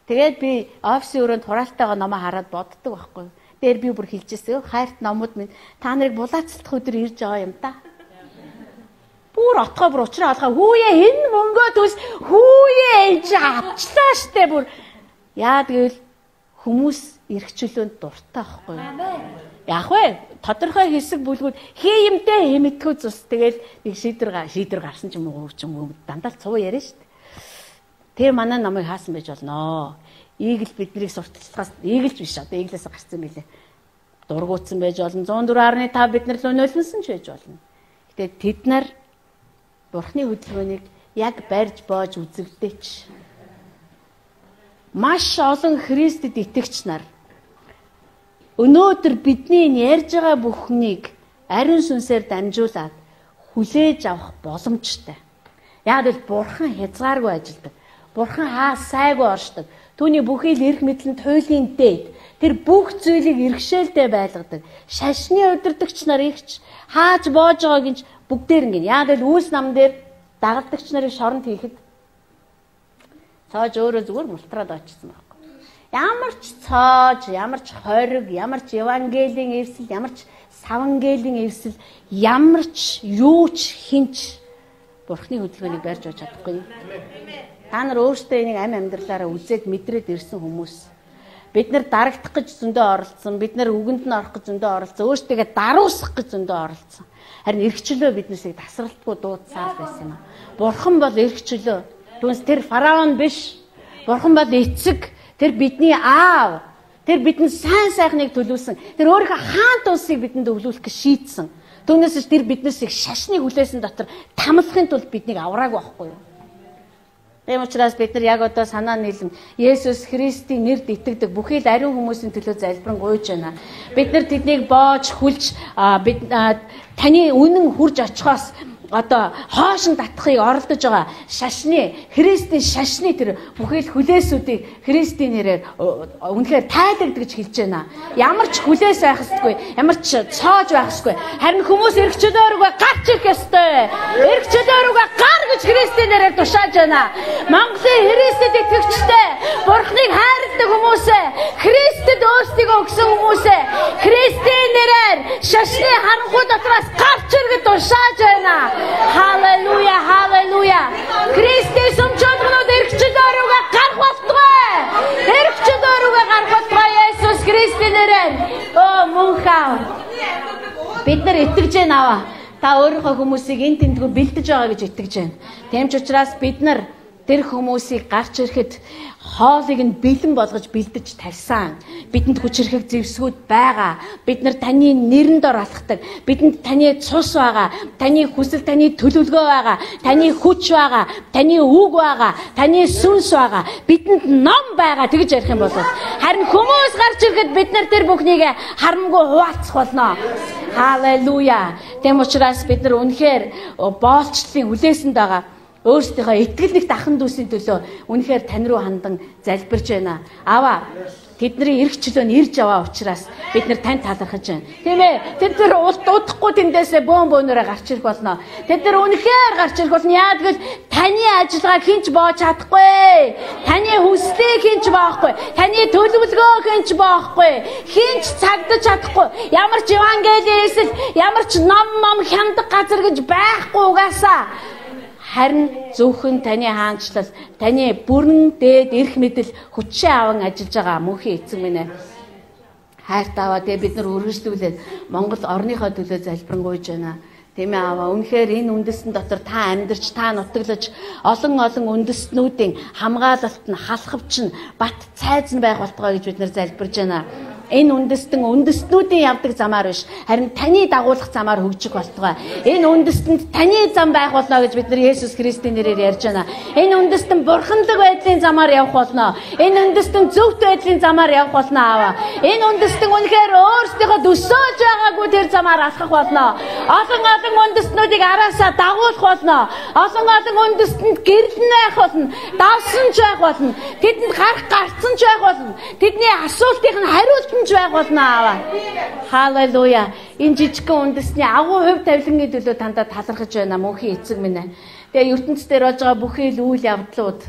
Тэгээд би офисын өрөөнд хураалтайгаа номоо хараад боддог байхгүй. Дээр би бүр хэлжээсэй. Хайрт номууд минь та нарыг булаацлах өдөр ирж байгаа юм та. Бүр отгоо бүр уучраа алхаа хүүе энэ мөнгөө төс хүүе ээж авчлаа штэ бүр. Яа тэгэл хүмүүс эрхчлөөнд дуртай байхгүй. Яг вэ? Тодорхой хэсэг бүлгүүд хий юмтэй хэмэтгүү цус тэгэл нэг шийдвэр шийдвэр гарсан ч юм уу ч юм уу дандаа цуу яриа шүү дээ. Тэр манай намайг хаасан байж болно. Ийгэл биднийг сурталчилгаас ийгэлж биш одоо ийглээс гарсан билээ. Дургуутсан байж болно. зуун дөрвөн гаруй таван бид нар л өнөөлсөн ч байж болно. Гэтэ тэд нар Бурхны хөдөлгөөнийг яг барьж боож үзэгдээч. Маш олон Христэд итгэгч нар өнөөдөр бидний ярьж байгаа бүхнийг ариун сүнсээр дамжуулаад хүлээж авах боломжтой. Яг л Бурхан хязгааргүй ажилдаг. Бурхан хаа сайгүй оршдог. Түүний бүхий л эрх мэдлэнд хуулийн дээд тэр бүх зүйлийг иргэшээлтэй байлгадаг. Шашны удирдагч нар ихч хааж боож байгааг нь бүгдээр ингэ. Яг л үүс нам дээр дагалдагч нарыг шоронд хийхэд цааж өөрөө зүгээр мултраад очсон байна. Ямар ч цааж, ямар ч хориг, ямар ч евангелийн эвсэл, ямар ч савангелийн эвсэл, ямар ч юу ч хинч Бурхны хөдөлгөөнийг барьж өгч чадахгүй. Та нар өөрсдөө энийг амь амьдралаараа үзээд мэдрээд ирсэн хүмүүс. Бид нар дарагдах гэж зөндөө оролцсон, бид нар үгэнд нь орох гэж зөндөө оролцсон, өөрсдөө даруусгах гэж зөндөө оролцсон. Харин эрхчлөө биднээсээ тасралтгүй дуудсаар байсан юм. Бурхан бол эрхчлөө. Түүнээс тэр фараон биш. Бурхан бол эцэг. Тэр бидний аав. Тэр бидэнд сайн сайхныг төлөвлөсөн. Тэр өөрийнхөө хаант улсыг бидэнд өвлүүлэх гэж шийдсэн. Түүнээс ч тэр биднээс их шашныг хүлээсэн дотор тамлахын тулд биднийг авраагүй байхгүй юу? Тийм учраас бид нар яг одоо санаа нийлэн Есүс Христийн нэрд итгэдэг бүхий л ариун хүмүүсийн төлөө залбирэн гуйж байна. Бид нар тэднийг боож хүлж бид таны үнэн хурж очихоос одоо хоошин татахыг оролдож байгаа шашны Христийн шашны тэр бүхий л хүлээсүүдийг Христийн нэрээр үнэхээр тайлгд гэж хэлж байна. Ямар ч хүлээс байх ёсгүй, ямар ч цоож байх ёсгүй. Харин хүмүүс эргчлөөрөөгөө гарч ирэх ёстой. Эргчлөөрөөгөө гар гэж Христийн нэрээр тушааж байна. Монголын Христэд итгэгчтэй, Бурхныг хайрладаг хүмүүсээ, Христэд өөрсдийгөө өгсөн хүмүүсээ Христийн нэрээр шашны харанхуй дотроос гарч иргэд тушааж байна. Халелуя, халелуя. Христос өмчөлгөнүүд эргчлөөрөөгөө гарах болтугай. Эргчлөөрөөгөө гарах болтугай Есүс Христийн нэрээр. Оо мөнхөө. Бид нар итгэж байна аваа. Та өөрийнхөө хүмүүсийг эн тэнтгүү бэлдэж байгаа гэж итгэж байна. Тийм ч учраас бид нар тэр хүмүүсийг гарч ирэхэд хоолыг нь бэлэн болгож бэлдэж тавьсан. Бидэнд хүчрэхэг зэвсгүүд байгаа. Бид нар таны нэрэнд ор алхдаг. Бидэнд таны цус байгаа. Таны хүсэл, таны төлөвлөгөө байгаа. Таны хүч байгаа. Таны үг байгаа. Таны сүнс байгаа. Бидэнд ном байгаа тэгж ярих юм бол харин хүмүүс гарч ирэхэд бид нар тэр бүхнийг харамгүй хуваалцах болно. Халелуя. Тэм учраас бид нар үнэхээр боолчлын хүлээсэнд байгаа. Өөрсдийнхөө итгэл нэгт ахын дүүсийн төлөө үнэхээр тань руу хандан залбирж байна. Аваа. Тэдний эрх чөлөө нь ирж аваа учраас бид нар тань талархаж байна. Тийм ээ. Тэд нар удахгүй тэндээсээ бөөн бөөнөрөө гарч ирэх болно. Тэд нар үнэхээр гарч ирэх болно. Яа гэвэл таны ажиллагааг хинч боож чадахгүй. Таны хүслийг хинч боохгүй. Таны төлөвлөгөө хинч боохгүй. Хинч цагдаж чадахгүй. Ямар ч евангелийн эсэл, ямар ч ном ном хямдаг газар гэж байхгүй угаасаа. Харин зөвхөн таны хаанчлал, таны бүрэн дээд эрх мэдэл хүчээ аван ажиллаж байгаа мөнхийн эцэг минь ээ. Хайртай аваа тэгээ бид нар үргэлжлүүлээд Монгол орныхоо төлөө залбирanгуйж байна. Тийм ээ аваа. Үнэхээр энэ үндэстэн дотор та амьдарч, та нутаглаж олон олон үндэстнүүдийн хамгаалалт нь, халахвч нь, бат цайз нь байх болтугай гэж бид нар залбирж байна. Энэ үндэстэн үндэстнүүдийн явдаг замаар биш, харин таны дагуулах замаар хөгжих болтугай. Энэ үндэстэнд таны зам байх болно гэж бид нар Есүс Христийн нэрээр ярьж байна. Энэ үндэстэн бурханлаг байдлын замаар явах болно. Энэ үндэстэн зөвхт байдлын замаар явах болно аваа. Энэ үндэстэн үнэхээр өөрсдийнхөө төсөөлж байгаагүй тэр замаар алхах болно. Олон олон үндэстнүүдийг араасаа дагуулах болно. Олон олон үндэстэнд гэрлэн байх болно. Давсан ч байх болно. Тэдэнд гарах гарцсан ч байх болно. Тэдний асуултыг нь хариулт байх болно аваа. Халелуя. Энэ жижигхэн үндэсний агуу хувь тавилангийн төлөө тандаа талархаж байна мөнхийн эцэг минь ээ. Тэгээ ертөнцийн дээр болж байгаа бүхий л үйл явдлууд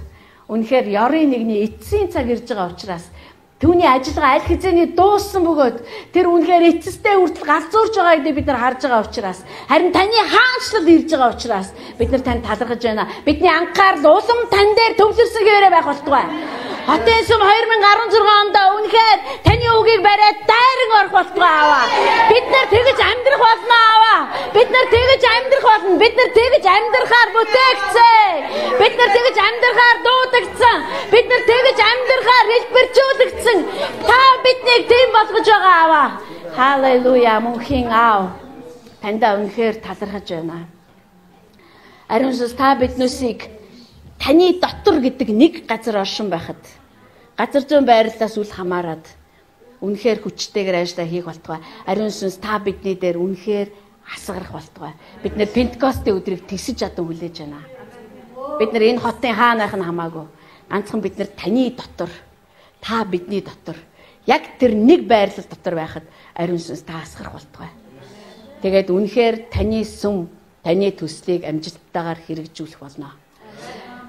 үнэхээр ёрын нэгний эцсийн цаг ирж байгаа учраас түүний ажиллагаа аль хэзээний дууссан бөгөөд тэр үнэхээр эцэстэй хүртэл галзуурж байгаа гэдгийг бид нар харж байгаа учраас харин таны хаанчлал ирж байгаа учраас бид нар танд талархаж байна. Бидний анхаарал улам тань дээр төвлөрсгээрээ байх болтугай. Хотын сүм две тысячи десять онд үнэхээр таны үгийг бариад дайран руу орох болтугай Аава. Бид нар тэгж амьдрах болно Аава. Бид нар тэгж амьдрах болно. Бид нар тэгж амьдрахаар бүтээгдсэн. Бид нар тэгж амьдрахаар дуудагдсан. Бид нар тэгж амьдрахаар хэлбэржүүлэгдсэн. Та биднийг тийм болгож байгаа Аава. Халелуя мөнхийн Аав. Тандаа үнэхээр талархаж байна. Ариун сүнс та биднүүсийг таны дотор гэдэг нэг газар оршин байхад газар зүйн байрлалаас үл хамааран үнэхээр хүчтэйгээр ажиллаа хийх болтугай. Ариун сүнс та бидний дээр үнэхээр асгарах болтугай. Бид нэр Пентекостийн өдрийг тэгсэж адан хүлээж байна. Бид нар энэ хотын хаанайх нь хамаагүй. Ганцхан бид нар таны дотор, та бидний дотор, яг тэр нэг байрлал дотор байхад ариун сүнс та асгарах болтугай. Тэгээд үнэхээр таны сүм, таны төслийг амжилттайгаар хэрэгжүүлэх болно.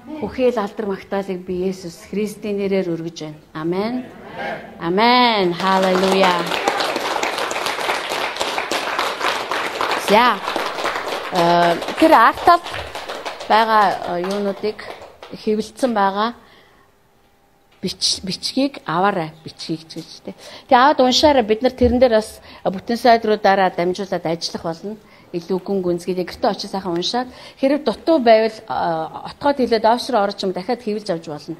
Бүхэл алдар магтаалыг би Есүс Христийн нэрээр өргөж байна. Амен. Амен. Халелуя. За. Э тэр артал байгаа юунуудыг хэвлэлцэн байгаа бич бичгийг аваарай. Бичгийг ч гэж тэ. Тэгээ аваад уншаарай. Бид нар тэрэн дээр бас бүтэн сайдруудаараа дамжуулаад ажиллах болно. Илүү гүн гүнзгий гэртээ очиж сайхан уншаад хэрэг дутуу байвал отгоод хэлээд офшор орж юм дахиад хэвлэж авч болно.